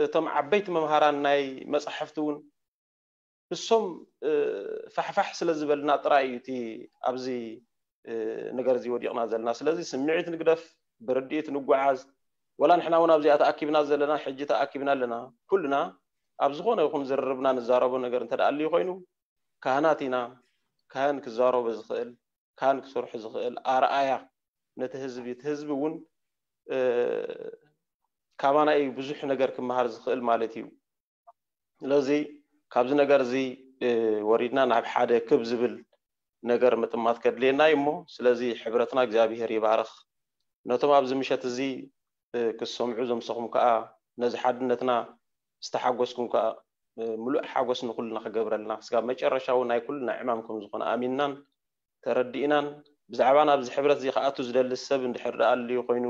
እቶም ዓበይቲ መምሃራን ናይ መጻሕፍቲ እውን ንሶም ፋሕፋሕ ስለ ዝበልና ጥራይ እዩ እቲ ኣብዚ ነገር እዚ ወዲቕና ዘለና። ስለዚ ስምዒት ንግደፍ፣ ብርድኢት ንጓዓዝ። ወላ ንሕና እውን ኣብዚኣ ተኣኪብና ዘለና ሕጂ ተኣኪብና ኣለና። ኩልና ኣብ ዝኾነ ይኹን ዝርርብና ንዛረቦ ነገር እንተ ደኣ ኣልዩ ኮይኑ ካህናት ኢና። ካህን ክዛረቦ ዝኽእል፣ ካህን ክሰርሑ ዝኽእል ኣርኣያ ነቲ ህዝቢ፣ እቲ ህዝቢ እውን ካባና እዩ ብዙሕ ነገር ክመሃር ዝኽእል ማለት እዩ። ስለዚ ካብዚ ነገር እዚ ወሪድና ናብ ሓደ ክብ ዝብል ነገር ምጥማት ከድልየና እዩ እሞ ስለዚ ሕብረትና እግዚኣብሄር ይባርኽ። ነቶም ኣብዚ ምሸት እዚ ክሰምዑ ዘምሰኹም ከዓ ነዚ ሓድነትና ዝተሓጎስኩም ከዓ ምሉእ ሓጎስ ንኩልና ክገብረልና ስጋብ መጨረሻ እውን ናይ ኩልና ዕማም ከም ዝኾነ ኣሚንናን ተረዲእናን ብዛዕባ ናብዚ ሕብረት እዚ ክኣቱ ዝደሊ ሰብ እንድሕር ደኣ ኣልዩ ኮይኑ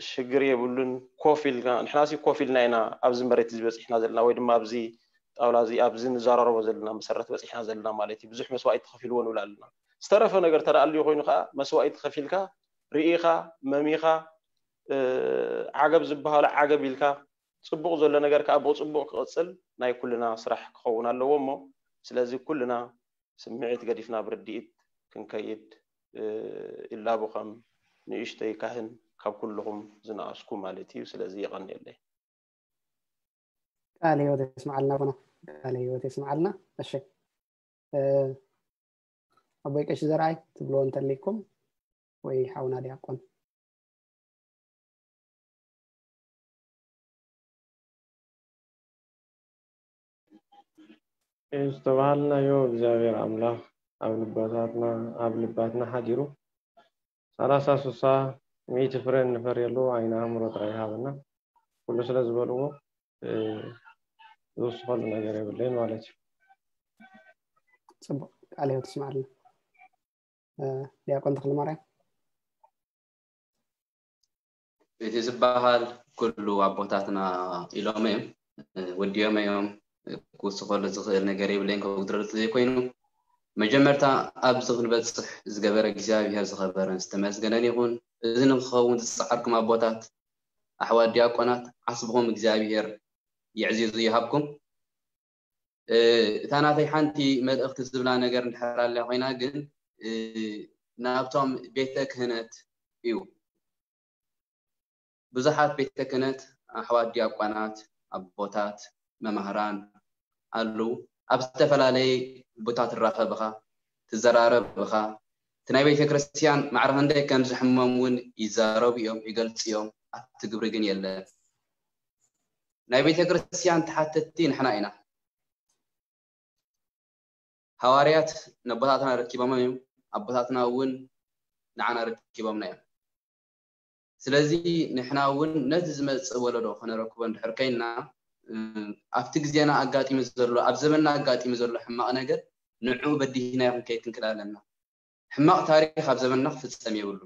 ሽግር የብሉን። ኮፍ ኢልና ንሕናሲ ኮፍ ኢልና ኢና ኣብዚ መሬት እዚ በፂሕና ዘለና ወይ ድማ ኣብዚ ጣውላ እዚ ኣብዚ ንዘራረቦ ዘለና መሰረት በፂሕና ዘለና ማለት እዩ። ብዙሕ መስዋእቲ ተኸፊልዎ ንብል ኣለና። ዝተረፈ ነገር ተደኣልዩ ኮይኑ ከዓ መስዋእቲ ከፊልካ ርኢኻ መሚኻ ዓገብ ዝበሃሉ ዓገብ ኢልካ ፅቡቕ ዘሎ ነገር ከዓ ብፅቡቕ ክቕፅል ናይ ኩልና ስራሕ ክኸውን ኣለዎ። እሞ ስለዚ ኩልና ስምዒት ገዲፍና ብርድኢት ክንከይድ ይላቡ ከም ንእሽተይ ካህን ካብ ኩልኹም ዝነኣስኩ ማለት እዩ። ስለዚ የቐንየለይ። ቃለ ህይወት የስምዓልና ኣቦና። ቃለ ህይወት የስምዓልና። እሺ ኣቦይ ቀሺ ዘርኣይ ትብልዎ እንተሊኩም ወይ ሓውና ዲያቆን። ዝተባሃልናዮ እግዚኣብሔር ኣምላኽ ኣብ ልባታትና ኣብ ልባትና ሓዲሩ ሰላሳ ስሳ ሚእቲ ፍረ እንፈርየሉ ዓይነ ኣእምሮ ጥራይ ይሃበና። ኩሉ ስለ ዝበልዎ ዝውስኸሉ ነገር የብለይን ማለት እዩ። ፅቡቅ ቃለ ህይወት ይስማዕልና። ዲያቆን ተክለማርያም። እቲ ዝበሃል ኩሉ ኣቦታትና ኢሎም እዮም ወዲኦም እዮም። ክውስኸሉ ዝኽእል ነገር የብለይን ከጉድለሉ ዘይኮይኑ መጀመርታ ኣብዚ ክንበፅሕ ዝገበረ እግዚኣብሔር ዝኸበረን ዝተመስገነን ይኹን። እዚ ንክኸውን ዝፀዓርኩም ኣቦታት ኣሕዋት ዲያቆናት ዓስብኹም እግዚኣብሔር የዕዚዙ ይሃብኩም። እታ ናተይ ሓንቲ መልእኽቲ ዝብላ ነገር እንድሕር ኣላ ኮይና ግን ናብቶም ቤተ ክህነት እዩ። ብዙሓት ቤተ ክህነት ኣሕዋት ዲያቆናት ኣቦታት መማህራን ኣለዉ። ኣብ ዝተፈላለየ ቦታ ትራኸብ ኢኻ፣ ትዘራረብ ኢኻ። እቲ ናይ ቤተ ክርስቲያን ማዕረ ክንደይ ከም ዝሕመም እውን ይዛረቡ እዮም፣ ይገልፁ እዮም። ኣብቲ ግብሪ ግን የለን። ናይ ቤተ ክርስቲያን ተሓተትቲ ንሕና ኢና። ሃዋርያት ነቦታትና ረኪቦም እዮም፣ ኣቦታትና እውን ንዓና ረኪቦምና እዮም። ስለዚ ንሕና እውን ነቲ ዝመፅእ ወለዶ ከነረክቦ እንድሕር ኮይንና ኣብቲ ግዜና ኣጋጢሙ ዘሎ ኣብ ዘመንና ኣጋጢሙ ዘሎ ሕማቕ ነገር ንዕኡ በዲህናዮ ክንከይድ ክንክእል ኣለና። ሕማቕ ታሪክ ኣብ ዘመንና ክፍፀም የብሉ።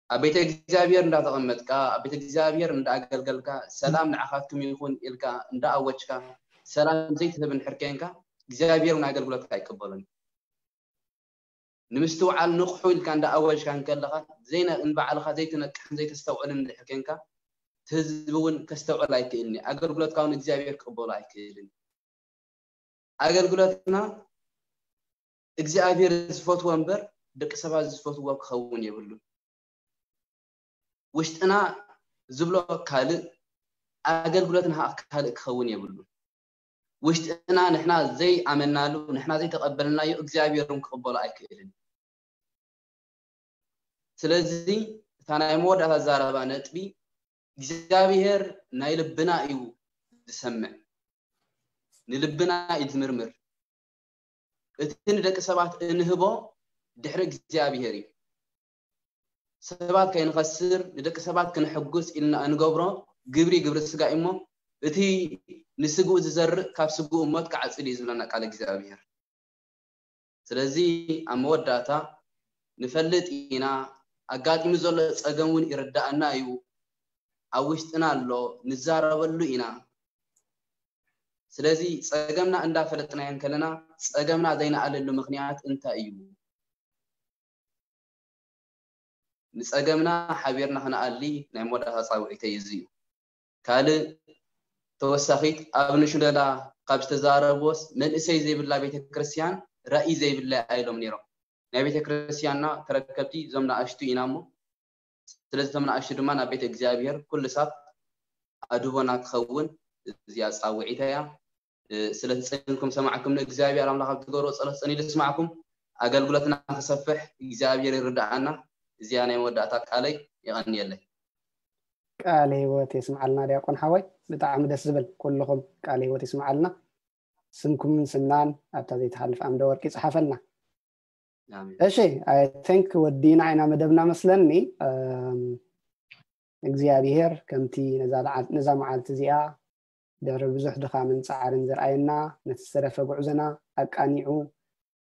ኣብ ቤተ እግዚኣብሔር እንዳተቐመጥካ ኣብ ቤተ እግዚኣብሔር እንዳኣገልገልካ ሰላም ንዓኻትኩም ይኹን ኢልካ እንዳኣወጅካ ሰላም ዘይትህብ እንድሕር ኮይንካ እግዚኣብሔር እውን ኣገልግሎትካ ኣይቀበሉን። ንምስትውዓል ንቕሑ ኢልካ እንዳኣወጅካ እንከለኻ ንባዕልኻ ዘይትነቅሕን ዘይተስተውዕልን እንድሕር ኮይንካ እቲ ህዝቢ እውን ከስተውዕል ኣይክእልን እዩ። ኣገልግሎትካ እውን እግዚኣብሔር ክቕበሎ ኣይክእልን። ኣገልግሎትና እግዚኣብሔር ዝፈትዎ እምበር ደቂ ሰባት ዝፈትዎ ክኸውን የብሉን። ውሽጥና ዝብሎ ካልእ ኣገልግሎትና ከዓ ካልእ ክኸውን የብሉን። ውሽጥና ንሕና ዘይኣመናሉ ንሕና ዘይተቐበልናዮ እግዚኣብሔር እውን ክቕበሎ ኣይክእልን። ስለዚ እታ ናይ መወዳእታ ዛረባ ነጥቢ እግዚኣብሔር ናይ ልብና እዩ ዝሰምዕ፣ ንልብና እዩ ዝምርምር። እቲ ንደቂ ሰባት እንህቦ ድሕሪ እግዚኣብሔር እዩ። ሰባት ከይንኸስር ንደቂ ሰባት ክንሕጉስ ኢልና እንገብሮ ግብሪ ግብሪ ስጋ እሞ እቲ ንስግኡ ዝዘርእ ካብ ስግኡ ሞት ክዓፅድ እዩ ዝብለና ቃል እግዚኣብሔር። ስለዚ ኣብ መወዳእታ ንፈልጥ ኢና ኣጋጢሙ ዘሎ ፀገም እውን ይርዳእና እዩ። ኣብ ውሽጥና ኣሎ ንዛረበሉ ኢና። ስለዚ ፀገምና እንዳፈለጥናዮ እንከለና ፀገምና ዘይነኣልሉ ምኽንያት እንታይ እዩ? ንፀገምና ሓቢርና ክንኣሊ ናይ መወዳእታ ፃውዒተይ እዚ እዩ። ካልእ ተወሳኺት ኣብ ንሽለላ ካብ ዝተዛረብዎስ መንእሰይ ዘይብላ ቤተክርስትያን ራእይ ዘይብላ ኢሎም ነይሮም። ናይ ቤተክርስትያንና ተረከብቲ እዞም ንኣሽቱ ኢና እሞ ስለዚ እቶም ንኣሽቱ ድማ ናብ ቤተ እግዚኣብሔር ኩሉ ሳብ ኣድህቦና ክኸውን እዚኣ ፃውዒታ እያ። ስለቲ ጸኒኩም ሰማዕኩም ንእግዚኣብሔር ኣምላኽ ኣብ ትገብሮ ጸሎት ጸኒሉ ይስማዕኩም። ኣገልግሎትና ክሰፍሕ እግዚኣብሔር ይርዳኣና። እዚኣ ናይ መወዳእታ ቃለይ። የቐንየለይ። ቃለ ህይወት የስምዓልና ዲያቆን ሓወይ። ብጣዕሚ ደስ ዝብል። ኩልኹም ቃለ ህይወት የስምዓልና። ስምኩምን ስምናን ኣብታ ዘይትሓልፍ ኣምደ ወርቂ ይጽሓፈልና። እሺ፣ I think ወዲና ኢና መደብና መስለኒ። እግዚኣብሔር ከምቲ ነዛ መዓልቲ እዚኣ ድሕሪ ብዙሕ ድኻምን ጻዕርን ዘርኣየና፣ ነቲ ዝተረፈ ጉዕዞና ኣቃኒዑ፣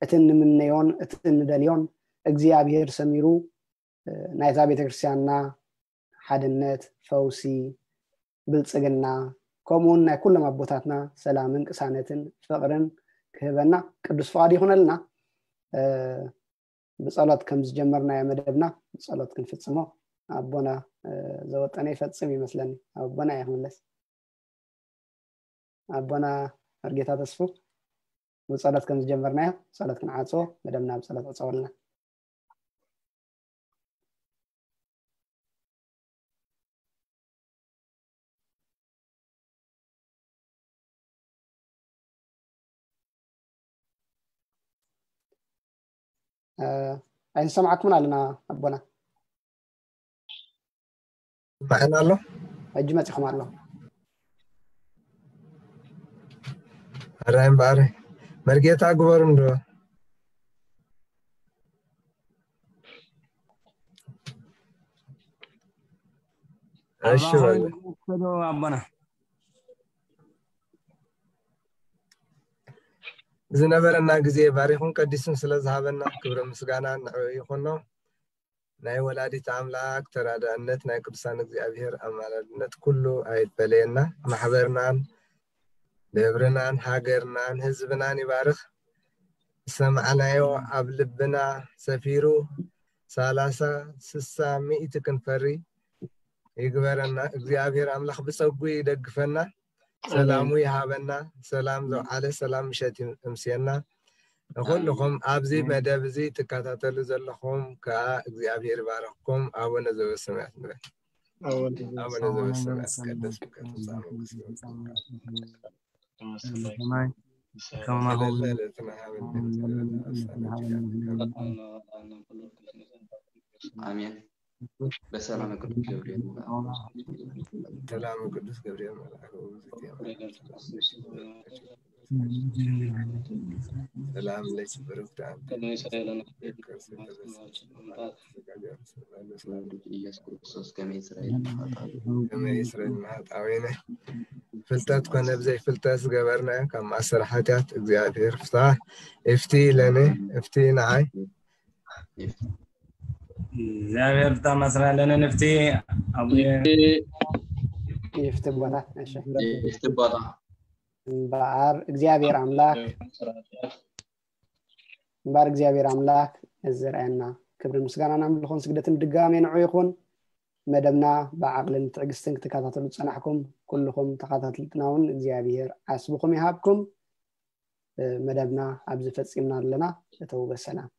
እቲ እንምነዮን እቲ እንደልዮን እግዚኣብሔር ሰሚሩ፣ ናይታ ቤተክርስትያንና ሓድነት፣ ፈውሲ፣ ብልጽግና ከምኡ እውን ናይ ኩሎም ኣቦታትና ሰላምን ቅሳነትን ፍቕርን ክህበና ቅዱስ ፍቓድ ይኹነልና። ብጸሎት ከም ዝጀመርናዮ መደብና ብጸሎት ክንፍጽሞ ኣቦና ዘወጠነ ይፈጽም ይመስለኒ። ኣቦና እየ ክምለስ። ኣቦና መርጌታ ተስፉ፣ ብጸሎት ከም ዝጀመርናዮ ጸሎት ክንዓጽዎ፣ መደብና ብጸሎት ዕጸወልና። ኣይንሰማዕኩምን ኣለና ኣቦና። ይስማዕና ኣሎ። ሕጂ መጺኹም ኣሎ። ኣራይ እምበኣር መርጌታ ግበሩ እንዶ። እሺ በሉ። ኣቦና ዝነበረና ግዜ ባሪኹን ቀዲሱን ስለ ዝሃበና ክብሪ ምስጋና ንዕኡ ይኹኖ። ናይ ወላዲት ኣምላክ ተራዳእነት፣ ናይ ቅዱሳን እግዚኣብሔር ኣማላድነት ኩሉ ኣይፈለየና። ማሕበርናን ደብርናን ሃገርናን ህዝብናን ይባርኽ። ዝሰማዕናዮ ኣብ ልብና ሰፊሩ ሰላሳ ስሳ ሚእቲ ክንፈሪ ይግበረና። እግዚኣብሔር ኣምላኽ ብጸጉ ይደግፈና፣ ሰላሙ ይሃበና። ሰላም ዘውዓለ ሰላም ምሸት ይምስየና። ንኹልኹም ኣብዚ መደብ እዚ ትከታተሉ ዘለኹም ከዓ እግዚኣብሔር ይባረኽኩም። ኣቡነ ዘበሰማያት ንበል። ኣቡነ ዘበሰማያት ይትቀደስ ስምከ ትምጻእ መንግስትከ ሰማይ ከማሁ አሜን። በሰላም ቅዱስ ገብርኤል መልአክ ሰላም ቅዱስ ገብርኤል መልአክ ሰላም ለኪ ብሩክት አንቲ ኢየሱስ ክርስቶስ ከመይ እስራኤል ንሓጣዊ ከመይ እስራኤል ንሓጣዊነ ፍልጠት ኮነ ብዘይ ፍልጠት ዝገበርናዮ ካብ ማእሰር ሓጢኣት እግዚኣብሔር ፍታ እፍቲ ለነ እፍቲ ንዓይ እግዚኣብሔር ፍታ ማስራ ለነ ንፍቲ ኣቡየ ይፍቲ ቦታ እሺ ይፍቲ ቦታ እምበኣር እግዚኣብሔር ኣምላክ እምበኣር እግዚኣብሔር ኣምላክ እዚ ዝረኣየና ክብርን ምስጋናን ኣምልኾን ስግደትን ድጋሜ ንዑ ይኹን። መደብና ብዓቕልን ትዕግስትን ክትከታተሉ ዝጸናሕኩም ኩልኹም ተኸታተልትና እውን እግዚኣብሔር ዓስብኹም ይሃብኩም። መደብና ኣብዚ ፈጺምና ኣለና። እተው በሰላም።